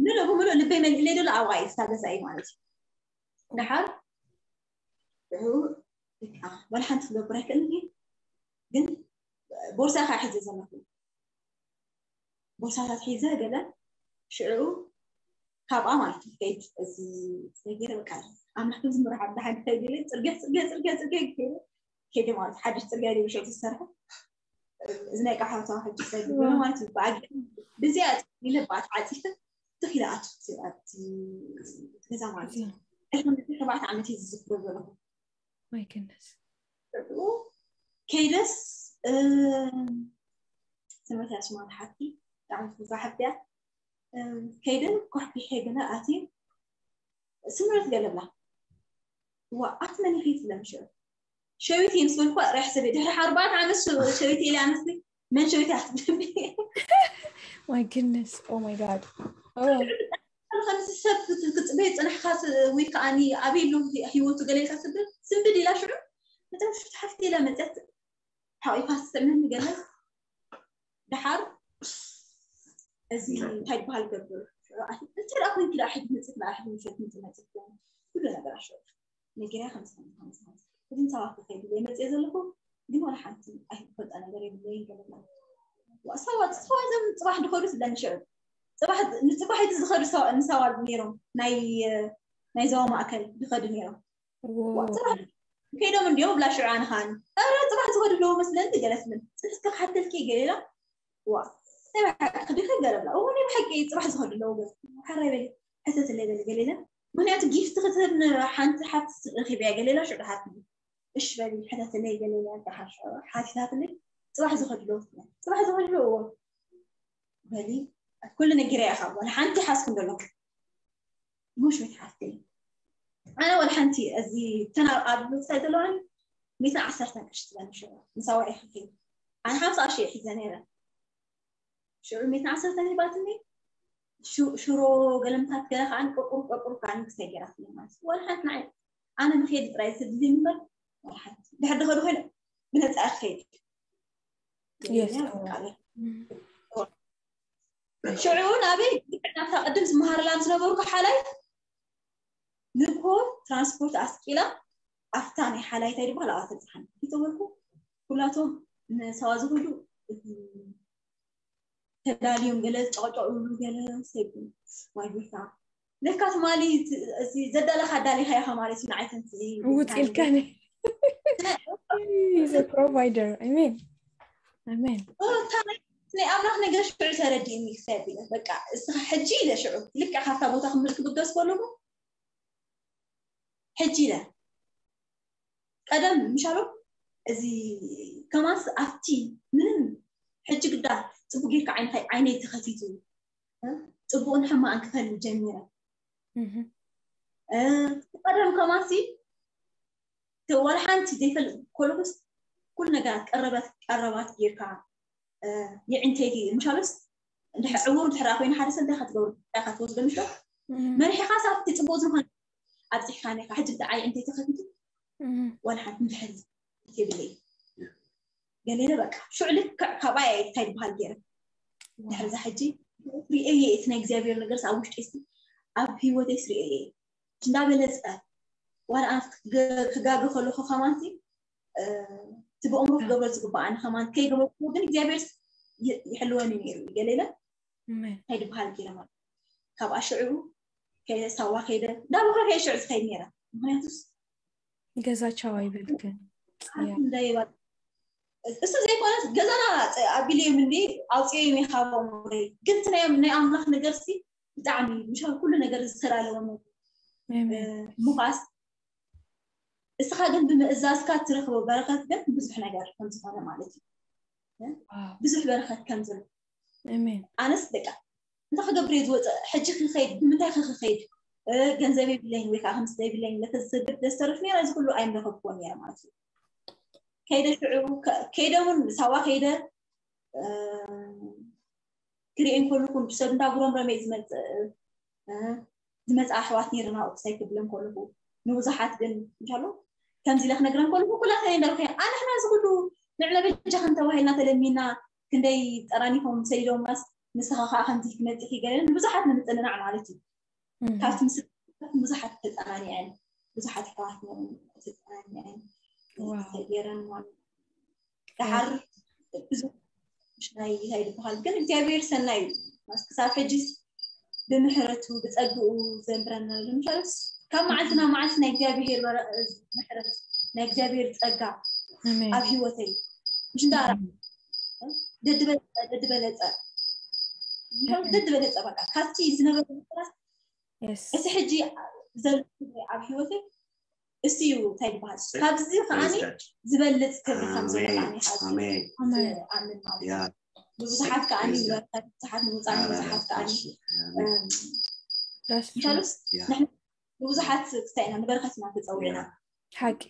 ምሉእ ብምሉእ ልበይ መሊእለይ ደሎ ኣብኣ እዩ ስታ ገዛ እዩ ማለት እዩ ድሓር ሽዑ ወላ ሓንቲ ክገብር ኣይክእልን እዩ ግን ቦርሳ ከዓ ሒዘ ዘለኹ ቦርሳታት ሒዘ ገለ ሽዑ ካብኣ ማለት እዩ ከይድ እዚ ሰጊረ በቃ ኣምላኽ ዝምራሕ ብሓንቲ ከይድ ኢለ ፅርግያ ፅርግያ ፅርግያ ፅርግያ ገይረ ከይደ ማለት ሓድሽ ፅርግያ ደ ብሸው ዝሰርሐ እዚ ናይ ቃሓውታ ሕጂ ሰጊረ ማለት እዩ ብኣጊ ብዚኣ ኢለ ብኣት ዓፂፈ ትኺለ ኣቱ ገዛ ማለት እዩ ሕጂ ተባዕተ ዓመት እዩ ዝዝክሮ ዘለኹ my goodness ከይደስ ስምረት ያስማ ሓፍቲ ብጣዕሚ ትብዛ ሓፍቲ እያ ከይደ ኮሕኪሐ ገለ ኣትየ ስምረት ገለ ብላ ዋ ኣቲ መን ኢኺ ትብለኒ ሽዑ ሸዊት እየ ምስ በልኩ ሪሕ ሰበ ድሕሪ ኣርባዕተ ዓመት ሸዊት ኢለ ኣነስቲ መን ሸዊት እያ ክትብለኒ my goodness oh my god ከምዚ ሰብ ክትፅበየ ፅናሕካ ወይ ከዓ ኣበይ ኣሎ ህይወቱ ገለ ኢልካ ስብል ስንብድ ኢላ ሽዑ መጠን ሽፍቲ ሓፍቲ ኢላ መፅያት ሓቂፋ ትስዕመኒ ገለ ድሓር እዚ እንታይ ዝበሃል ገብር እንታይ ደኣ ኮይንኪ ደኣ ሕጂ መፅት ደኣ ሕጂ ምሸት ምፅእ መፅት ኩሉ ነገር ኣሸወ ነጊራ ከምዚ ከምዚ ከምዚ ከምዚ እዚ ንሳዋ ክኸይድ ኢለ መፅእ ዘለኹ ግን ዋላ ሓንቲ ኣይፈልጣ ነገር የብለይን ገለና ሰባት ሰባት ዘም ፅባሕ ድኸዱ ስለኒ ሽዑ ፅባሕ ንፅባሕ እቲ ዝኸዱ ንሳዋ ነይሮም ናይ ናይ ዞባ ማእከል ዝኸዱ ነይሮም ከይዶም እንዲዮም ብላ ሽዑ ኣነ ኸዓኒ ኧረ ፅባሕ ዝኸዱ ኣለዉ መስለኒ ገለ ትብል ፅንሕትካ ክሓተልኪ ገለ ኢላ ዋ ናይ ብሓቂ ክዲኺ ገለ ብላ እዎ ናይ ብሓቂ ፅባሕ ዝኸዱ ኣለዉ ገለ ሓራይ በሊ ሕተትለይ በሊ ገለ ኢለ ምክንያቱ ጊፍት ክትህብ ሓንቲ ሓፍቲ ረኺበያ ገለ ኢላ ሽዑ ድሓር እሽ በሊ ሕተትለይ ገለ ኢላ ድሓር ሽዑ ሓቲታትለይ ፅባሕ ዝኸዱ ኣለዉ ፅባሕ ዝኸዱ ኣለዉ እዎ በሊ ኩሉ ነጊረ ኢኻ ጓል ሓንቲ ሓስኩም ዘለኹ ሙሽ መትሓፍቲ ኣነ ወላ ሓንቲ እዚ ተና ኣብ ምሳይ ዘለዋን ሚእትን ዓሰርተን ቅርሺ ትበኒ ሽዑ ምሳዋ ኢኽፊ ኣነ ሓምሳ ቅርሺ ሒዘ ነይረ ሽዑ ሚእትን ዓሰርተን ሂባትኒ ሽሮ ገለምታት ገለ ከዓ ቆቁር ቆቁር ከዓ ክሳይ ገይራትኒ ማለት ወላ ሓንቲ ንዓይ ኣነ ንኸይድ ጥራይ ስድሊ እምበር ወላ ሓንቲ ድሕር ድኸዱ ኮይነ ብነፃ ክኸይድ ሽዑ ናበይ ናብታ ቅድም ዝመሃርላ ዝነበርኩ ሓላይ ንኮ ትራንስፖርት ኣስቂላ ኣብታ ናይ ሓላይታይ ድበሃል ኣብኣ ተብፅሓኒ ይተወልኩ ኩላቶም ንሰባ ዝኸዱ ተዳልዮም ገለ ጨቀጨቅ ይብሉ ገለ ሰይቡ ዋይ ጎይታ ለካ ትማሊ እቲ ዘዳለኻ ኣዳሊኻ ኢኻ ማለት እዩ። ንዓይ ተንስእ እዩ ውፅ ኢልካኒ። He's a provider. Amen. Amen. ናይ ኣምላኽ ነገር ሽዑ ተረዲእኒ ክሰብ ኢለ በቃ እስኻ ሕጂ ኢለ ሽዑ ልክዕ ካብታ ቦታ ክምል ክብገስ ከለኹ ሕጂ ኢለ ቀደም ምሻሎ እዚ ከማስ ኣብቲ ምንም ሕጂ ግዳ ፅቡቅ ጌርካ ዓይነይ ተኸፊቱ ፅቡቅን ሕማቅን ክፈሊ ጀሚረ። ቀደም ከማሲ ዋላ ሓንቲ ዘይፈልጥ ኮለኩስ ኩሉ ነገራት ቀረባት ቀረባት ጌርካ የዕንተይቲ ምሻሎስ እንድሕር ዕውር እንድሕር ኮይኑ ሓደ ሰብ እንታይ ክትገብሩ እንታይ ክትወስዶ ምሽ መሪሕኻ ሳብቲ ፅቡቅ ዝኾነ ኣብፂሕካ ኔካ ሕጂ ብትዓይ ዕንተይቲ ከፊቱ ዋላ ሓንቲ ምድሕር የብለይ ገሌለ በቃ ሽዑ ልክዕ ካባይ እንታይ ዝበሃል ገይረ ድሕር ዛ ሕጂ ሪኤየ እቲ ናይ እግዚኣብሔር ነገር ኣብ ውሽጢ ስ ኣብ ህይወተይ ስሪኤየ እንዳበለፀ ዋላ ክጋገ ከለኹ ከማንቲ እቲ ብእምሮ ክገብሮ ዝግባኣኒ ከማን ከይገበርኩ ግን እግዚኣብሔር ይሕልወኒ ነይሩ ገሌለ እንታይ ዝበሃል ገይረ ማለት ካብኣ ሽዑ ሳዋ ከይደ እንዳበኸ ከየ ሽዑ ዝኸይድ ነይረ ምክንያቱስ ገዛ ቻው ኣይበልክን እንዳይባ እሱ ዘይኮነት ገዛና ኣቢልዮም እንዲ ኣውፅኦም ይካቦም ግን ናይ ኣምላኽ ነገር ሲ ብጣዕሚ ምሻ ኩሉ ነገር ዝተላለወ ምኳስ እስኻ ግን ብምእዛዝካ ትረኽቦ በረኸት ግን ብዙሕ ነገር ከም ዝኾነ ማለት እዩ ብዙሕ በረኸት ከም ዘሎ ኣነስ ደቃ እንታይ ክገብር እየ ዝወፅእ ሕጂ ክኸይድ ብምንታይ ክኸይድ ገንዘብ የብለኝ ወይ ከዓ ከምስ ዘይብለኝ ለተዝሰግድ ደስተርፍ ነራ እዚ ኩሉ ኣይምረኸብኩዎ ነረ ማለት እዩ ከይደ ሽዑ ከይደ እውን ሳዋ ከይደ ክሪኤን ከለኩ ሰብ እንዳጉረምረመ ዝመፅእ ዝመፅእ ኣሕዋት ነርና ቁሳይ ክብለን ከለኩ ንብዙሓት ግን እንሻሎ ከምዚ ኢለ ክነግረን ከለኩ ኩላተን እንዳልኩ ኣንሕና እዚ ኩሉ ንዕመ በጃ ክንተባሂልና ተለሚና ክንደይ ጠራኒፎም ሰሊዶምናስ ንስኻ ከዓ ከምዚ ክመፅእ ይገለን ንብዙሓት ንምፅንናዕ ማለት እዩ ካብቲ ምስ ብዙሓት ተፀናኒዐን ብዙሓት ኣሕዋት ተፀናኒዐን ተገይረን ማለት ደሓር ብዙ ናይ እንታይ ዝበሃል ግን እግዚኣብሔር ሰናይ እዩ ክሳብ ሕጂ ብምሕረቱ ብፀግኡ ዘንብረና ንምሻልስ ካብ መዓልትና መዓልቲ ናይ እግዚኣብሔር ምሕረት ናይ እግዚኣብሔር ፀጋ ኣብ ህይወተይ ምሽ እንዳራ ደድበለፀ ደድበለፀ ደድበለፀ በቃ ካብቲ ዝነበረ እቲ ሕጂ ዘሎ ኣብ ህይወተይ እሱ እዩ እንታይ ዝበሃል ካብዚ ከዓኒ ዝበልፅ ክብሪ ከም ዝመጣኒ ኣምን ማለት ንብዙሓት ከዓኒ ንበረከት ብዙሓት ንምውፃእ ንብዙሓት ከዓኒ ምሻሉስ ንብዙሓት ክስታይ ኢና ንበረከት ኢና ተፀዊዕና ሓቂ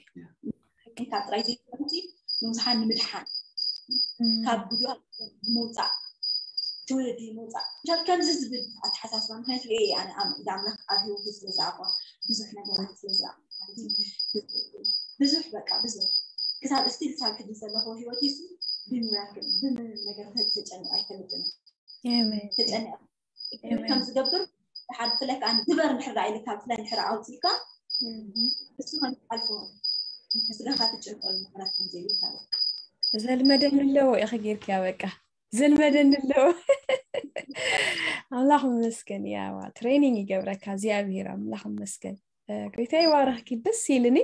ካብ ጥራይ ዘይኮነቲ ንብዙሓት ንምድሓን ካብ ጉድኣት ምውፃእ ትውልዲ ምውፃእ ምሻል ከምዚ ዝብል ኣተሓሳስባ ምክንያቱ የ ኣነ ኣምላኽ ኣብ ህይወቱ ስለ ዝኣቋ ብዙሕ ነገራት ስለ ዝኣ ብዙሕ በቃ ብዙሕ ክሳብ እስቲ ክሳብ ሕጂ ዘለኹ ህይወት ሱ ብሚራክል ብምንም ነገር ተጨንቅ ኣይፈልጥን ተጨንቅ ከም ዝገብር ድሓር ብፍላይ ከዓ ግበር እንድሕር ዳ ኢልካ ብፍላይ እንድሕር ኣውፅኢካ እሱ ከም ዝሓልፎ ስጋኻ ትጭንቀሉ ምክንያት ከም ዘይብልካ ዘልመደኒ ኣለዎ ኢኺ ጌርክያ በቃ ዘልመደኒ ኣለዎ ኣምላኽ መስገን ያዋ ትሬኒንግ ይገብረካ እግዚኣብሔር ኣምላኽ መስገን ጎይታ ይባረኽኪ ደስ ኢልኒ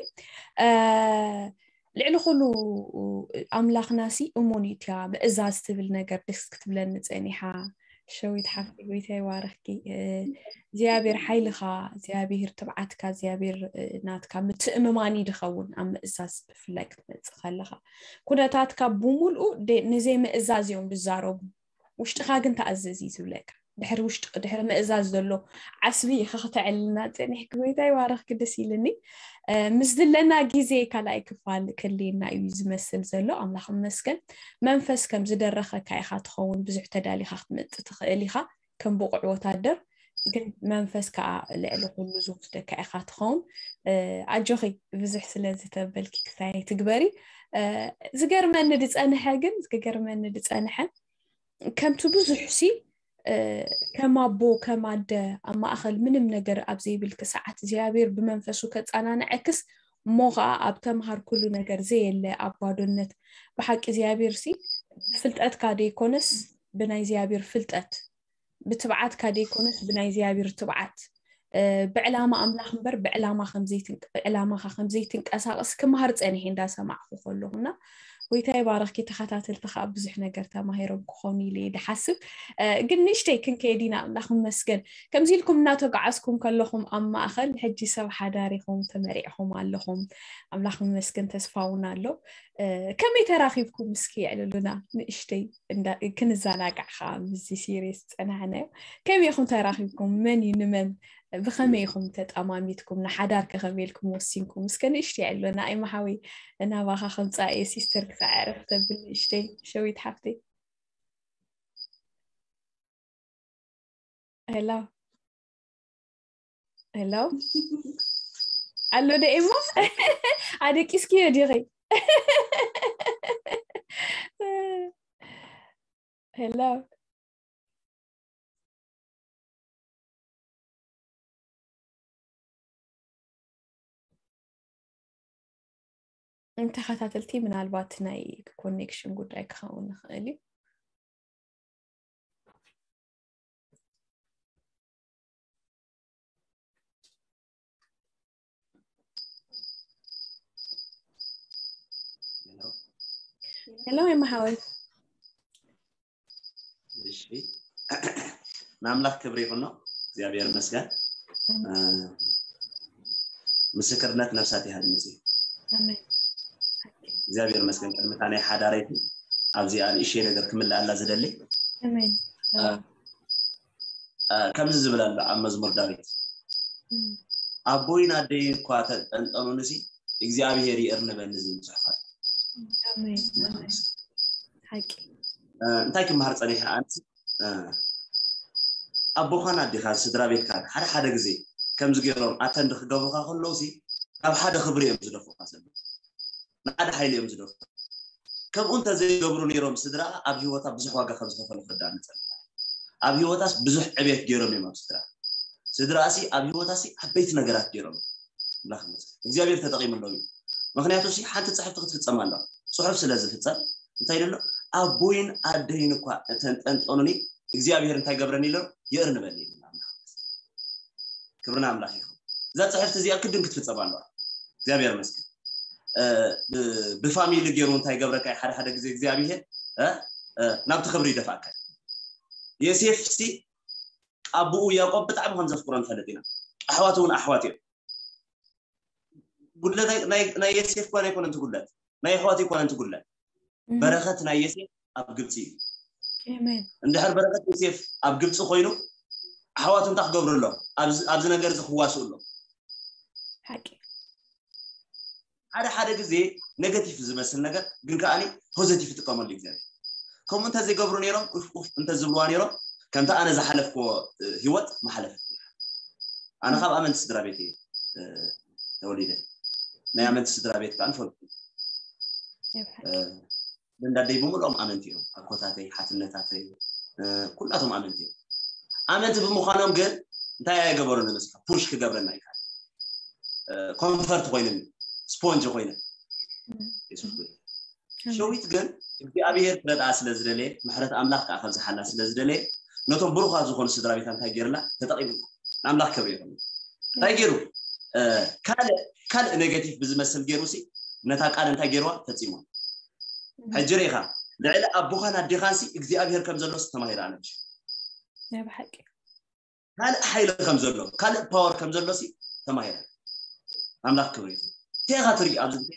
ልዕሊ ኩሉ ኣምላኽና ሲ እሙን እዩ እቲያ ምእዛዝ ትብል ነገር ደስ ክትብለኒ ፀኒሓ ሸዊት ሓፍቲ ጎይታ ይባረኽኪ እግዚኣብሔር ሓይልኻ እግዚኣብሔር ትብዓትካ እግዚኣብሔር ናትካ ምትእምማኒ ድኸውን ኣብ ምእዛዝ ብፍላይ ክትመፅእ ከለኻ ኩነታትካ ብምልኡ ንዘይ ምእዛዝ እዮም ዝዛረቡ ውሽጥኻ ግን ተኣዘዝ እዩ ዝብለካ ድሕሪ ውሽጢ ድሕሪ ምእዛዝ ዘሎ ዓስቢ ኢኺ ክተዕልና ፀኒሕኪ ጎይታ ይባረኽኪ ደስ ኢልኒ ምስ ዝለና ግዜ ካልኣይ ክፋል ክልየና እዩ ዝመስል ዘሎ ኣምላኽ መስገን መንፈስ ከም ዝደረኸካ ኢኻ ትኸውን ብዙሕ ተዳሊኻ ክትመፅእ ትኽእል ኢኻ ከም ብቑዕ ወታደር ግን መንፈስ ከዓ ልዕሊ ኩሉ ዝወስደካ ኢኻ ትኸውን ኣጆኺ ብዙሕ ስለ ዝተበልኪ ክሳይ ትግበሪ ዝገርመኒ ዝፀንሐ ግን ዝገርመኒ ዝፀንሐ ከምቲ ብዙሕ ሲ ከም ኣቦ ከም ኣደ ኣብ ማእኸል ምንም ነገር ኣብ ዘይብልኪ ሰዓት እግዚኣብሔር ብመንፈሱ ከፀናንዐክስ እሞ ከዓ ኣብ ተምሃር ኩሉ ነገር ዘየለ ኣብ ባዶነት ብሓቂ እግዚኣብሔር ሲ ብፍልጠትካ ደይኮነስ ብናይ እግዚኣብሔር ፍልጠት ብትብዓትካ ደይኮነስ ብናይ እግዚኣብሔር ትብዓት ብዕላማ ኣምላኽ እምበር ብዕላማኻ ከም ዘይትንቀሳቐስ ክምሃር ፀኒሐ እንዳሰማዕኹ ከለኹና፣ ጎይታ ይባረኽኪ። ተኸታተልቲ ከዓ ብዙሕ ነገር ተማሂሮም ክኾኑ ኢለ እየ ድሓስብ። ግን ንእሽተይ ክንከይድ ኢና። ኣምላኽ ይመስገን። ከምዚ ኢልኩም እናተጓዓዝኩም ከለኹም ኣብ ማእኸል ሕጂ ሰብ ሓዳር ኢኹም፣ ተመሪዕኹም ኣለኹም። ኣምላኽ ይመስገን፣ ተስፋ እውን ኣሎ። ከመይ ተራኺብኩም እስኪ የዕልሉና ንእሽተይ፣ ክንዘናጋዕ ከዓ ምስዚ ሲሪየስ ዝፀናሕናዮ። ከመይ ኢኹም ተራኺብኩም? መን እዩ ንመን? ብኸመይ ኢኹም ተጠማሚትኩም? ንሓዳር ከ ከመይ ኢልኩም ወሲንኩም? እስከ ንእሽተይ የዕልሉና። ኣይመሓወይ፣ ናባኻ ከምፃእ እየ፣ ሲስተር ክሳዕ ዕርፍ ተብል ንእሽተይ ሸዊት ሓፍተይ። ሄሎ፣ ሄሎ፣ ኣሎ ዶ ኤማ? ኣደቂስክዮ ዲኺ? ሄሎ፣ እንተኸታተልቲ ምናልባት ናይ ኮኔክሽን ጉዳይ ክኸውን ይኽእል እዩ። ሄሎ የማሓወይ። እሺ፣ ንኣምላኽ ክብሪ ይኹኖ። እግዚኣብሔር ይመስገን። ምስክርነት ነፍሳት ይሃድምፅ። እግዚኣብሔር ይመስገን። ቅድሚ እታ ናይ ሓዳረይቲ ኣብዚኣ ንእሽተይ ነገር ክምልኣላ ዝደሊ። ከምዚ ዝብል ኣሎ ኣብ መዝሙር ዳዊት፣ ኣቦይን ኣደይን እኳ ተጠንጠኑንሲ እግዚኣብሔር ይእርንበኒ ዝብል ጽሑፋት። እንታይ ክመሃር ጸኒሐ ኣንስ ኣቦኻን ኣዴኻን ስድራ ቤትካን ሓደ ሓደ ግዜ ከምዚ ገይሮም ኣተንድ ክገብሩካ ከለውሲ ካብ ሓደ ክብሪ እዮም ዝደፉካ ዘለዉ፣ ንሓደ ሓይሊ እዮም ዝደፉ። ከምኡ እንተዘይገብሩ ነይሮም ስድራ ኣብ ህይወታ ብዙሕ ዋጋ ከም ዝኸፈሉ ክርዳእ ንጸንሕ። ኣብ ህይወታስ ብዙሕ ዕቤት ገይሮም እዮም ኣብ ስድራ። ስድራሲ ኣብ ህይወታሲ ዓበይቲ ነገራት ገይሮም እዮም። ኣምላኽ ይመስገን። እግዚኣብሔር ተጠቂምሎም እዩ። ምክንያቱ ሲ ሓንቲ ጽሕፍቲ ክትፍጸም ኣለዋ። ጽሑፍ ስለ ዝፍጸም እንታይ ኢሉ ኣሎ? ኣቦይን ኣደይን እኳ እተንጠንጠኑኒ እግዚኣብሔር እንታይ ገብረኒ ኢሎ? ይእርንበኒ ኢሉ ኣሎ ኣምላኽ። ክብሪ ንኣምላኽ ይኹን። እዛ ጽሕፍቲ እዚኣ ክድን ክትፍጸም ኣለዋ። እግዚኣብሔር ይመስገን። ብፋሚሊ ገይሩ እንታይ ገብረካ ሓደ ሓደ ግዜ እግዚኣብሔር ናብቲ ክብሪ ይደፍኣካ። የሴፍ ሲ ኣቦኡ ያዕቆብ ብጣዕሚ ከም ዘፍቅሮ ንፈልጥ ኢና። ኣሕዋት እውን ኣሕዋት እዮም። ጉድለት ናይ የሴፍ ኳን ኣይኮነን ትጉድለት፣ ናይ ኣሕዋት ኣይኮነን ትጉድለት። በረኸት ናይ የሴፍ ኣብ ግብፂ እዩ። እንድሕር በረኸት የሴፍ ኣብ ግብፂ ኮይኑ ኣሕዋቱ እንታይ ክገብሩ ኣሎ? ኣብዚ ነገር እዚ ክዋስኡ ኣሎ። ሓደ ሓደ ግዜ ኔጋቲቭ ዝመስል ነገር ግን ከዓኒ ፖዘቲቭ ይጥቀመሉ እግዚኣብሔር። ከምኡ እንተዘይገብሩ ነይሮም ኡፍ ኡፍ እንተዝብልዋ ነይሮም ከምቲ ኣነ ዝሓለፍክዎ ህይወት መሓለፍ። ኣነ ካብ ኣመንቲ ስድራ ቤት እየ ተወሊደ። ናይ ኣመንቲ ስድራ ቤት ከዓ ንፈልጡ እንዳደይ ብምልኦም ኣመንቲ እዮም። ኣኮታተይ፣ ሓትነታተይ ኩላቶም ኣመንቲ እዮም። ኣመንቲ ብምዃኖም ግን እንታይ ኣይገበሩ ንመስካ ፑሽ ክገብረና ይካል ኮንፈርት ኮይንን ስፖንጅ ኮይነ የሱስ ጎይታ። ሸዊት ግን እግዚኣብሔር ክረድኣ ስለ ዝደለየ ምሕረት ኣምላኽ ከዓ ከብዝሓላ ስለ ዝደለየ ነቶም ብሩኻት ዝኾኑ ስድራ ቤታ እንታይ ገይርላ ተጠቂምላ። ንኣምላኽ ክብሪ ይኹን። እንታይ ገይሩ ካልእ ካልእ ኔጋቲቭ ብዝመስል ገይሩ ሲ ነታ ቃል እንታይ ገይርዋ ፈፂሞ። ሕጂ ርኢኻ ልዕሊ ኣቦኻን ኣዴኻን ሲ እግዚኣብሔር ከም ዘሎ ተማሂራ ነብሽ። ናይ ብሓቂ ካልእ ሓይሊ ከም ዘሎ ካልእ ፓወር ከም ዘሎ ሲ ተማሂራ። ኣምላኽ ክብሪ ይኹን። እንታይ ኢኻ ትርኢ ኣብዚ ግዜ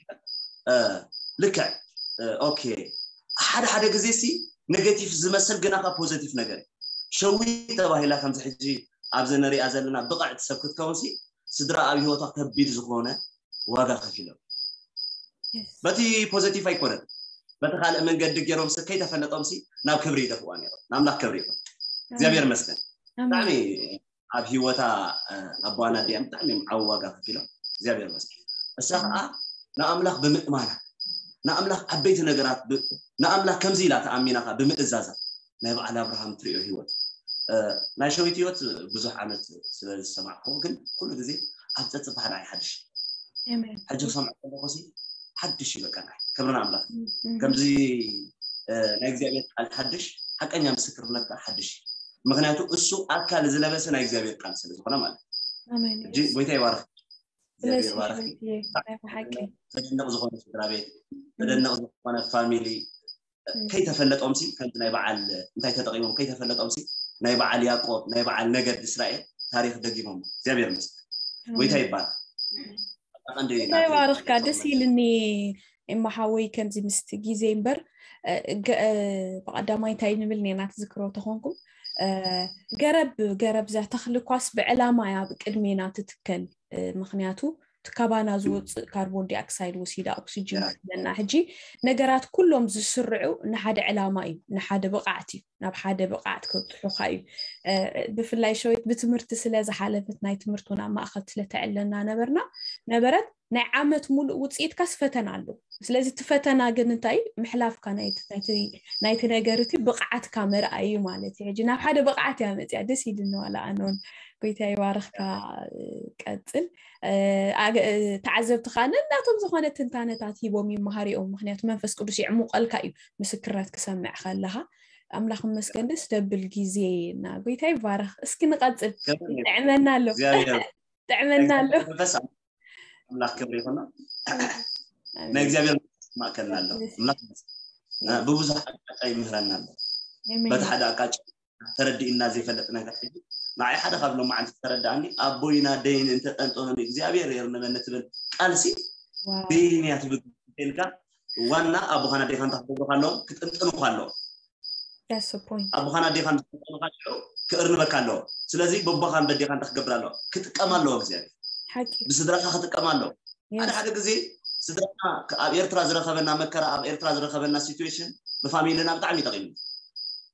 ልክዕ ኦኬ። ሓደ ሓደ ግዜ ሲ ኔጋቲቭ ዝመስል ግና ካብ ፖዘቲቭ ነገር ሸዊ ተባሂላ ከምዚ ሕጂ ኣብዚ ንሪኣ ዘለና ብቕዕቲ ሰብ ክትከውን ሲ ስድራ ኣብ ህይወቷ ከቢድ ዝኾነ ዋጋ ከፊሎም። በቲ ፖዘቲቭ ኣይኮነን በቲ ካልእ መንገዲ ገይሮም ሲ ከይተፈለጦም ሲ ናብ ክብሪ ይደፍዋ ነይሮም። ንኣምላኽ ክብሪ ይኹን። እግዚኣብሔር ይመስገን። ብጣዕሚ ኣብ ህይወታ ኣቦዋን ኣዲኣን ብጣዕሚ እዮም ዓቢ ዋጋ ከፊሎም እግዚኣብሔር ይመስገን። እሳ ከዓ ንኣምላኽ ብምእማና ንኣምላኽ ዓበይቲ ነገራት ንኣምላኽ ከምዚ ኢላ ተኣሚና ከዓ ብምእዛዛ ናይ በዓል ኣብርሃም ትሪኦ ህይወት ናይ ሸዊት ህይወት ብዙሕ ዓመት ስለ ዝሰማዕኩ ግን ኩሉ ግዜ ኣብ ፀፅባሕ ንዓይ ሓድሽ ሕጂ ክሰምዖ ከለኩ ሲ ሓድሽ እዩ በቃ ንዓይ ክብሪ ንኣምላኽ ከምዚ ናይ እግዚኣብሔር ቃል ሓድሽ ሓቀኛ ምስክርነት ከዓ ሓድሽ እዩ ምክንያቱ እሱ ኣካል ዝለበሰ ናይ እግዚኣብሔር ቃል ስለ ዝኾነ ማለት ኣሜን። ሕጂ ጎይታ ይባርክ። እግዚኣብሔር ስለዚ ይባርክ። ሕይወት እየ ናይ ብሓቂ ዘደንቕ ዝኾነ ስድራ ቤት፣ ዘደንቕ ዝኾነ ፋሚሊ፣ ከይተፈለጦም ሲ ከምቲ ናይ በዓል እንታይ ተጠቂሞም ከይተፈለጦም ሲ ናይ በዓል ያዕቆብ ናይ በዓል ነገድ እስራኤል ታሪኽ ደጊሞም። እግዚኣብሔር ይመስገን። ጎይታ ይባርክ። ኣቐንዲ እንታይ ባርኽካ። ደስ ኢልኒ። እማ ሓወይ ከምዚ ምስቲ ግዜ እምበር እ፣ ገ- እ፣ ብቐዳማይ እንታይ ንብል ኔና ትዝክሮ ተኾንኩም እ፣ ገረብ ገረብ እዛ ተኽሊ ኳስ ብዕላማ እያ ብቅድሜና ትትከል እ፣ ምክንያቱ እቲ ካባና ዝወፅእ ካርቦን ዲኦክሳይድ ወሲዳ ኦክሲጅን ያ። ትህበና። ሕጂ ነገራት ኩሎም ዝስርዑ ንሓደ ዕላማ እዩ፣ ንሓደ ብቕዓት እዩ፣ ናብ ሓደ ብቕዓት ከብፅሑኻ እዩ። እ፣ ብፍላይ ሸዊት ብትምህርቲ ስለ ዝሓለፈት ናይ ትምህርቲ እውን ኣብ ማእኸል ስለተዕለና ነበርና ነበረት ናይ ዓመት ሙሉእ ውፅኢትካስ ፈተና ኣሎ። ስለዚ እቲ ፈተና ግን እንታይ ምሕላፍካ ናይቲ ናይቲ- ናይቲ ነገር እቲ ብቕዓትካ መርኣይ እዩ ማለት እዩ። ሕጂ ናብ ሓደ ብቕዓት እያ መፅያ። ደስ ኢልኒ ዋላ ኣነውን ጎይታ ይባርኽካ። ቀፅል እ፣ ኣገ- እ፣ ተዓዘብቲ ከዓ ነናቶም ዝኾነ ትንታነታት ሂቦም ይመሃር እዮም። ምክንያቱ መንፈስ ቅዱስ ይዕሙቀልካ እዩ ምስክርነት ክሰምዕ ከለኻ። ኣምላኽ መስገን ደስ ደብል ግዜ እና ጎይታ ይባረኽ። እስኪ ንቐፅል። ጥዕመና ኣሎ እግዚኣብሔር ጥዕመና ኣሎ። መንፈስ ኣምላኽ ክብሪ ይኹኖ። ኣሜን። ናይ እግዚኣብሔር መንፈስ ማእከልና ኣሎ። ኣሜን። ኣምላኽ ይመስገን። እ፣ ብብዙሕ ኣቅጣጫ ይምህረና ኣሎ። ኣሜን። በቲ ሓደ ኣቅጣጫ ተረዲእና ዘይፈልጥ ነገር ሕጂ ንዓይ ሓደ ካብ ሎም መዓልቲ ተረዳኣኒ ኣቦይን ኣደይን እንተጠንጠኑኒ እግዚኣብሔር የርንመኒ ትብል ቃልሲ ዋው። በይንያ ትብል ኢልካ ዋና ኣቦኻን ኣዴኻን እንታይ ክገብሩካ ኣለዎም? ክጥንጥኑካ ኣለዎም። That's the point። ኣቦኻን ኣዴኻን ዝጠንጠኑካ ሽዑ ክእርንበካ ኣለዎ። ስለዚ በቦኻን በዴኻን እንታይ ክገብር ኣለዎ? ክጥቀም ኣለዎ እግዚኣብሔር። ሓቂ። ብስድራኻ ክጥቀም ኣለዎ። ሓደ Yes። ሓደ ግዜ ስድራና ኣብ ኤርትራ ዝረኸበና መከራ ኣብ ኤርትራ ዝረኸበና ሲትዌሽን ብፋሚልና ብጣዕሚ ይጠቂሙ።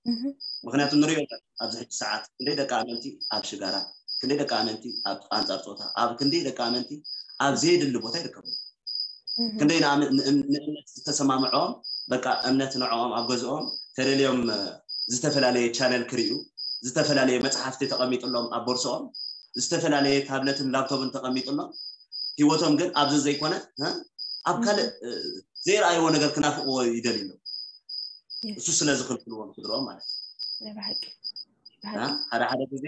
እህ። ምክንያቱ ንሪኦ ኣለና ኣብዚ ሕጂ ሰዓት ክንደይ ደቂ ኣመንቲ ኣብ ሽጋራ ክንደይ ደቂ ኣመንቲ ኣብ ኣንጻር ጾታ ኣብ ክንደይ ደቂ ኣመንቲ ኣብ ዘየድሊ ቦታ ይርከቡ። እህ። ክንደይ ንኣም- ንእም- ንእምነት ዝተሰማምዖም በቃ እምነት ንዕኦም ኣብ ገዝኦም ተደልዮም እ፣ ዝተፈላለየ ቻነል ክርእዩ ዝተፈላለየ መጽሓፍቲ ተቐሚጥሎም ኣብ ቦርሶኦም ዝተፈላለየ ታብለትን ላፕቶፕን ተቐሚጥሎም ህይወቶም ግን ኣብዚ ዘይኮነ እ፣ ኣብ ካልእ እ፣ ዘይረኣይዎ ነገር ክናፍቅዎ ይደልዩ ኣለዉ። Yes። እሱ ስለ ዝኽልክልዎም ስድርኦም ማለት እዩ። ናይ ብሓቂ እ፣ ሓደ ሓደ ግዜ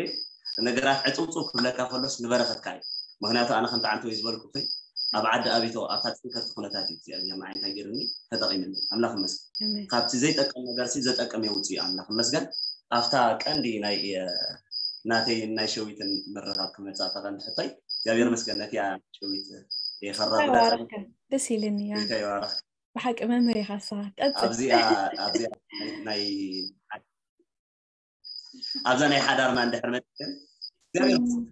ነገራት ዕፅውፅው ክብለካ ከሎስ ንበረኸትካ እዩ። ምክንያቱ ኣነ ከምቲ ዓንተወይ ዝበልኩ ኮይ ኣብ ዓዲ ኣቢቶ ኣብታ ፅንከርቲ ኩነታት እዩ እግዚኣብሔር ንዓይ እንታይ ገይሩኒ ተጠቂምኒ ኣምላኽ ይመስገን። ኣሜን። ካብቲ ዘይጠቅም ነገር ሲ ዘጠቅም የውፅእ እዩ ኣምላኽ ይመስገን። ኣብታ ቀንዲ ናይ እ፣ ናተይን ናይ ሸዊትን ምርኻብ ክመፅእ ኣብታ ቀንዲ ሕቶይ እግዚኣብሔር ይመስገን ነቲያ ሸዊት የኸራብራ ተባረከ። ደስ ኢልኒ። ያ ጌታ ይባረኽ። ብሓቂ መምህር ኢኻ ንስኻ። ቀፅል። ኣብዚኣ ኣብዚኣ ናይ ኣብዛ ናይ ሓዳርና እንድሕር መፅን እግዚኣብሔር ይመስገን።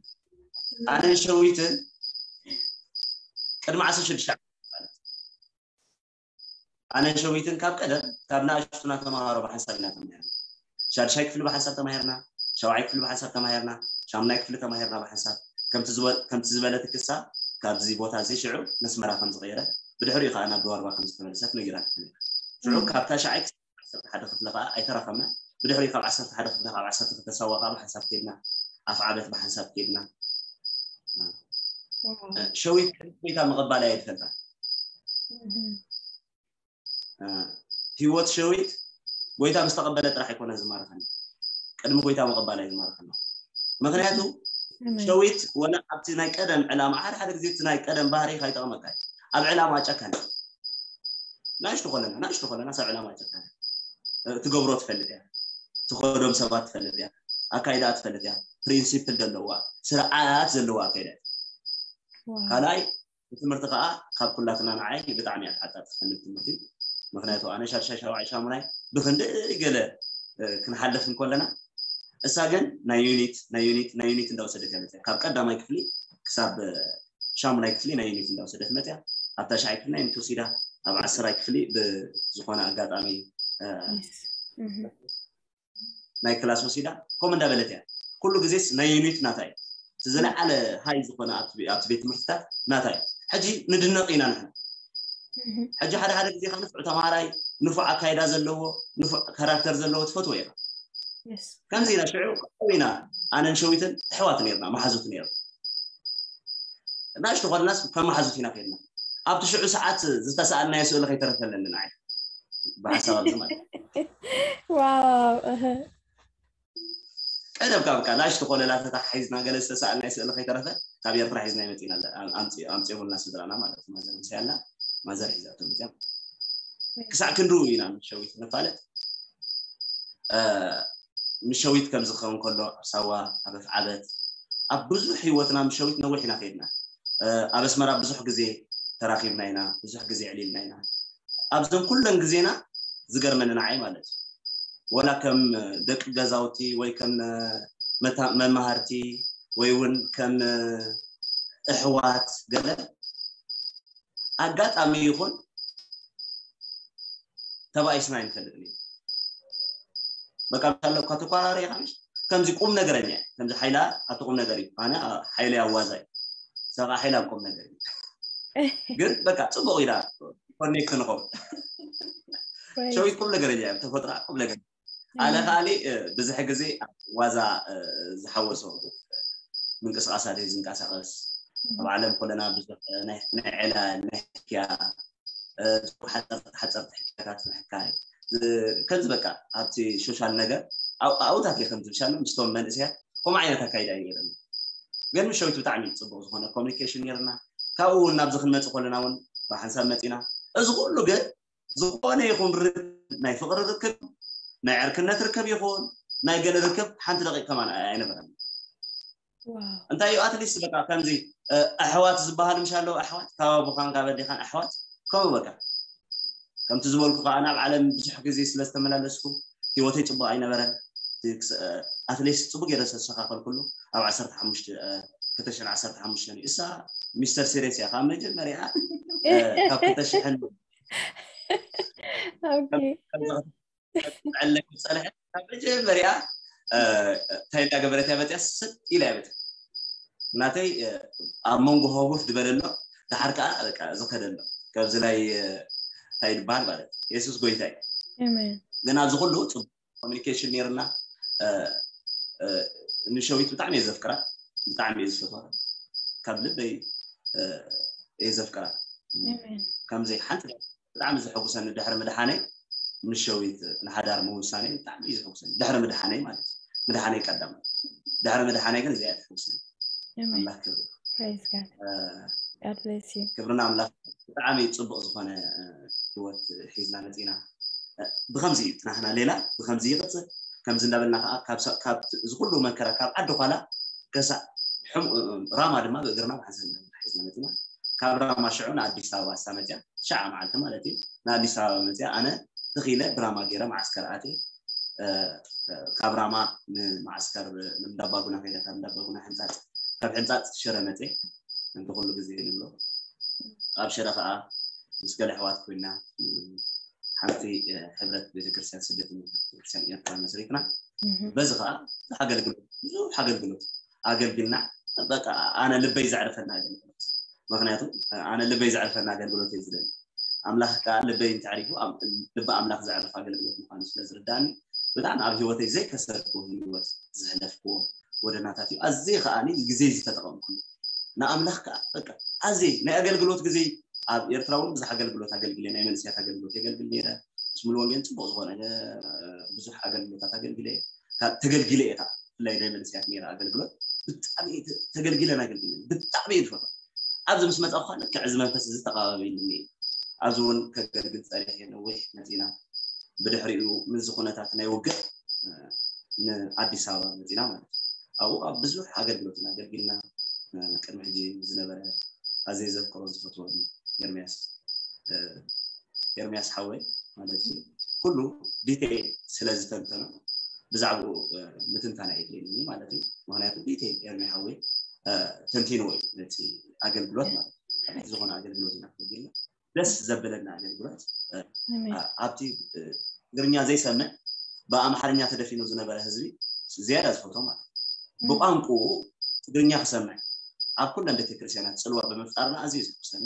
ኣነን ሸዊትን ቅድሚ ዓሰርተ ሽዱሽተ ዓመት ማለት እዩ። ኣነን ሸዊትን ካብ ቀደም ካብ ንኣሽቱና ተምሃሮ ብሓንሳብ ኢና ተማሂርና። ሻድሻይ ክፍሊ ብሓንሳብ ተማሂርና፣ ሻውዓይ ክፍሊ ብሓንሳብ ተማሂርና፣ ሻምናይ ክፍሊ ተማሂርና ብሓንሳብ። ከምቲ ዝበ- ከምቲ ዝበለት ክሳ ካብዚ ቦታ እዚ ሽዑ መስመራ ከም ዝቐየረ ብድሕሪኡ ከዓ ናብ ድዋርባ ከም ዝተመለሰት ነጊራትኒ። ሽዑ ካብ ታሽዓይ ክሳብ ዓሰርተ ሓደ ክፍሊ ከዓ ኣይተራኸብና። ብድሕሪኡ ካብ ዓሰርተ ሓደ ክፍሊ ካብ ዓሰርተ ክልተ ሳዋ ከዓ ብሓንሳብ ከድና፣ ኣፍዓበት ብሓንሳብ ከድና። ዋው። ሸዊት ቅድሚ ጎይታ ምቕባል ኣየ ትፈልጣ። እህ። እ፣ ህይወት ሸዊት ጎይታ ምስ ተቐበለ ጥራሕ ኣይኮነ ዝማርኸኒ፣ ቅድሚ ጎይታ ምቕባል ኣየ ዝማርኸኒ። ምክንያቱ ኣሜን። ሸዊት ወላ ኣብቲ ናይ ቀደም ዕላማ ሓደ ሓደ ግዜ እቲ ናይ ቀደም ባህሪ ከይጠቕመካ እዩ። ኣብ ዕላማ ጨካን ናሽቱ ኮለና ናሽቱ ኮለና ሰብ ዕላማ ጨካን እ፣ ትገብሮ ትፈልጥ እያ፣ ትኸዶም ሰባት ትፈልጥ እያ፣ ኣካይዳ ትፈልጥ እያ፣ ፕሪንሲፕል ዘለዋ ስርዓት ዘለዋ ኣካይዳ እያ። ዋው። ካልኣይ ብትምህርቲ ከዓ ካብ ኩላትና ንዓይ ብጣዕሚ እያ ትዓጣጥፈኒ ብትምህርቲ። ምክንያቱ ኣነ ሻድሻይ ሻውዓይ ሻሙናይ ብክንደይ ገለ እ፣ ክንሓልፍ እንከለና እሳ ግን ናይ ዩኒት ናይ ዩኒት ናይ ዩኒት እንዳወሰደት እያ መፅያ። ካብ ቀዳማይ ክፍሊ ክሳብ እ፣ ሻሙናይ ክፍሊ ናይ ዩኒት እንዳወሰደት መፅያ። ኣብ ታሽዓይ ክፍሊ ናይ ዩኒት ወሲዳ፣ ኣብ ዓሰርተ ክፍሊ ብዝኾነ ኣጋጣሚ እ፣ እህ። ናይ ክላስ ወሲዳ ከምኡ እንዳበለት እያ። ኩሉ ግዜስ ናይ ዩኒት ናታ እዩ። እቲ ዝለዓለ ሃይ ዝኾነ ኣብቲ ቤ- ኣብቲ ቤት ትምህርትታት ናታ እዩ። ሕጂ ንድነቕ ኢና ንሕና። እህ። ሕጂ ሓደ ሓደ ግዜ ከዓ ንፉዕ ተምሃራይ ንፉዕ ኣካይዳ ዘለዎ ንፉዕ ካራክተር ዘለዎ ትፈትዎ ኢኻ። Yes። ከምዚ ኢና ሽዑ ከምኡ ኢና ኣነን ሸዊትን ኣሕዋት ነርና መሓዙት ነርና። ናሽቱ ኮለናስ ከም መሓዙት ኢና ከድና። ኣብቲ ሽዑ ሰዓት ዝተሰኣልናዮ ስእሊ ከይተረፈለኒ ንዓይ ብሓሳብ ኣብዚ ማለት እዩ። ዋው። እህ። ቀደም ካብ ቃ ናሽቱ ኮለላ ተታሓሒዝና ገለ ዝተሰኣልናዮ ስእሊ ከይተረፈ ካብ ኤርትራ ሒዝና ይመፅና ኣምፅኦምልና ስድራና ማለት እዩ። ማዘር ምሳይ ኣላ፣ ማዘር ሒዛቶ መፅያ። ክሳዕ ክንድኡ ኢና ምስ ሸዊት ንፋለጥ። ምስ ሸዊት ከም ዝኸውን ከሎ ኣብ ሳዋ፣ ኣብ ኣፍዓበት፣ ኣብ ብዙሕ ህይወትና ምስ ሸዊት ነዊሕ ኢና ከይድና። ኣብ ኣስመራ ብዙሕ ግዜ ተራኺብና ኢና፣ ብዙሕ ግዜ ዕሊልና ኢና። ኣብዘን ኩለን ግዜና ዝገርመኒ ንዓይ ማለት እዩ፣ ወላ ከም ደቂ ገዛውቲ ወይ ከም መማሃርቲ ወይ እውን ከም ኣሕዋት ገለ ኣጋጣሚ ይኹን ተባኢስና ኣይንፈልጥን እዩ። በቃ ምሳለ እኳ ተኳራሪ ኢኻ ምሽ ከምዚ ቁም ነገረኛ እዩ። ከምዚ ሓይላ ኣብቲ ቁም ነገር እዩ። ኣነ ሓይለ ኣዋዛ እዩ። ሰቃ ሓይላ ቁም ነገር እዩ። ግን በቃ ጽቡቕ ኢላ ኮኔክት ንኸው ሸዊት ቁም ነገረኛ እዩ። ተፈጥራ ቁም ነገር ኣነ ከኣሊ ብዙሕ ግዜ ዋዛ ዝሓወሶ ምንቅስቃሳት ዝንቀሳቀስ ኣብ ዓለም ኮለና ብዙሕ ናይ ዕላል ናይ ሕክያ ሓፀርቲ ሕክያታት ምሕካይ ከምዚ በቃ ኣብቲ ሶሻል ነገር ኣብታት እየ ከምዚ ብሻሎ ምስቶም መንእሰያት ከምኡ ዓይነት ኣካይዳ እዩ ገይረኒ። ግን ምስ ሸዊት ብጣዕሚ ፅቡቅ ዝኮነ ኮሚኒኬሽን ነርና። ካብኡ እውን ናብዚ ክንመፅእ ከለና እውን ብሓንሳብ መፂና። እዚ ኩሉ ግን ዝኾነ ይኹን ርክብ ናይ ፍቅሪ ርክብ ናይ ዕርክነት ርክብ ይኹን ናይ ገለ ርክብ ሓንቲ ደቂቅ ከማን ኣይነበረን። እንታይ እዩ ኣትሊስት በቃ ከምዚ ኣሕዋት ዝበሃሉ ምሽ ኣለዉ ኣሕዋት ካብ ኣቦኻን ካብ ኣዴኻን ኣሕዋት ከምኡ በቃ ከምቲ ዝበልኩ ከዓ ናብ ዓለም ብዙሕ ግዜ ስለ ዝተመላለስኩ ህይወተይ ፅቡቅ ኣይነበረን። ኣትሊስት ፅቡቅ ገይረ ዝተስተካከልኩሉ ኣብ ዓሰርተ ሓሙሽተ ክልተ ሽሕን ዓሰርተ ሓሙሽተን እዩ። እሳ ሚስተር ሲሪየስ እያ ካብ መጀመርያ ካብ ክልተ ሽሕን ዕለ ዝፀንሐ ካብ መጀመርያ እንታይ እንዳገበረት እያ መፅያ ስጥ ኢላ እያ መፅያ ናተይ ኣብ መንጎ ህጉፍ ዝበለ ኣሎ። ድሓር ከዓ በቃ ዝኸደ ኣሎ። ካብዚ ናይ እንታይ ይበሃል ማለት የሱስ ጎይታ እዩ። ግን ኣብዚ ኩሉ ፅቡቅ ኮሚኒኬሽን ነይርና። ንሸዊት ብጣዕሚ እየ ዘፍቅራ፣ ብጣዕሚ እየ ዝፈትዋ፣ ካብ ልበይ እየ ዘፍቅራ። ከምዘይ ሓንቲ ብጣዕሚ ዘሐጉሰኒ ድሕሪ ምድሓነይ ምስ ሸዊት ንሓዳር ምውሳነይ ብጣዕሚ እዩ ዘሐጉሰኒ። ድሕሪ ምድሓነይ ማለት እዩ። ምድሓነይ ቀዳም ድሕሪ ምድሓነይ ግን እዚኣ እያ ተሐጉሰኒ። ኣምላኽ ክብሪ ክብርና ኣምላኽ። ብጣዕሚ ፅቡቅ ዝኮነ ህይወት ሒዝና መፂና። ብከምዚ እዩ ፅናሕና ሌላ ብከምዚ ይቅፅል። ከምዚ እንዳበልና ከዓ ካብ እዚ ኩሉ መከራ ካብ ዓዲ ኳላ ከሳዕ ራማ ድማ ብእግርና ብሓንሳብ ሒዝና መፂና። ካብ ራማ ሽዑ ንኣዲስ ኣበባ እሳ መፅያ ትሽዓ መዓልቲ ማለት እዩ። ንኣዲስ ኣበባ መፅያ ኣነ ተኺለ ብራማ ገይረ ማዓስከር ኣትየ። ካብ ራማ ንማዓስከር ንእንዳባጉና ከይደ ካብ እንዳባጉና ሕንፃፅ ካብ ሕንፃፅ ሽረ መፅየ። እንተ ኩሉ ግዜ ንብሎ ኣብ ሽረ ከዓ ምስ ገለ ኣሕዋት ኮይና ሓንቲ ሕብረት ቤተክርስትያን ስደተኛ ቤተክርስትያን ኤርትራ መስሪትና። በዚ ከዓ ብዙሕ ኣገልግሎት ብዙሕ ኣገልግሎት ኣገልግልና። በቃ ኣነ ልበይ ዘዕርፈና ኣገልግሎት ምክንያቱ ኣነ ልበይ ዘዕርፈና ኣገልግሎት እየ ዝደሊ። ኣምላኽ ከዓ ልበይ እንተዕሪፉ ልቢ ኣምላኽ ዘዕርፍ ኣገልግሎት ምኳኑ ስለ ዝርዳእኒ ብጣዕሚ ኣብ ህይወተይ ዘይከሰርኩ ህይወት ዘሕለፍክዎ ጎደናታት እዩ። ኣዝየ ከዓ ግዜ ዝተጠቐምኩ ንኣምላኽ ከዓ በቃ ኣዝየ ናይ ኣገልግሎት ግዜ ኣብ ኤርትራ እውን ብዙሕ ኣገልግሎት ኣገልግለ ናይ መንእሰያት ኣገልግሎት የገልግል ነይረ። ምስ ሙሉ ወንጌል ፅቡቅ ዝኮነ ብዙሕ ኣገልግሎታት ኣገልግለ ተገልጊለ እየ ከዓ ብፍላይ ናይ መንእሰያት ነይረ ኣገልግሎት ብጣዕሚ ተገልጊለን ኣገልግለን ብጣዕሚ እየ ዝፈትዋ። ኣብዚ ምስ መፃ ኳ ልክዕ እዚ መንፈስ እዚ ተቃባቢልኒ ኣብዚ እውን ከገልግል ፀኒሐ ነዊሕ መፂና ብድሕሪኡ ምስዚ ኩነታት ናይ ውግእ ንኣዲስ ኣበባ መፂና ማለት እዩ። ኣብኡ ኣብ ብዙሕ ኣገልግሎት ኢና ኣገልጊልና። ቅድሚ ሕጂ ዝነበረ ኣዘይ ዘፍቅሮ ዝፈትወኒ ኤርሚያስ ኤርሚያስ ሓወይ ማለት እዩ ኩሉ ዲቴይል ስለ ዝተንተኖ ብዛዕባኡ ምትንታን ኣየድልየኒ ማለት እዩ። ምክንያቱ ዲቴይል ኤርሚ ሓወይ ተንቲንዎ እዩ ነቲ ኣገልግሎት ማለት እዩ። ከመይ ዝኾነ ኣገልግሎት ኢና ክብል ደስ ዘብለና ኣገልግሎት ኣብቲ ትግርኛ ዘይሰምዕ ብኣምሓርኛ ተደፊኑ ዝነበረ ህዝቢ ዝያዳ ዝፈትዎ ማለት እዩ። ብቋንቁኡ ትግርኛ ክሰምዕ ኣብ ኩለን ቤተክርስትያናት ፅልዋ ብምፍጣርና ኣዝዩ ዘሕጉሰኒ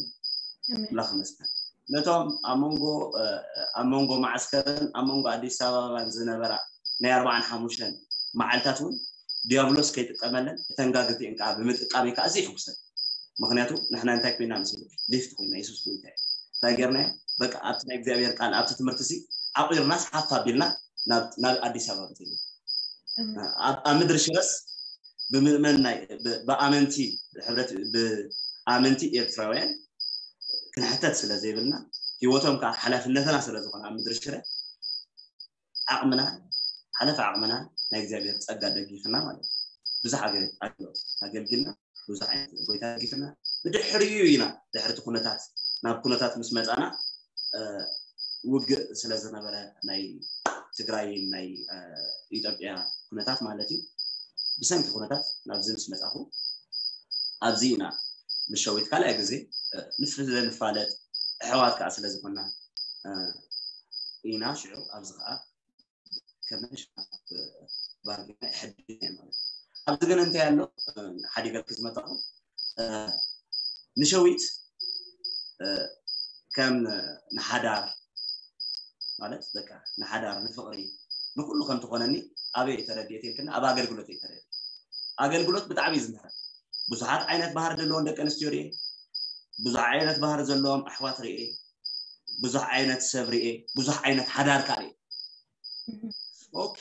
ኣምላኽ ይመስገን። ነቶም ኣብ መንጎ ኣብ መንጎ ማዓስከርን ኣብ መንጎ ኣዲስ ኣበባን ዝነበራ ናይ ኣርባዓን ሓሙሽተን መዓልታት እውን ዲያብሎስ ከይጥቀመለን እተን ጋግርቲኤን ከዓ ብምጥቃመይ ከዓ ኣዝዩ ይሕጉሰኒ። ምክንያቱ ንሕና እንታይ ኮይና መሲሉ ሊፍት ኮይና የሱስ ጎይታ እዩ እንታይ ገርናዮ በቃ ኣብቲ ናይ እግዚኣብሔር ቃል ኣብቲ ትምህርቲ ሲ ዓቂርናስ ሓፍ ኣቢልና ናብ ኣዲስ ኣበባ መፂና ኣብ ምድሪ ሽረስ ብምእመን ናይ ብኣመንቲ ሕብረት ብኣመንቲ ኤርትራውያን ክንሕተት ስለ ዘይብልና፣ ህይወቶም ከዓ ሓላፍነትና ስለ ዝኾነ ኣብ ምድሪ ሽረ ዓቕምና ሓለፈ ዓቕምና ናይ እግዚኣብሔር ጸጋ ደጊፍና ማለት እዩ። ብዙሕ ኣገልግሎት ኣገልግልና፣ ብዙሕ ዓይነት ጎይታ ደጊፍና፣ ብድሕሪኡ ኢና ድሕርቲ ኩነታት ናብ ኩነታት ምስ መጻና ውግእ ስለ ዝነበረ ናይ ትግራይ ናይ ኢትዮጵያ ኩነታት ማለት እዩ። ብሰንኪ ኩነታት ናብዚ ምስ መጻኹ ኣብዚ ኢና ምስ ሸዊት ካልኣይ ግዜ ንፋለጥ፣ ኣሕዋት ከዓ ስለ ዝኾንና ኢና። ሽዑ ኣብዚ ከዓ ከመሽ ባርጌና ይሕድግ ማለት እዩ። ኣብዚ ግን እንታይ ኣሎ? ሓደ ገርክ ዝመጣኹ ንሸዊት ከም ንሓዳር ማለት በቃ ንሓዳር ንፍቕሪ ንኩሉ ከም ትኾነኒ ኣበይ ተረድኤት ኢልክና ኣብ ኣገልግሎት እየ ተረድኤት። ኣገልግሎት ብጣዕሚ እዩ ዝምህረን። ብዙሓት ዓይነት ባህሪ ዘለዎም ደቂ ኣንስትዮ ርኤ፣ ብዙሕ ዓይነት ባህሪ ዘለዎም ኣሕዋት ርኤ፣ ብዙሕ ዓይነት ሰብ ርኤ፣ ብዙሕ ዓይነት ሓዳር ከዓ ርኤ። ኦኬ፣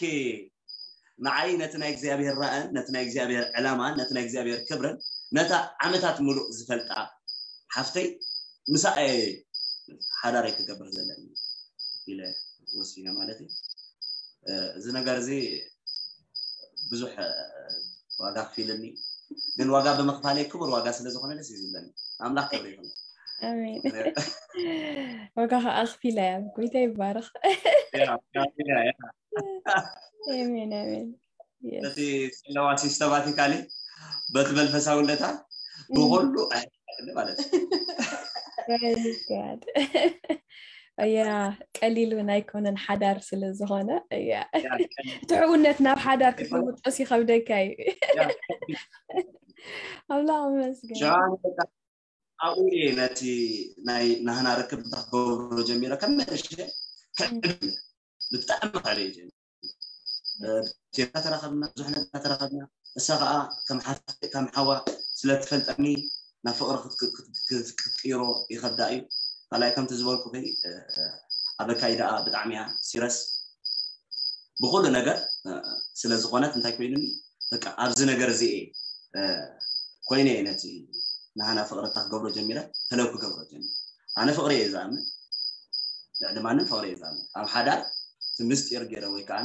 ንዓይ ነቲ ናይ እግዚኣብሔር ራእን ነቲ ናይ እግዚኣብሔር ዕላማን ነቲ ናይ እግዚኣብሔር ክብርን ነታ ዓመታት ምሉእ ዝፈልጣ ሓፍተይ ምሳኣ ሓዳረይ ክገብር ዘለኒ ኢለ ወሲነ ማለት እዩ። እዚ ነገር እዚ ብዙሕ ዋጋ ክፊልኒ፣ ግን ዋጋ ብምኽፋለይ ክቡር ዋጋ ስለ ዝኾነ ደስ እዩ ዝብለኒ። ኣምላኽ ክብሪ ይኹን። ኣሜን። ዋጋ ከዓ ኣኽፊላ እያ። ጎይታ ይባረኽ። ኣሜን ኣሜን። በቲ ዘለዋ ሲስተማቲካሊ በቲ መንፈሳውነታ ብኩሉ ማለት እያ። ቀሊል እውን ኣይኮነን ሓዳር ስለ ዝኾነ እያ። እቲ ሕውነት ናብ ሓዳር ክትልውጦስ ይኸብደካ እዩ። ኣምላኽ መስገን። ኣብኡ እየ ነቲ ናይ ናህና ርክብ ክገብሮ ጀሚረ ከም መእሸ ክዕብል ብጣዕሚ ክዕብ እየ ጀሚረ። ዜና ተራኸብና፣ ብዙሕ ነገር ተራኸብና። እሳ ከዓ ከም ሓዋ ስለ ትፈልጠኒ ናብ ፍቕሪ ክትቅይሮ ይኸብዳ እዩ። ካልኣይ ከምቲ ዝበልኩ ኣብ ኣካይዳኣ ብጣዕሚ እያ ሲረስ ብኩሉ ነገር ስለ ዝኾነት እንታይ ኮይኑኒ በቃ ኣብዚ ነገር እዚ እየ ኮይነ እየ ነቲ ናህና ፍቕሪ እታ ክገብሮ ጀሚረ ተለው ክገብሮ ጀሚረ። ኣነ ፍቕሪ እየ ዝኣምን፣ ልዕሊ ማንም ፍቕሪ እየ ዝኣምን። ኣብ ሓዳር እቲ ምስጢር ገይረ ወይ ከዓ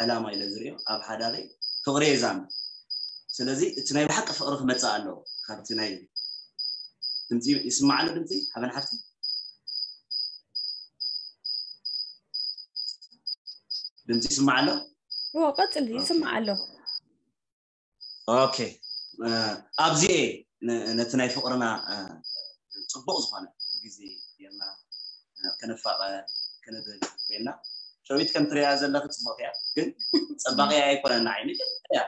ዕላማ ኢለ ዝሪኦ ኣብ ሓዳረይ ፍቕሪ እየ ዝኣምን። ስለዚ እቲ ናይ ብሓቂ ፍቕሪ ክመፅእ ኣለዎ ካብቲ ናይ ድምፂ ይስማዕ ኣሎ። ድምፂ ሓበን ሓፍቲ ድምፂ ይስማዕ ኣሎ። ቀፅል ይስማዕ ኣሎ። ኦኬ፣ ኣብዚኤ ነቲ ናይ ፍቕርና ፅቡቕ ዝኾነ ግዜ ጌርና ከነፋቐ ክንብል ኮይና ሸዊት ከም ትሪያ ዘለኺ ፅቡቕ እያ፣ ግን ፅባቐያ ኣይኮነን ንዓይ መጀመርያ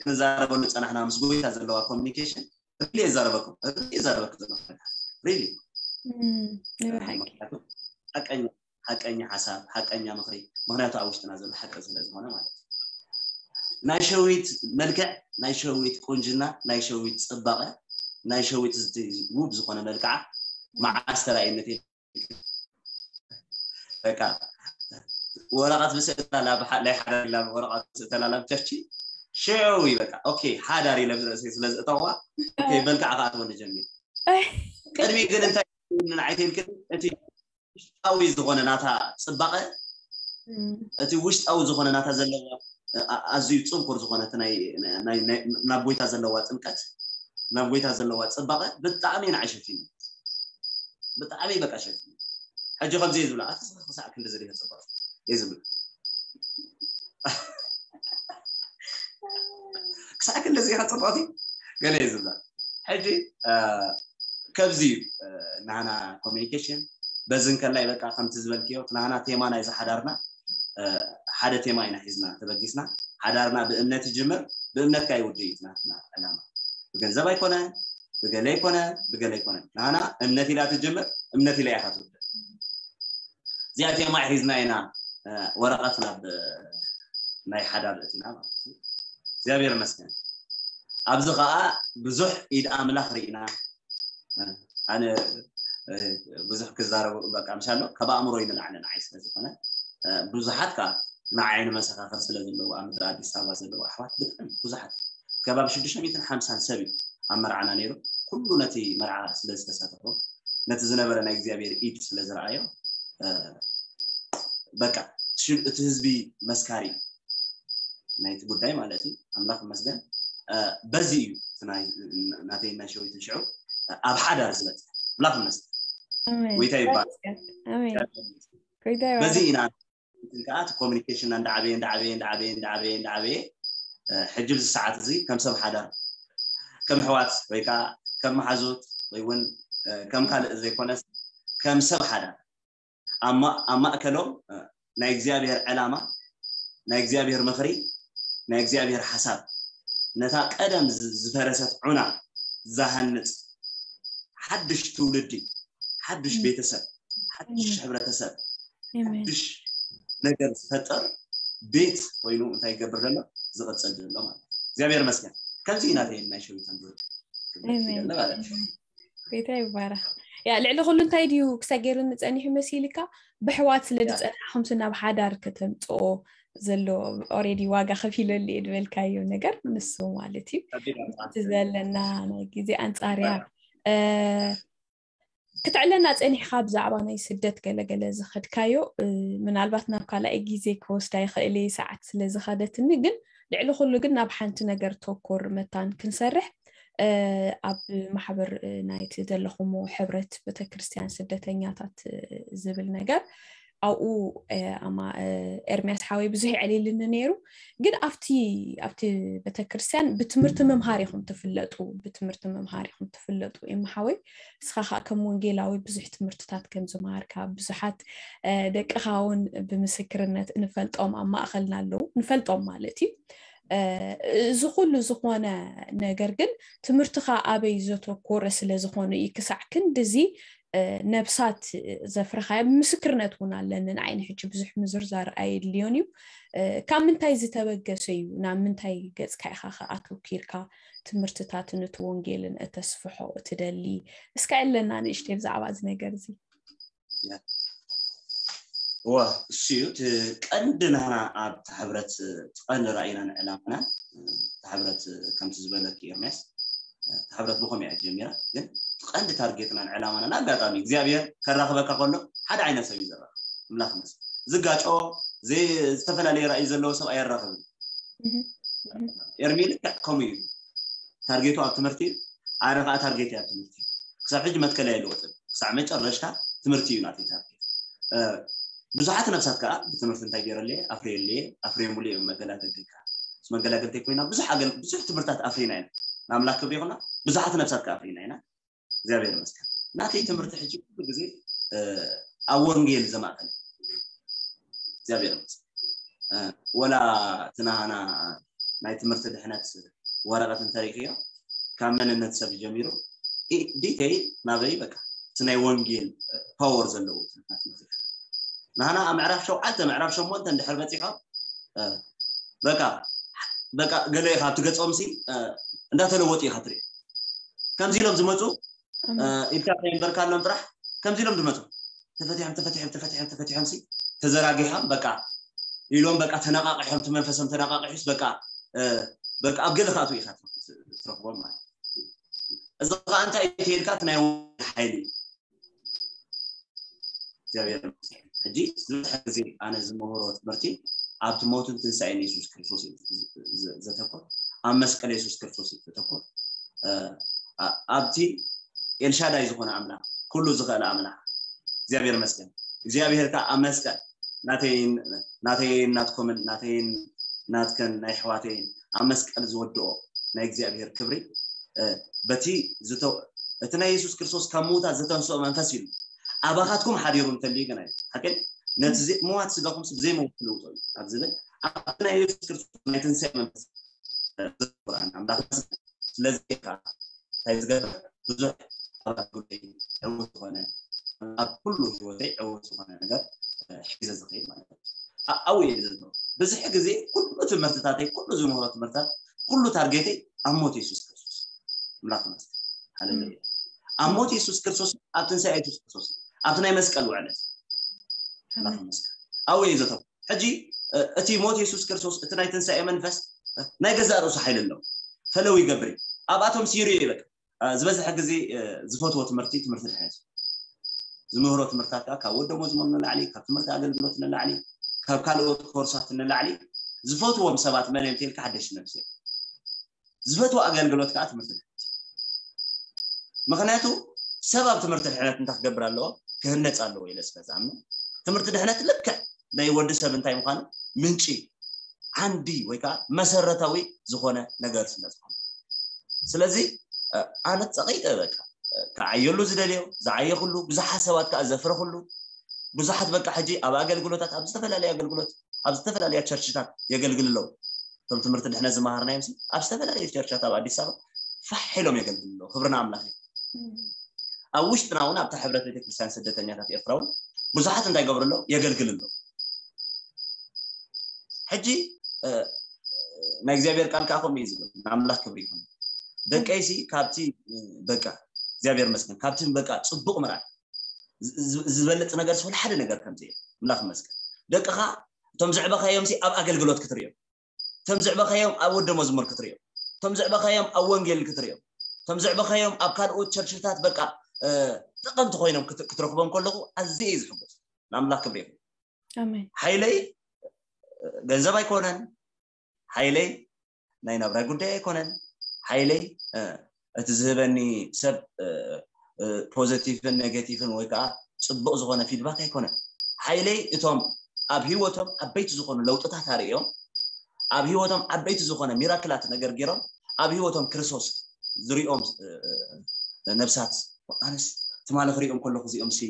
ክንዛረበሉ ፀናሕና ምስ ጎይታ ዘለዋ ኮሚኒኬሽን ሪሊ የዛረበኩም ሪሊ የዛረበኩ ዘለኹ ሪሊ ሓቀኛ ሓሳብ ሓቀኛ ምኽሪ ምኽንያቱ ኣብ ውሽጥና ዘሎ ሓቂ ስለ ዝኾነ ማለት እዩ። ናይ ሸዊት መልክዕ ናይ ሸዊት ቁንጅና ናይ ሸዊት ፅባቐ ናይ ሸዊት ውብ ዝኾነ መልክዓ መዓስ ተራእየነት በቃ ወረቐት ብስእተላ ናይ ሓደ ላ ወረቐት ብስእተላ ላብ ቸርቺ ሽዑ እዩ በቃ ኦኬ ሓዳር ኢለ ብርእሰይ ስለ ዝእተዋ ኦኬ መልክዓ ከኣትወኒ ጀሚሩ። ቅድሚ ግን እንታይ ንዓይተይልክን እቲ ውሽጣዊ ዝኾነ ናታ ፅባቐ እቲ ውሽጣዊ ዝኾነ ናታ ዘለዋ ኣዝዩ ፅንኩር ዝኾነ ናብ ጎይታ ዘለዋ ጥምቀት ናብ ጎይታ ዘለዋ ፅባቐ ብጣዕሚ ንዓይ ሸፊኑ ብጣዕሚ በቃ ሸፊኑ። ሕጂ ከምዚ እየ ዝብላ ኣቲ ክሳዕ ክንዲ ዝሪኦ ፅባቐ እየ ዝብል ክሳዕ ክንዲ ዝሪኦ ፅባቐ ገለ እየ ዝብላ። ሕጂ ከብዚ እዩ ናህና ኮሚኒኬሽን በዚ እንከላይ በቃ ከምቲ ዝበልክዮ ናህና ቴማ ናይ ዝሓዳርና ሓደ ቴማ ኢና ሒዝና ተበጊስና። ሓዳርና ብእምነት ይጅምር ብእምነትካ ይውድእ እዩ ናትና ዕላማ። ብገንዘብ ኣይኮነ ብገለ ኣይኮነ ብገለ ኣይኮነ ናህና እምነት ኢላ ትጅምር እምነት ኢላ ኢኻ ትውድእ። እዚኣ ቴማ ሒዝና ኢና ወረቐት ናብ ናይ ሓዳር እቲና ማለት እዩ። እግዚኣብሔር ይመስገን። ኣብዚ ከዓ ብዙሕ ኢድ ኣምላኽ ርኢና ኣነ ብዙሕ ክዛረቡ በቃ ምሻሎ ካብ ኣእምሮ ይንላዕለ ንዓይ ስለ ዝኾነ ብዙሓት ከዓ ንዓይኒ መሰኻኽር ስለ ዘለዉ ኣብ ምድሪ ኣዲስ ኣበባ ዘለዉ ኣሕዋት ብጣዕሚ ብዙሓት ከባቢ ሽዱሽተ ሚእትን ሓምሳን ሰብ እዩ ኣብ መርዓና ነይሩ። ኩሉ ነቲ መርዓ ስለ ዝተሳተፎ ነቲ ዝነበረ ናይ እግዚኣብሔር ኢድ ስለ ዝረኣዮ በቃ እቲ ህዝቢ መስካሪ ናይቲ ጉዳይ ማለት እዩ። ኣምላኽ ይመስገን። በዚ እዩ ናተይ ናይ ሸዊትን ሽዑ ኣብ ሓዳር ዝበፅሕ። ኣምላኽ ይመስገን። ጎይታ ይባል። በዚ ኢና ከዓ እቲ ኮሚኒኬሽን እንዳዓበየ እንዳዓበየ እንዳዓበየ እንዳዓበየ እንዳዓበየ ሕጂ ብዚ ሰዓት እዚ ከም ሰብ ሓዳር ከም ኣሕዋት ወይ ከዓ ከም መሓዙት ወይ እውን ከም ካልእ ዘይኮነስ ከም ሰብ ሓዳር ኣብ ማእከሎም ናይ እግዚኣብሔር ዕላማ ናይ እግዚኣብሔር ምኽሪ ናይ እግዚኣብሔር ሓሳብ ነታ ቀደም ዝፈረሰት ዑና ዝሃንፅ ሓድሽ ትውልዲ ሓድሽ ቤተሰብ ሓድሽ ሕብረተሰብ ሓድሽ ነገር ዝፈጠር ቤት ኮይኑ እንታይ ይገብር ዘሎ ዝቕፅል ዘሎ ማለት እግዚኣብሔር መስገን ከምዚ ኢና ናይ ሸዊተን ማለት ቤታ ይባረክ። ያ ልዕሊ ኩሉ እንታይ ድዩ ክሳብ ገይሩ ንፀኒሑ መሲልካ ብሕዋት ስለ ዝፀናሕኹም ናብ ሓዳር ከተምፅኦ ዘሎ ኦሬዲ ዋጋ ከፊለሉ እየ ዝበልካዮ ነገር ንሱ ማለት እዩ እቲ ዘለና ናይ ግዜ ኣንፃርያ ክትዕለና ፀኒሕካ ብዛዕባ ናይ ስደት ገለገለ ዝኸድካዮ ምናልባት ናብ ካልኣይ ግዜ ክወስዳ ይኽእል እየ ሰዓት ስለ ዝኸደትኒ ግን ልዕሊ ኩሉ ግን ናብ ሓንቲ ነገር ተኮር መታን ክንሰርሕ ኣብ ማሕበር ናይቲ ዘለኹሞ ሕብረት ቤተክርስትያን ስደተኛታት ዝብል ነገር ኣብኡ ኣማ ኤርሚያስ ሓወይ ብዙሕ የዕሊልኒ ነይሩ ግን ኣብቲ ኣብቲ ቤተክርስትያን ብትምህርቲ ምምሃር ኢኹም ትፍለጡ ብትምህርቲ ምምሃር ኢኹም ትፍለጡ ኤማ ሓወይ እስኻ ከዓ ከም ወንጌላዊ ብዙሕ ትምህርትታት ከም ዝመሃርካ ብዙሓት ደቅኻ እውን ብምስክርነት ንፈልጦም ኣብ ማእኸልና ኣለዉ ንፈልጦም ማለት እዩ እዚ ኩሉ ዝኾነ ነገር ግን ትምህርትኻ ኣበይ ዘተኮረ ስለ ዝኾነ እዩ ክሳዕ ክንድዚ ነብሳት ዘፍረኻዮ ምስክርነት እውን ኣለኒ ንዓይ ንሕጂ ብዙሕ ምዝርዛር ኣየድልዮን እዩ ካብ ምንታይ ዝተበገሰ እዩ ናብ ምንታይ ገፅካ ኢኻ ኣተኪርካ ትምህርትታትን እቲ ወንጌልን እተስፍሖ እትደሊ እስካ ኣለና ንእሽተይ ብዛዕባ እዚ ነገር እዚ እዋ እሱ እዩ እቲ ቀንዲ ናና ኣብ ተሕብረት ትቐንዲ ራእይና ንዕላማና ተሕብረት ከምቲ ዝበለኪ ኤርሚያስ ተሕብረት ብኸም እያ ጀሚራ ግን ቀንዲ ታርጌትና ንዕላማና ንኣጋጣሚ እግዚኣብሔር ከራኽበካ ከሎ ሓደ ዓይነት ሰብ እዩ ዘራኽ ምላኽ መስ ዝጋጮ ዝተፈላለየ ራእይ ዘለዎ ሰብ ኣየራኽብን ኤርሚ ልክዕ ከምኡ እዩ ታርጌቱ ኣብ ትምህርቲ እዩ ኣነ ከዓ ታርጌት ኣብ ትምህርቲ እዩ ክሳብ ሕጂ መትከል ኣይለወጥን ክሳዕ መጨረሽታ ትምህርቲ እዩ ናተይ ታርጌት ብዙሓት ነብሳት ከዓ ብትምህርቲ እንታይ ገይረለየ ኣፍሬየለየ ኣፍሬየሙሉ እዮም መገላገልተይ ከዓ መገላገልተይ ኮይና ብዙሕ ኣገል ብዙሕ ትምህርታት ኣፍሪና ኢና ንኣምላክ ክብሪ ይኹና ብዙሓት ነብሳት ከዓ ኣፍሪና ኢና እግዚኣብሔር ይመስገን ናተይ ትምህርቲ ሕጂ ኩሉ ግዜ ኣብ ወንጌል ዘማእከለ እግዚኣብሔር ይመስገን ወላ ትናሃና ናይ ትምህርቲ ድሕነት ወረቀት እንተሪእክዮ ካብ መንነት ሰብ ጀሚሩ ዲተይል ናበይ በቃ እቲ ናይ ወንጌል ፓወር ዘለዎ ናህና ኣብ ምዕራፍ ሸውዓተ ምዕራፍ ሸሞንተ እንድሕር በፂሖም በቃ በቃ ገለ ኢኻ ኣብቲ ገፆም ሲ እንዳተለወጡ ኢኻ ትርኢ ከምዚ ኢሎም ዝመፁ ኢልካ ከይንበርካሎም ጥራሕ ከምዚ ኢሎም ዝመፁ ተፈቲሖም ተፈቲሖም ተፈቲሖም ተፈቲሖም ሲ ተዘራጊሖም በቃ ኢሎም በቃ ተነቃቂሖም እቲ መንፈሶም ተነቃቂሑስ በቃ በቃ ኣብ ገለ ክኣትዉ ኢኻ ትረኽቦም ማለት እዚ ከዓ እንታይ ተይልካ እቲ ናይ ሓይሊ እግዚኣብሔር ሕጂ ዝበዝሐ ግዜ ኣነ ዝምህሮ ትምህርቲ ኣብቲ ሞትን ትንሳኤን የሱስ ክርስቶስ ዘተኮር ኣብ መስቀል የሱስ ክርስቶስ ዘተኮር ኣብቲ ኤልሻዳይ ዝኾነ ኣምላኽ ኩሉ ዝኽእል ኣምላኽ እግዚኣብሔር መስገን እግዚኣብሔር ከዓ ኣብ መስቀል ናተይን ናተይን ናትኮምን ናተይን ናትከን ናይ ኣሕዋተይን ኣብ መስቀል ዝወድኦ ናይ እግዚኣብሔር ክብሪ በቲ እቲ ናይ የሱስ ክርስቶስ ካብ ምዉታት ዝተንስኦ መንፈስ ኢሉ ኣባኻትኩም ሓዲሩ እንተልዩ ግን ሓቂ ነቲ ምዋት ስጋኹም ብዘይመውት ትልውጦ እዩ ኣብ ዝብል ኣብቲ ናይ የሱስ ክርስቶስ ናይ ትንሳኤ መንፈስ ቁርኣን ኣምላኽ ስለዚ ከዓ እንታይ ዝገብር ብዙሕ ኣብ ጉዳይ ዕውት ዝኾነ ኣብ ኩሉ ህይወተይ ዕውት ዝኾነ ነገር ሒዘ ዝኸይድ ማለት እዩ ኣብኡ እየ ዘሎ ብዙሕ ግዜ ኩሉ ትምህርትታተይ ኩሉ ዝምህሮ ትምህርታት ኩሉ ታርጌተይ ኣብ ሞት የሱስ ክርስቶስ ኣምላኽ ይመስገን ሃሌሉያ ኣብ ሞት የሱስ ክርስቶስ ኣብ ትንሳኤ የሱስ ክርስቶስ ኣብቲ ናይ መስቀል ውዕለት ኣምላኽ ይመስገን ኣብኡ እዩ ዘተኩር። ሕጂ እቲ ሞት የሱስ ክርስቶስ፣ እቲ ናይ ትንሳኤ መንፈስ ናይ ገዛእ ርእሱ ሓይሊ ኣለዎ። ፈለው ይገብር እዩ። ኣብኣቶም ሲሩ እዩ በቃ። ዝበዝሐ ግዜ ዝፈትዎ ትምህርቲ ትምህርቲ ድሕነት፣ ዝምህሮ ትምህርታት ከዓ ካብ ወደሞ ዝመኑ ንላዕሊ፣ ካብ ትምህርቲ ኣገልግሎት ንላዕሊ፣ ካብ ካልኦት ኮርሳት ንላዕሊ ዝፈትዎም ሰባት መን እዮም ተልካ ሓደሽ ነብሲ እዮም። ዝፈትዎ ኣገልግሎት ከዓ ትምህርቲ ድሕነት። ምክንያቱ ሰብ ኣብ ትምህርቲ ድሕነት እንታይ ክገብር ኣለዎ? ክህነፅ ኣለዎ ኢለ ስለ ዝኣምን ትምህርቲ ድሕነት ልክዕ ናይ ወዲ ሰብ እንታይ ምዃኑ ምንጪ ዓንዲ ወይ ከዓ መሰረታዊ ዝኾነ ነገር ስለ ዝኾነ፣ ስለዚ ኣነ ፀቂጠ በቃ ክዓየሉ ዝደልዮ ዝዓየኩሉ ብዙሓት ሰባት ከዓ ዘፍረኩሉ ብዙሓት በቃ ሕጂ ኣብ ኣገልግሎታት ኣብ ዝተፈላለየ ኣገልግሎት ኣብ ዝተፈላለያ ቸርችታት የገልግል ኣለዉ። እቶም ትምህርቲ ድሕነት ዝመሃርናዮም ኣብ ዝተፈላለየ ቸርችታት ኣብ ኣዲስ ኣበባ ፋሕ ኢሎም የገልግል ኣለዉ። ክብርና ኣምላኽ እዩ። ኣብ ውሽጥና እውን ኣብታ ሕብረት ቤተክርስትያን ስደተኛታት ኤርትራ እውን ብዙሓት እንታይ ገብሩ ኣለዉ? የገልግል ኣለዉ። ሕጂ ናይ እግዚኣብሔር ቃል ከዓ ከምኡ እዩ ዝብል። ንኣምላኽ ክብሪ ይኹን። ደቀይሲ ካብቲ በቃ እግዚኣብሔር መስገን ካብቲ በቃ ፅቡቅ ምርኣይ ዝበልፅ ነገር ስለ ሓደ ነገር ከምዚ ኣምላኽ መስገን። ደቅኻ እቶም ዝዕበኻዮም ኣብ ኣገልግሎት ክትሪኦም፣ እቶም ዝዕበኻዮም ኣብ ወደ መዝሙር ክትሪኦም፣ እቶም ዝዕበኻዮም ኣብ ወንጌል ክትሪኦም፣ እቶም ዝዕበኻዮም ኣብ ካልኦት ቸርችታት በቃ ጠቐምቲ ኮይኖም ክትረኽቦም ከለኹ ኣዝየ እዩ ዝሕጎስ። ንኣምላኽ ክብሪ ይኹን። ሓይለይ ገንዘብ ኣይኮነን። ሓይለይ ናይ ናብራይ ጉዳይ ኣይኮነን። ሓይለይ እቲ ዝህበኒ ሰብ ፖዘቲቭን ኔጌቲቭን ወይ ከዓ ፅቡቅ ዝኾነ ፊድባክ ኣይኮነን። ሓይለይ እቶም ኣብ ህይወቶም ዓበይቲ ዝኾኑ ለውጥታት ኣርእዮም ኣብ ህይወቶም ዓበይቲ ዝኾነ ሚራክላት ነገር ገይሮም ኣብ ህይወቶም ክርስቶስ ዝሪኦም ነብሳት ኣነስ ትማሊ ክሪኦም ከለኹ እዚኦም ሲ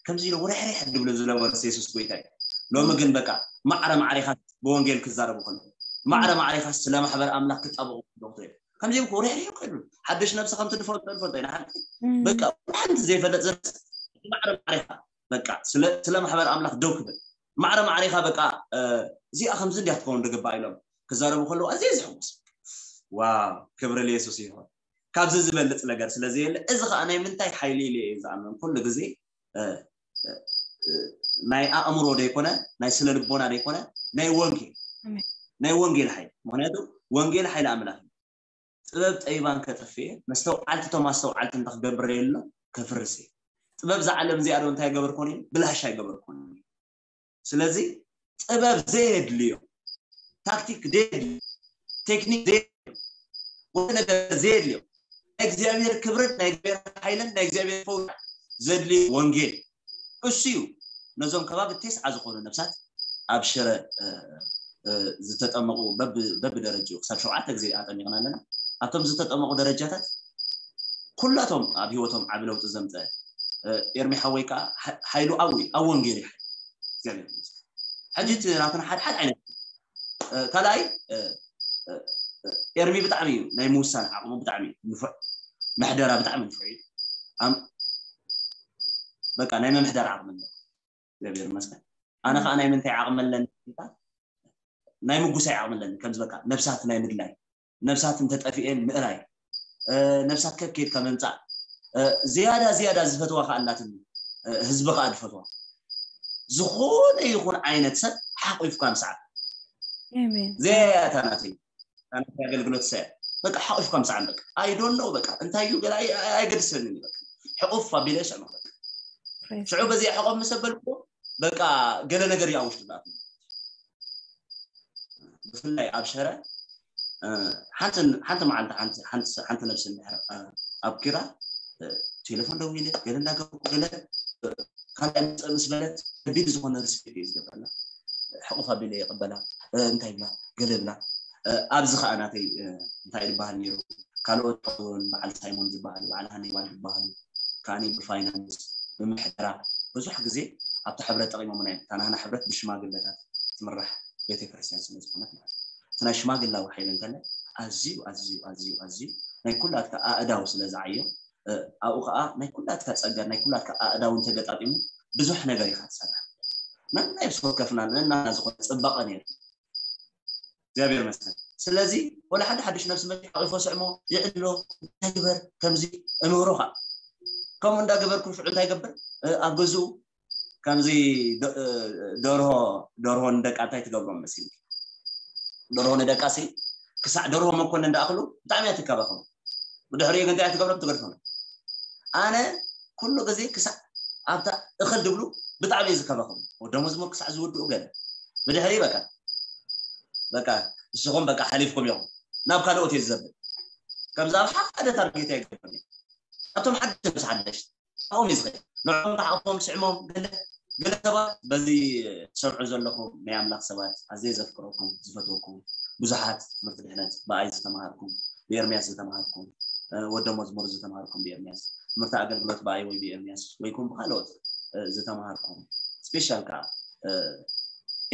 ከምዚ ኢሎም ርሕርሕ ድብሉ ዝነበሩ የሱስ ጎይታ እዩ። ሎሚ ግን በቃ ማዕረ ማዕሪኻ ብወንጌል ክዛረቡ ከለኹ ማዕረ ማዕሪኻ ስለ ማሕበር ኣምላኽ ክጣበቑ ከለኹ ከምዚ ኢልኩ ርሕርሕ ከሉ ሓድሽ ነብሲ ከምቲ ንፈልጦ ንፈልጦ ኢና ሓቂ በቃ ሓንቲ ዘይፈለጥ ዘብስ ማዕረ ማዕሪኻ በቃ ስለ ማሕበር ኣምላኽ ደው ክብል ማዕረ ማዕሪኻ በቃ እዚኣ ከምዚ እንዲያ ክትከውን ዝግባእ ኢሎም ክዛረቡ ከለዉ ኣዝየ ዝሕጉስ። ዋው ክብሪ ለየሱስ ይኹን። ካብዚ ዝበልፅ ነገር ስለ ዘየለ እዚ ከዓ ናይ ምንታይ ሓይሊ ኢለ እየ ዝኣምን ኩሉ ግዜ ናይ ኣእምሮ ዘይኮነ ናይ ስነ ልቦና ዘይኮነ ናይ ወንጌል ናይ ወንጌል ሓይሊ ምክንያቱ ወንጌል ሓይሊ ኣምላኽ እዩ። ጥበብ ጠቢባን ከጥፍእ መስተውዓልቲ እቶም ኣስተውዓልቲ እንተ ክገብር የሎ ከፍርስ እዩ። ጥበብ ዝዓለም እዚኣ ዶ እንታይ ገበርኮን እዩ ብላሽ ኣይገበርኮን እዩ። ስለዚ ጥበብ ዘየድልዮ ታክቲክ ዘየድልዮ ቴክኒክ ዘየድልዮ ወደ ነገር ዘየድልዮ ናይ እግዚኣብሔር ክብርን ናይ እግዚኣብሔር ሓይልን ናይ እግዚኣብሔር ፈውስ ዘድልዮ ወንጌል እሱ እዩ። ነዞም ከባቢ ቴስዓ ዝኾኑ ነብሳት ኣብ ሽረ ዝተጠመቑ በብደረጅኡ ክሳብ ሸውዓተ ግዜ ኣጠሚቕና ኣለና። ኣብቶም ዝተጠመቑ ደረጃታት ኩላቶም ኣብ ህይወቶም ዓቢ ለውጢ ዘምፀ ኤርሚ ሓወይ ከዓ ሓይሉ ኣብኡ ኣብ ወንጌል እዩ። እግዚኣብሔር ይመስገን። ሕጂ እቲ ናትና ሓድሓድ ዓይነት ካልኣይ ኤርሚ ብጣዕሚ እዩ ናይ ምውሳን ዓቕሙ ብጣዕሚ እዩ ንፉዕ፣ ምሕደራ ብጣዕሚ ንፉዕ እዩ። በቃ ናይ ምምሕዳር ዓቕሚ ኣለዎ። እግዚኣብሔር ይመስገን። ኣነ ከዓ ናይ ምንታይ ዓቕሚ ኣለኒ? ናይ ምጉሳይ ዓቕሚ ኣለኒ። ከምዚ በቃ ነብሳት ናይ ምድላይ፣ ነብሳት እንተጠፊኤን ምእላይ፣ ነብሳት ከኬድካ ምምፃእ፣ ዝያዳ ዝያዳ ዝፈትዋ ከዓ ኣላትኒ፣ ህዝቢ ከዓ ዝፈትዋ ዝኾነ ይኹን ዓይነት ሰብ ሓቂፍካ ምስዓብ። ዘያያታ ናተይ ኣገልግሎት ሰ በቃ ሓቂፍካ ምስዓም በቃ ኣይዶን ነው በቃ እንታይ እዩ ገላ ኣይገድሰንን በቃ ሕቁፍ ኣቢለ ይስዕሞ በቃ ሽዑ በዚኣ ሕቆፍ ምስ ኣበልኩ በቃ ገለ ነገር እዩ ኣብ ውሽጢ ዝኣትዎ። ብፍላይ ኣብ ሸረ ሓንቲ ሓንቲ መዓልቲ ሓንቲ ሓንቲ ሓንቲ ነብሲ እንድሕር ኣብኪራ ቴሌፎን ደዊለ ገለ እንዳገበርኩ ገለ ካልኣይ መፀ ምስ በለት ከቢድ ዝኾነ ሪስፔክት እዩ ዝገብረላ። ሕቁፍ ኣቢለ ይቕበላ እንታይ ብላ ገለ ብላ ኣብዚ ከዓ ናተይ እንታይ ዝበሃል ነይሩ ካልኦት እውን በዓል ሳይሞን ዝበሃሉ በዓል ሃኒባል ዝበሃሉ ከዓኒ ብፋይናንስ ብምሕደራ ብዙሕ ግዜ ኣብቲ ሕብረት ጠቂሞምና እዮም። እታ ናህና ሕብረት ብሽማግለታት ትምራሕ ቤተክርስትያን ስለ ዝኾነት ማለት እዩ። እቲ ናይ ሽማግላዊ ሓይሊ እንተለ ኣዝዩ ኣዝዩ ኣዝዩ ኣዝዩ ናይ ኩላትካ ኣእዳው ስለ ዝዓዮ ኣብኡ ከዓ ናይ ኩላትካ ፀገር ናይ ኩላትካ ኣእዳው እንተገጣጢሙ ብዙሕ ነገር ኢካ ትሰርሕ። ነናይ ብስኮት ከፍና ነናና ዝኾነ ፅባቐ ነይሩ እግዚኣብሔር ይመስገን። ስለዚ ወላ ሓደ ሓድሽ ነብሲ መፂ ሓቂፎ ስዕሞ ይዕሎ እንታይ ግበር ከምዚ እምህሮ ከዓ ከምኡ እንዳገበርኩ ሽዑ እንታይ ገብር ኣብ ገዝኡ ከምዚ ደ- ደርሆ ደርሆ ንደቃ እንታይ ትገብሮም መሲልኪ? ደርሆ ንደቃ ሲ ክሳዕ ደርሆ መኮነን እንዳኣኽሉ ብጣዕሚ እያ ትከባኸቡ። ብድሕሪኡ ግን እንታይ እያ ትገብሮም? ትገድፎም። ኣነ ኩሉ ግዜ ክሳዕ ኣብታ እኽል ድብሉ ብጣዕሚ እየ ዝከባኸቡ። ወደሞዝሞ ክሳዕ ዝውድኡ ገለ ብድሕሪ በቃ በቃ ንስኹም በቃ ሓሊፍኩም ኢኹም ናብ ካልኦት እየ ዝዘብል። ከምዚ ኣብ ሓደ ታርጌት ኣይገብርን እየ። ኣብቶም ሓደሽቲ ምስ ሓደሽቲ ኣብኦም እዩ ዝኸይድ። ንዕኦም ተሓቑፎም ስዕሞም ገለ ገለ ሰባት በዚ ትሰምዑ ዘለኹም ናይ ኣምላኽ ሰባት ኣዝየ ዘፍቅረኩም ዝፈትወኩም ብዙሓት ትምህርቲ ድሕነት ብኣይ ዝተምሃርኩም ብኤርምያስ ዝተምሃርኩም ወደ መዝሙር ዝተምሃርኩም ብኤርምያስ ትምህርቲ ኣገልግሎት ብኣይ ወይ ብኤርምያስ ወይኩም ብካልኦት ዝተምሃርኩም ስፔሻል ከዓ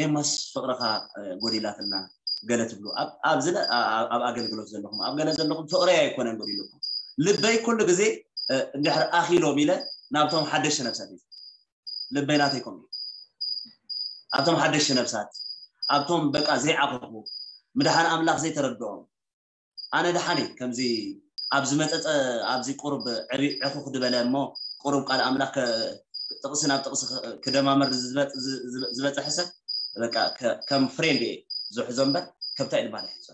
ኤማስ ፍቅርኻ ጎዲላትና ገለ ትብሉ ኣብ ኣብዚ ኣብ ኣገልግሎት ዘለኹም ኣብ ገለ ዘለኹም ፍቅረይ ኣይኮነን ጎዲሉኩም ልበይ ኩሉ ግዜ እንድሕር ኣኺሎም ኢለ ናብቶም ሓደሽቲ ነብሳት እዩ ልበይ ናተይኮም እዩ ኣብቶም ሓደሽቲ ነብሳት ኣብቶም በቃ ዘይዓኸኹ ምድሓን ኣምላኽ ዘይተረድኦም ኣነ ደሓነይ ከምዚ ኣብ ዝመፀፀ ኣብዚ ቁሩብ ዕቢ ዕኹኽ ዝበለ እሞ ቁሩብ ቃል ኣምላኽ ጥቕሲ ናብ ጥቕሲ ክደማመር ዝበፅሐ ሰብ በቃ ከም ፍሬንድ እየ ዝሕዞ እምበር ከብታ ኢልማ ዝሕዞ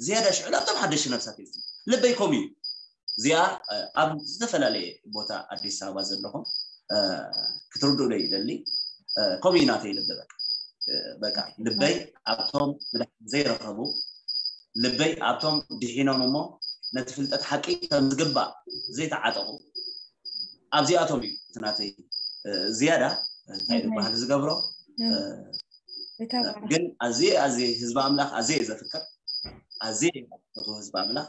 ዝያዳ ሽዑ ናብቶም ሓደሽቲ ነብሳት እዩ ልበይ ከምኡ እዩ እዚኣ ኣብ ዝተፈላለየ ቦታ ኣዲስ ኣበባ ዘለኹም ክትርድኡለይ ይደሊ ከምኡ እዩ ናተይ ልቢ በቃ በቃ ልበይ ኣብቶም ብድሓን ዘይረኸቡ ልበይ ኣብቶም ድሒኖም እሞ ነቲ ፍልጠት ሓቂ ከም ዝግባእ ዘይተዓጠቑ ኣብዚኣቶም እዩ እቲ ናተይ ዝያዳ እንታይ ዝበሃል ዝገብሮ ግን ኣዝየ ኣዝየ ህዝቢ ኣምላኽ ኣዝየ እየ ዘፍቅር ኣዝየ እየ ዝፈትዎ ህዝቢ ኣምላኽ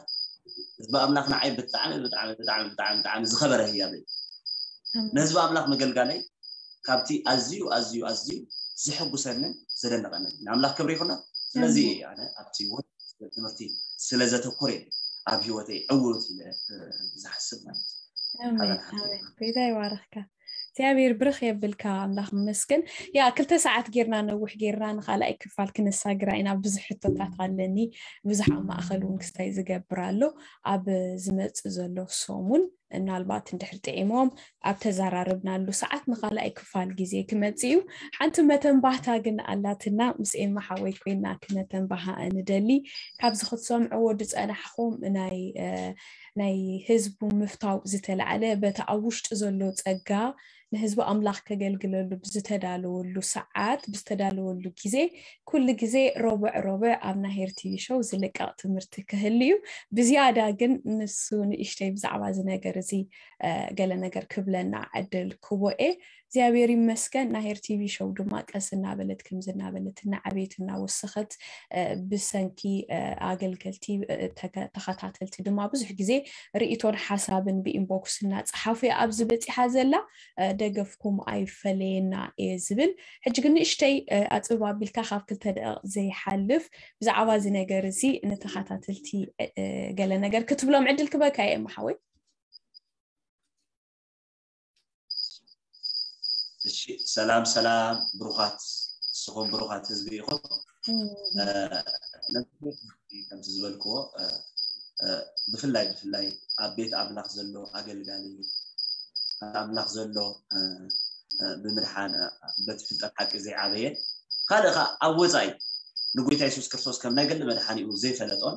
ህዝቢ ኣምላኽ ንዓይ ብጣዕሚ ብጣዕሚ ብጣዕሚ ብጣዕሚ ብጣዕሚ ዝኸበረ ህያብ እዩ ንህዝቢ ኣምላኽ ምገልጋለይ ካብቲ ኣዝዩ ኣዝዩ ኣዝዩ ዘሐጉሰንን ዘደነቐንን ንኣምላኽ ክብሪ ይኹና ስለዚ ኣነ ኣብቲ ወ ትምህርቲ ስለ ዘተኮረ ኣብ ህይወተይ ዕውት ኢለ ዝሓስብ ማለት ጎይታ ይባርኽካ እግዚኣብሔር ብርኽ የብልካ ኣምላኽ መስገን ያ ክልተ ሰዓት ጌርና ነውሕ ጌርና ንካልኣይ ክፋል ክነሳግራ ኢና ብዙሕ ሕቶታት ኣለኒ ብዙሕ ኣብ ማእኸል እውን ክስታይ ዝገብር ኣሎ ኣብ ዝመፅእ ዘሎ ሰሙን ምናልባት እንድሕር ጥዒሞም ኣብ ተዘራረብናሉ ሰዓት ንኻልኣይ ክፋል ግዜ ክመጽእ እዩ። ሓንቲ መተንባህታ ግን ኣላትና፣ ምስ ኤማ ሓወይ ኮይና ክነተንባሃ ንደሊ። ካብዚ ክትሰምዕዎ ዝጸናሕኹም ናይ ናይ ህዝቡ ምፍታው ዝተላዕለ በቲ ኣብ ውሽጡ ዘሎ ጸጋ ንህዝቢ ኣምላኽ ከገልግለሉ ብዝተዳለወሉ ሰዓት ብዝተዳለወሉ ግዜ ኩሉ ግዜ ሮብዕ ሮብዕ ኣብ ናሄር ቲቪ ሾው ዝልቀቕ ትምህርቲ ክህሉ እዩ። ብዝያዳ ግን ንሱ ንእሽተይ ብዛዕባ እዚ ነገር እዚ ገለ ነገር ክብለና ዕድል ክቦ እየ። እግዚኣብሔር ይመስገን ናሄር ቲቪ ሾው ድማ ቀስ እናበለት ከምዚ እናበለት እናዓበየት እናወሰኸት ብሰንኪ ኣገልገልቲ ተኸታተልቲ ድማ ብዙሕ ግዜ ርእቶን ሓሳብን ብኢንቦክስ እናፀሓፉ እያ ኣብዚ በፂሓ ዘላ ደገፍኩም ኣይፈለየና እየ ዝብል ሕጂ ግን ንእሽተይ ኣፅብብ ኣቢልካ ካብ ክልተ ደቂቕ ዘይሓልፍ ብዛዕባ እዚ ነገር እዚ ንተኸታተልቲ ገለ ነገር ክትብሎም ዕድል ክበካ እየ እሞ ሓወይ እሺ ሰላም ሰላም ብሩኻት ንስኹም ብሩኻት ህዝቢ ኢኹም ከምቲ ዝበልክዎ ብፍላይ ብፍላይ ኣብ ቤት ኣምላኽ ዘሎ ኣገልጋሊ ኣምላኽ ዘሎ ብምድሓን በቲ ፍልጠት ሓቂ ዘይዓበየ ካልእ ከዓ ኣብ ወፃኢ ንጎይታ የሱስ ክርስቶስ ከም ናይ ገሊ መድሓኒኡ ዘይፈለጦን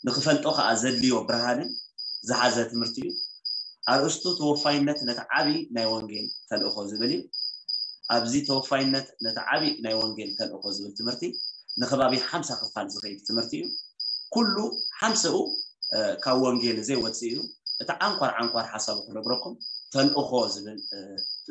ንክፈልጦ ከዓ ዘድልዮ ብርሃንን ዝሓዘ ትምህርቲ እዩ ኣርእስቱ ተወፋይነት ነቲ ዓብዪ ናይ ወንጌል ተልእኾ ዝብል እዩ ኣብዚ ተወፋይነት ነቲ ዓብዪ ናይ ወንጌል ተልእኾ ዝብል ትምህርቲ ንከባቢ ሓምሳ ክፋል ዝኸይድ ትምህርቲ እዩ ኩሉ ሓምሰኡ ካብ ወንጌል ዘይወፅእ እዩ እቲ ዓንኳር ዓንኳር ሓሳቡ ክነግረኩም ተልእኾ ዝብል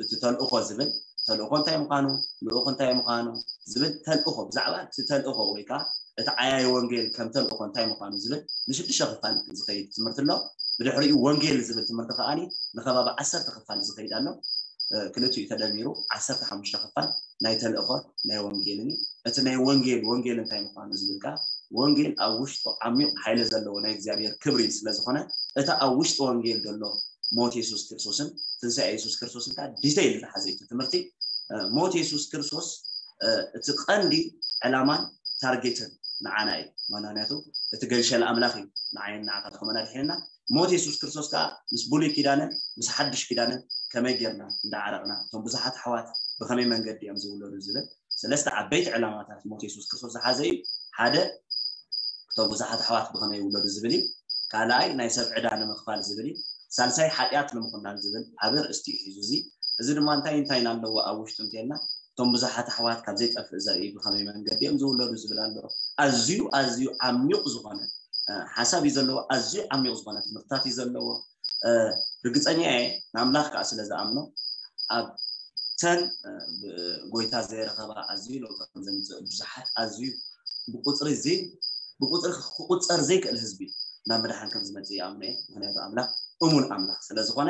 እቲ ተልእኾ ዝብል ተልእኾ እንታይ ምዃኑ ልኡኽ እንታይ ምዃኑ ዝብል ተልእኾ ብዛዕባ እቲ ተልእኾ ወይ ከዓ እቲ ዓያይ ወንጌል ከም ተልእኾ እንታይ ምዃኑ ዝብል ንሽዱሽተ ክፋል ዝኸይድ ትምህርቲ ኣሎ ብድሕሪኡ ወንጌል ዝብል ትምህርቲ ከዓኒ ንከባቢ ዓሰርተ ክፋል ዝኸይድ ኣሎ ክልቲኡ ተደሚሩ ዓሰርተ ሓሙሽተ ክፋል ናይ ተልእኾ ናይ ወንጌልን እቲ ናይ ወንጌል ወንጌል እንታይ ምዃኑ ዝብል ከዓ ወንጌል ኣብ ውሽጡ ዓሚቕ ሓይሊ ዘለዎ ናይ እግዚኣብሔር ክብሪ ስለ ዝኾነ እቲ ኣብ ውሽጢ ወንጌል ዘሎ ሞት የሱስ ክርስቶስን ትንሳኤ የሱስ ክርስቶስን ከዓ ዲተይል ዝሓዘ እዩ ትምህርቲ ሞት የሱስ ክርስቶስ እቲ ቀንዲ ዕላማን ታርጌትን ንዓና እዩ ምክንያቱ እቲ ገንሸል ኣምላኽ እዩ ንዓይን ንዓኻ ከመና ድሒንና ሞት የሱስ ክርስቶስ ከዓ ምስ ብሉይ ኪዳንን ምስ ሓድሽ ኪዳንን ከመይ ጌርና እንዳዓረቕና እቶም ብዙሓት ኣሕዋት ብኸመይ መንገዲ እዮም ዝውለዱ ዝብል ሰለስተ ዓበይቲ ዕላማታት ሞት የሱስ ክርስቶስ ዝሓዘ እዩ። ሓደ፣ እቶም ብዙሓት ኣሕዋት ብኸመይ ይውለዱ ዝብል እዩ። ካልኣይ፣ ናይ ሰብ ዕዳ ንምኽፋል ዝብል እዩ። ሳልሳይ፣ ሓጢኣት ንምኹናን ዝብል ዓቢ ርእስቲ እዩ ሒዙ። እዚ እዚ ድማ እንታይ እንታይ ኣለዎ ኣብ ውሽጡ እንተልና፣ እቶም ብዙሓት ኣሕዋት ካብ ዘይጠፍእ ዘርኢ ብኸመይ መንገዲ እዮም ዝውለዱ ዝብል ኣሎ። ኣዝዩ ኣዝዩ ዓሚቕ ዝኾነ ሓሳብ እዩ ዘለዎ። ኣዝዩ ዓሚቕ ዝኾነ ትምህርትታት እዩ ዘለዎ። ርግፀኛ እየ፣ ንኣምላኽ ከዓ ስለ ዝኣምኖ፣ ኣብተን ጎይታ ዘይረኸባ ኣዝዩ ለውጢ ከም ዘምፅእ፣ ብዙሓት ኣዝዩ ብቁፅሪ እዚ ብቁፅሪ ክቁፀር ዘይክእል ህዝቢ ናብ ምድሓን ከም ዝመፅእ ይኣምኖ እየ። ምክንያቱ ኣምላኽ እሙን ኣምላኽ ስለ ዝኾነ፣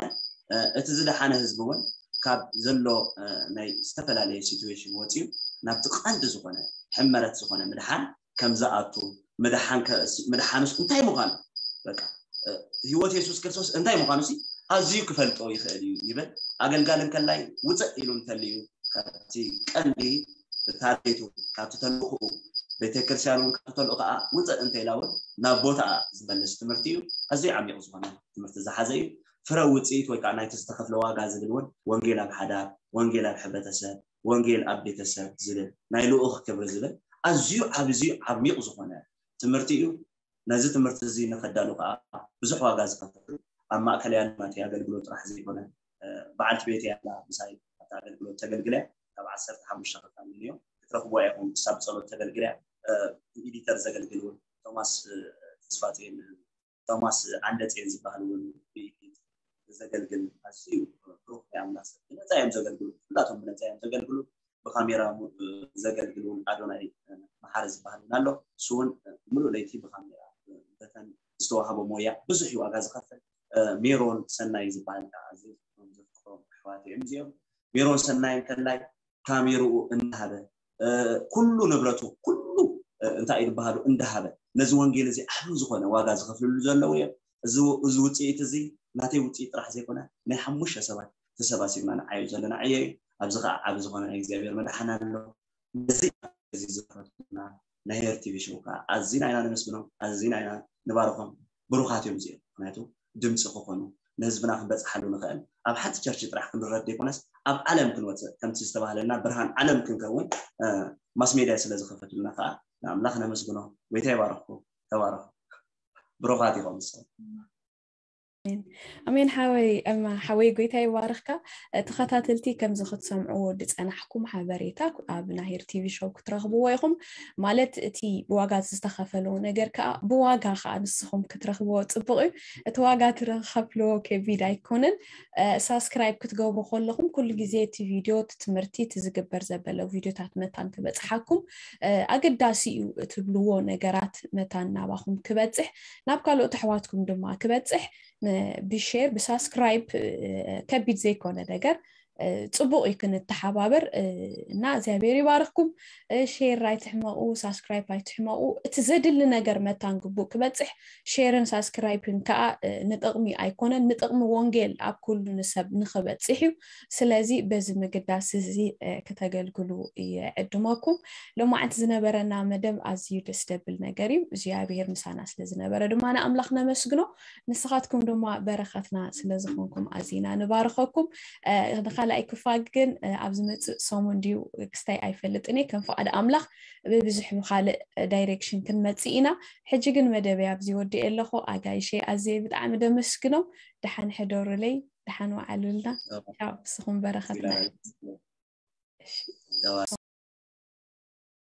እቲ ዝደሓነ ህዝቢ እውን ካብ ዘሎ ናይ ዝተፈላለየ ሲትዌሽን ወፂኡ ናብቲ ቀንዲ ዝኾነ ሕመረት ዝኾነ ምድሓን ከም ዝኣቱ፣ ምድሓንስ እንታይ ምዃኑ፣ በቃ ህይወት የሱስ ክርስቶስ እንታይ ምዃኑ ኣዝዩ ክፈልጦ ይኽእል እዩ ይብል። ኣገልጋሊ እንከላይ ውፅእ ኢሉ እንተልዩ ካብቲ ቀንዲ ታርጌቱ፣ ካብቲ ተልእኽኡ፣ ቤተክርስትያን እውን ካብቲ ተልእኽኣ ውፅእ እንተኢላ እውን ናብ ቦታኣ ዝመልስ ትምህርቲ እዩ። ኣዝዩ ዓሚቕ ዝኾነ ትምህርቲ ዝሓዘ እዩ። ፍረ ውፅኢት ወይ ከዓ ናይቲ ዝተኸፍለ ዋጋ ዝብል እውን ወንጌል ኣብ ሓዳር፣ ወንጌል ኣብ ሕብረተሰብ፣ ወንጌል ኣብ ቤተሰብ ዝብል ናይ ልኡኽ ክብሪ ዝብል ኣዝዩ ዓብዝዩ ዓሚቕ ዝኾነ ትምህርቲ እዩ። ነዚ ትምህርቲ እዚ ንኸዳሉ ከዓ ብዙሕ ዋጋ ዝኸፈሉ ኣብ ማእከል ያለ ናተይ ኣገልግሎት ጥራሕ ዘይኮነ፣ በዓልቲ ቤት ያላ ምሳይ ኣብቲ ኣገልግሎት ተገልግለ ካብ ዓሰርተ ሓሙሽተ ክፋል እዮም ክትረኽቦ ኢኹም። እሳ ብጸሎት ተገልግለ፣ ብኢዲተር ዘገልግል እውን ቶማስ ተስፋጽዮን፣ ቶማስ ዓንደጽዮን ዝበሃል እውን ብኢዲት ዘገልግል ኣዝዩ ብሩኽ ናይ ኣምላኽ ሰብ ብነፃ እዮም ዘገልግሉ። ኩላቶም ብነፃ እዮም ዘገልግሉ። ብካሜራ ዘገልግል እውን ኣዶናይ መሓሪ ዝበሃል እውን ኣሎ። እሱ እውን ሙሉእ ለይቲ ብካሜራ በተን ዝተዋህቦ ሞያ ብዙሕ እዩ ዋጋ ዝኸፍል። ሜሮን ሰናይ ዝበሃል ከዓ ኣዝዮም ዘፍቅሮም ኣሕዋት እዮም እዚኦም። ሜሮን ሰናይ እንከላይ ካሜርኡ እንዳሃበ፣ ኩሉ ንብረቱ፣ ኩሉ እንታይ እዩ ዝበሃሉ እንዳሃበ ነዚ ወንጌል እዚ ዓቢ ዝኾነ ዋጋ ዝኸፍልሉ ዘለዉ እዮም። እዚ ውፅኢት እዚ ናተይ ውፅኢት ጥራሕ ዘይኮነ ናይ ሓሙሽተ ሰባት ተሰባሲብና ንዓዩ ዘለና ዕዮ እዩ። ኣብዚ ከዓ ዓቢ ዝኾነ ናይ እግዚኣብሔር መድሓን ኣሎ። ነዚ እዚ ዝኸፈልና ናይ ሄር ቲቪ ሾው ከዓ ኣዚና ኢና ነመስግኖም፣ ኣዚና ኢና ንባርኾም። ብሩኻት እዮም እዚኦም። ምክንያቱ ድምፂ ክኾኑ፣ ንህዝብና ክንበፅሓሉ ንኽእል ኣብ ሓንቲ ቸርች ጥራሕ ክንረድ ዘይኮነስ ኣብ ዓለም ክንወፅእ፣ ከምቲ ዝተባህለልና ብርሃን ዓለም ክንከውን ማስ ሜድያ ስለ ዝኸፈቱልና ከዓ ንኣምላኽ ነመስግኖ። ጎይታ ይባርኽኩም። ተባረኹ። ብሩኻት ኢኹም ንስኹም። ኣሜን ሓወይ። ሓወይ ጎይታ ይባርኽካ። ተኸታተልቲ ከምዚ ክትሰምዕዎ ዝፀናሕኩም ሓበሬታ ኣብ ናሄር ቲቪ ሾው ክትረኽብዎ ኢኹም። ማለት እቲ ብዋጋ ዝተኸፈሎ ነገር ከዓ ብዋጋ ከዓ ንስኹም ክትረኽብዎ ፅቡቕ እዩ። እቲ ዋጋ ትረኸፍልዎ ከቢድ ኣይኮነን። ሳብስክራይብ ክትገብሩ ከለኹም ኩሉ ግዜ እቲ ቪድዮ፣ እቲ ትምህርቲ፣ እቲ ዝግበር ዘበለ ቪድዮታት መታን ክበፅሓኩም ኣገዳሲ እዩ እትብልዎ ነገራት መታን ናባኹም ክበፅሕ፣ ናብ ካልኦት ኣሕዋትኩም ድማ ክበፅሕ ብሼር ብሳብስክራይብ ከቢድ ዘይኮነ ነገር ፅቡቕ እዩ ክንተሓባበር እና እግዚኣብሔር ይባርኽኩም። ሼር ኣይትሕመቑ፣ ሳብስክራይብ ኣይትሕመቑ። እቲ ዘድሊ ነገር መታን ግቡእ ክበፅሕ ሼርን ሳብስክራይብን ከዓ ንጥቕሚ ኣይኮነን፣ ንጥቕሚ ወንጌል ኣብ ኩሉ ንሰብ ንኽበፅሕ እዩ። ስለዚ በዚ ምግዳስ እዚ ክተገልግሉ ይዕድመኩም። ሎማዓንቲ ዝነበረና መደብ ኣዝዩ ደስ ደብል ነገር እዩ። እግዚኣብሔር ምሳና ስለ ዝነበረ ድማ ንኣምላኽ ነመስግኖ። ንስኻትኩም ድማ በረኸትና ስለ ዝኾንኩም ኣዚና ንባርኸኩም። ንኻልኣይ ክፋል ግን ኣብ ዝመፅእ ሰሙን ድዩ ክስታይ ኣይፈልጥን እየ። ከም ፍቓድ ኣምላኽ ብብዙሕ ብኻልእ ዳይሬክሽን ክንመፅእ ኢና። ሕጂ ግን መደበይ ኣብዚ ወዲኤ ኣለኹ። ኣጋይሸይ ኣዝየ ብጣዕሚ ደመስግኖም። ደሓን ሕደሩለይ፣ ደሓን ወዓሉልና። ቻው፣ ንስኹም በረኸትና።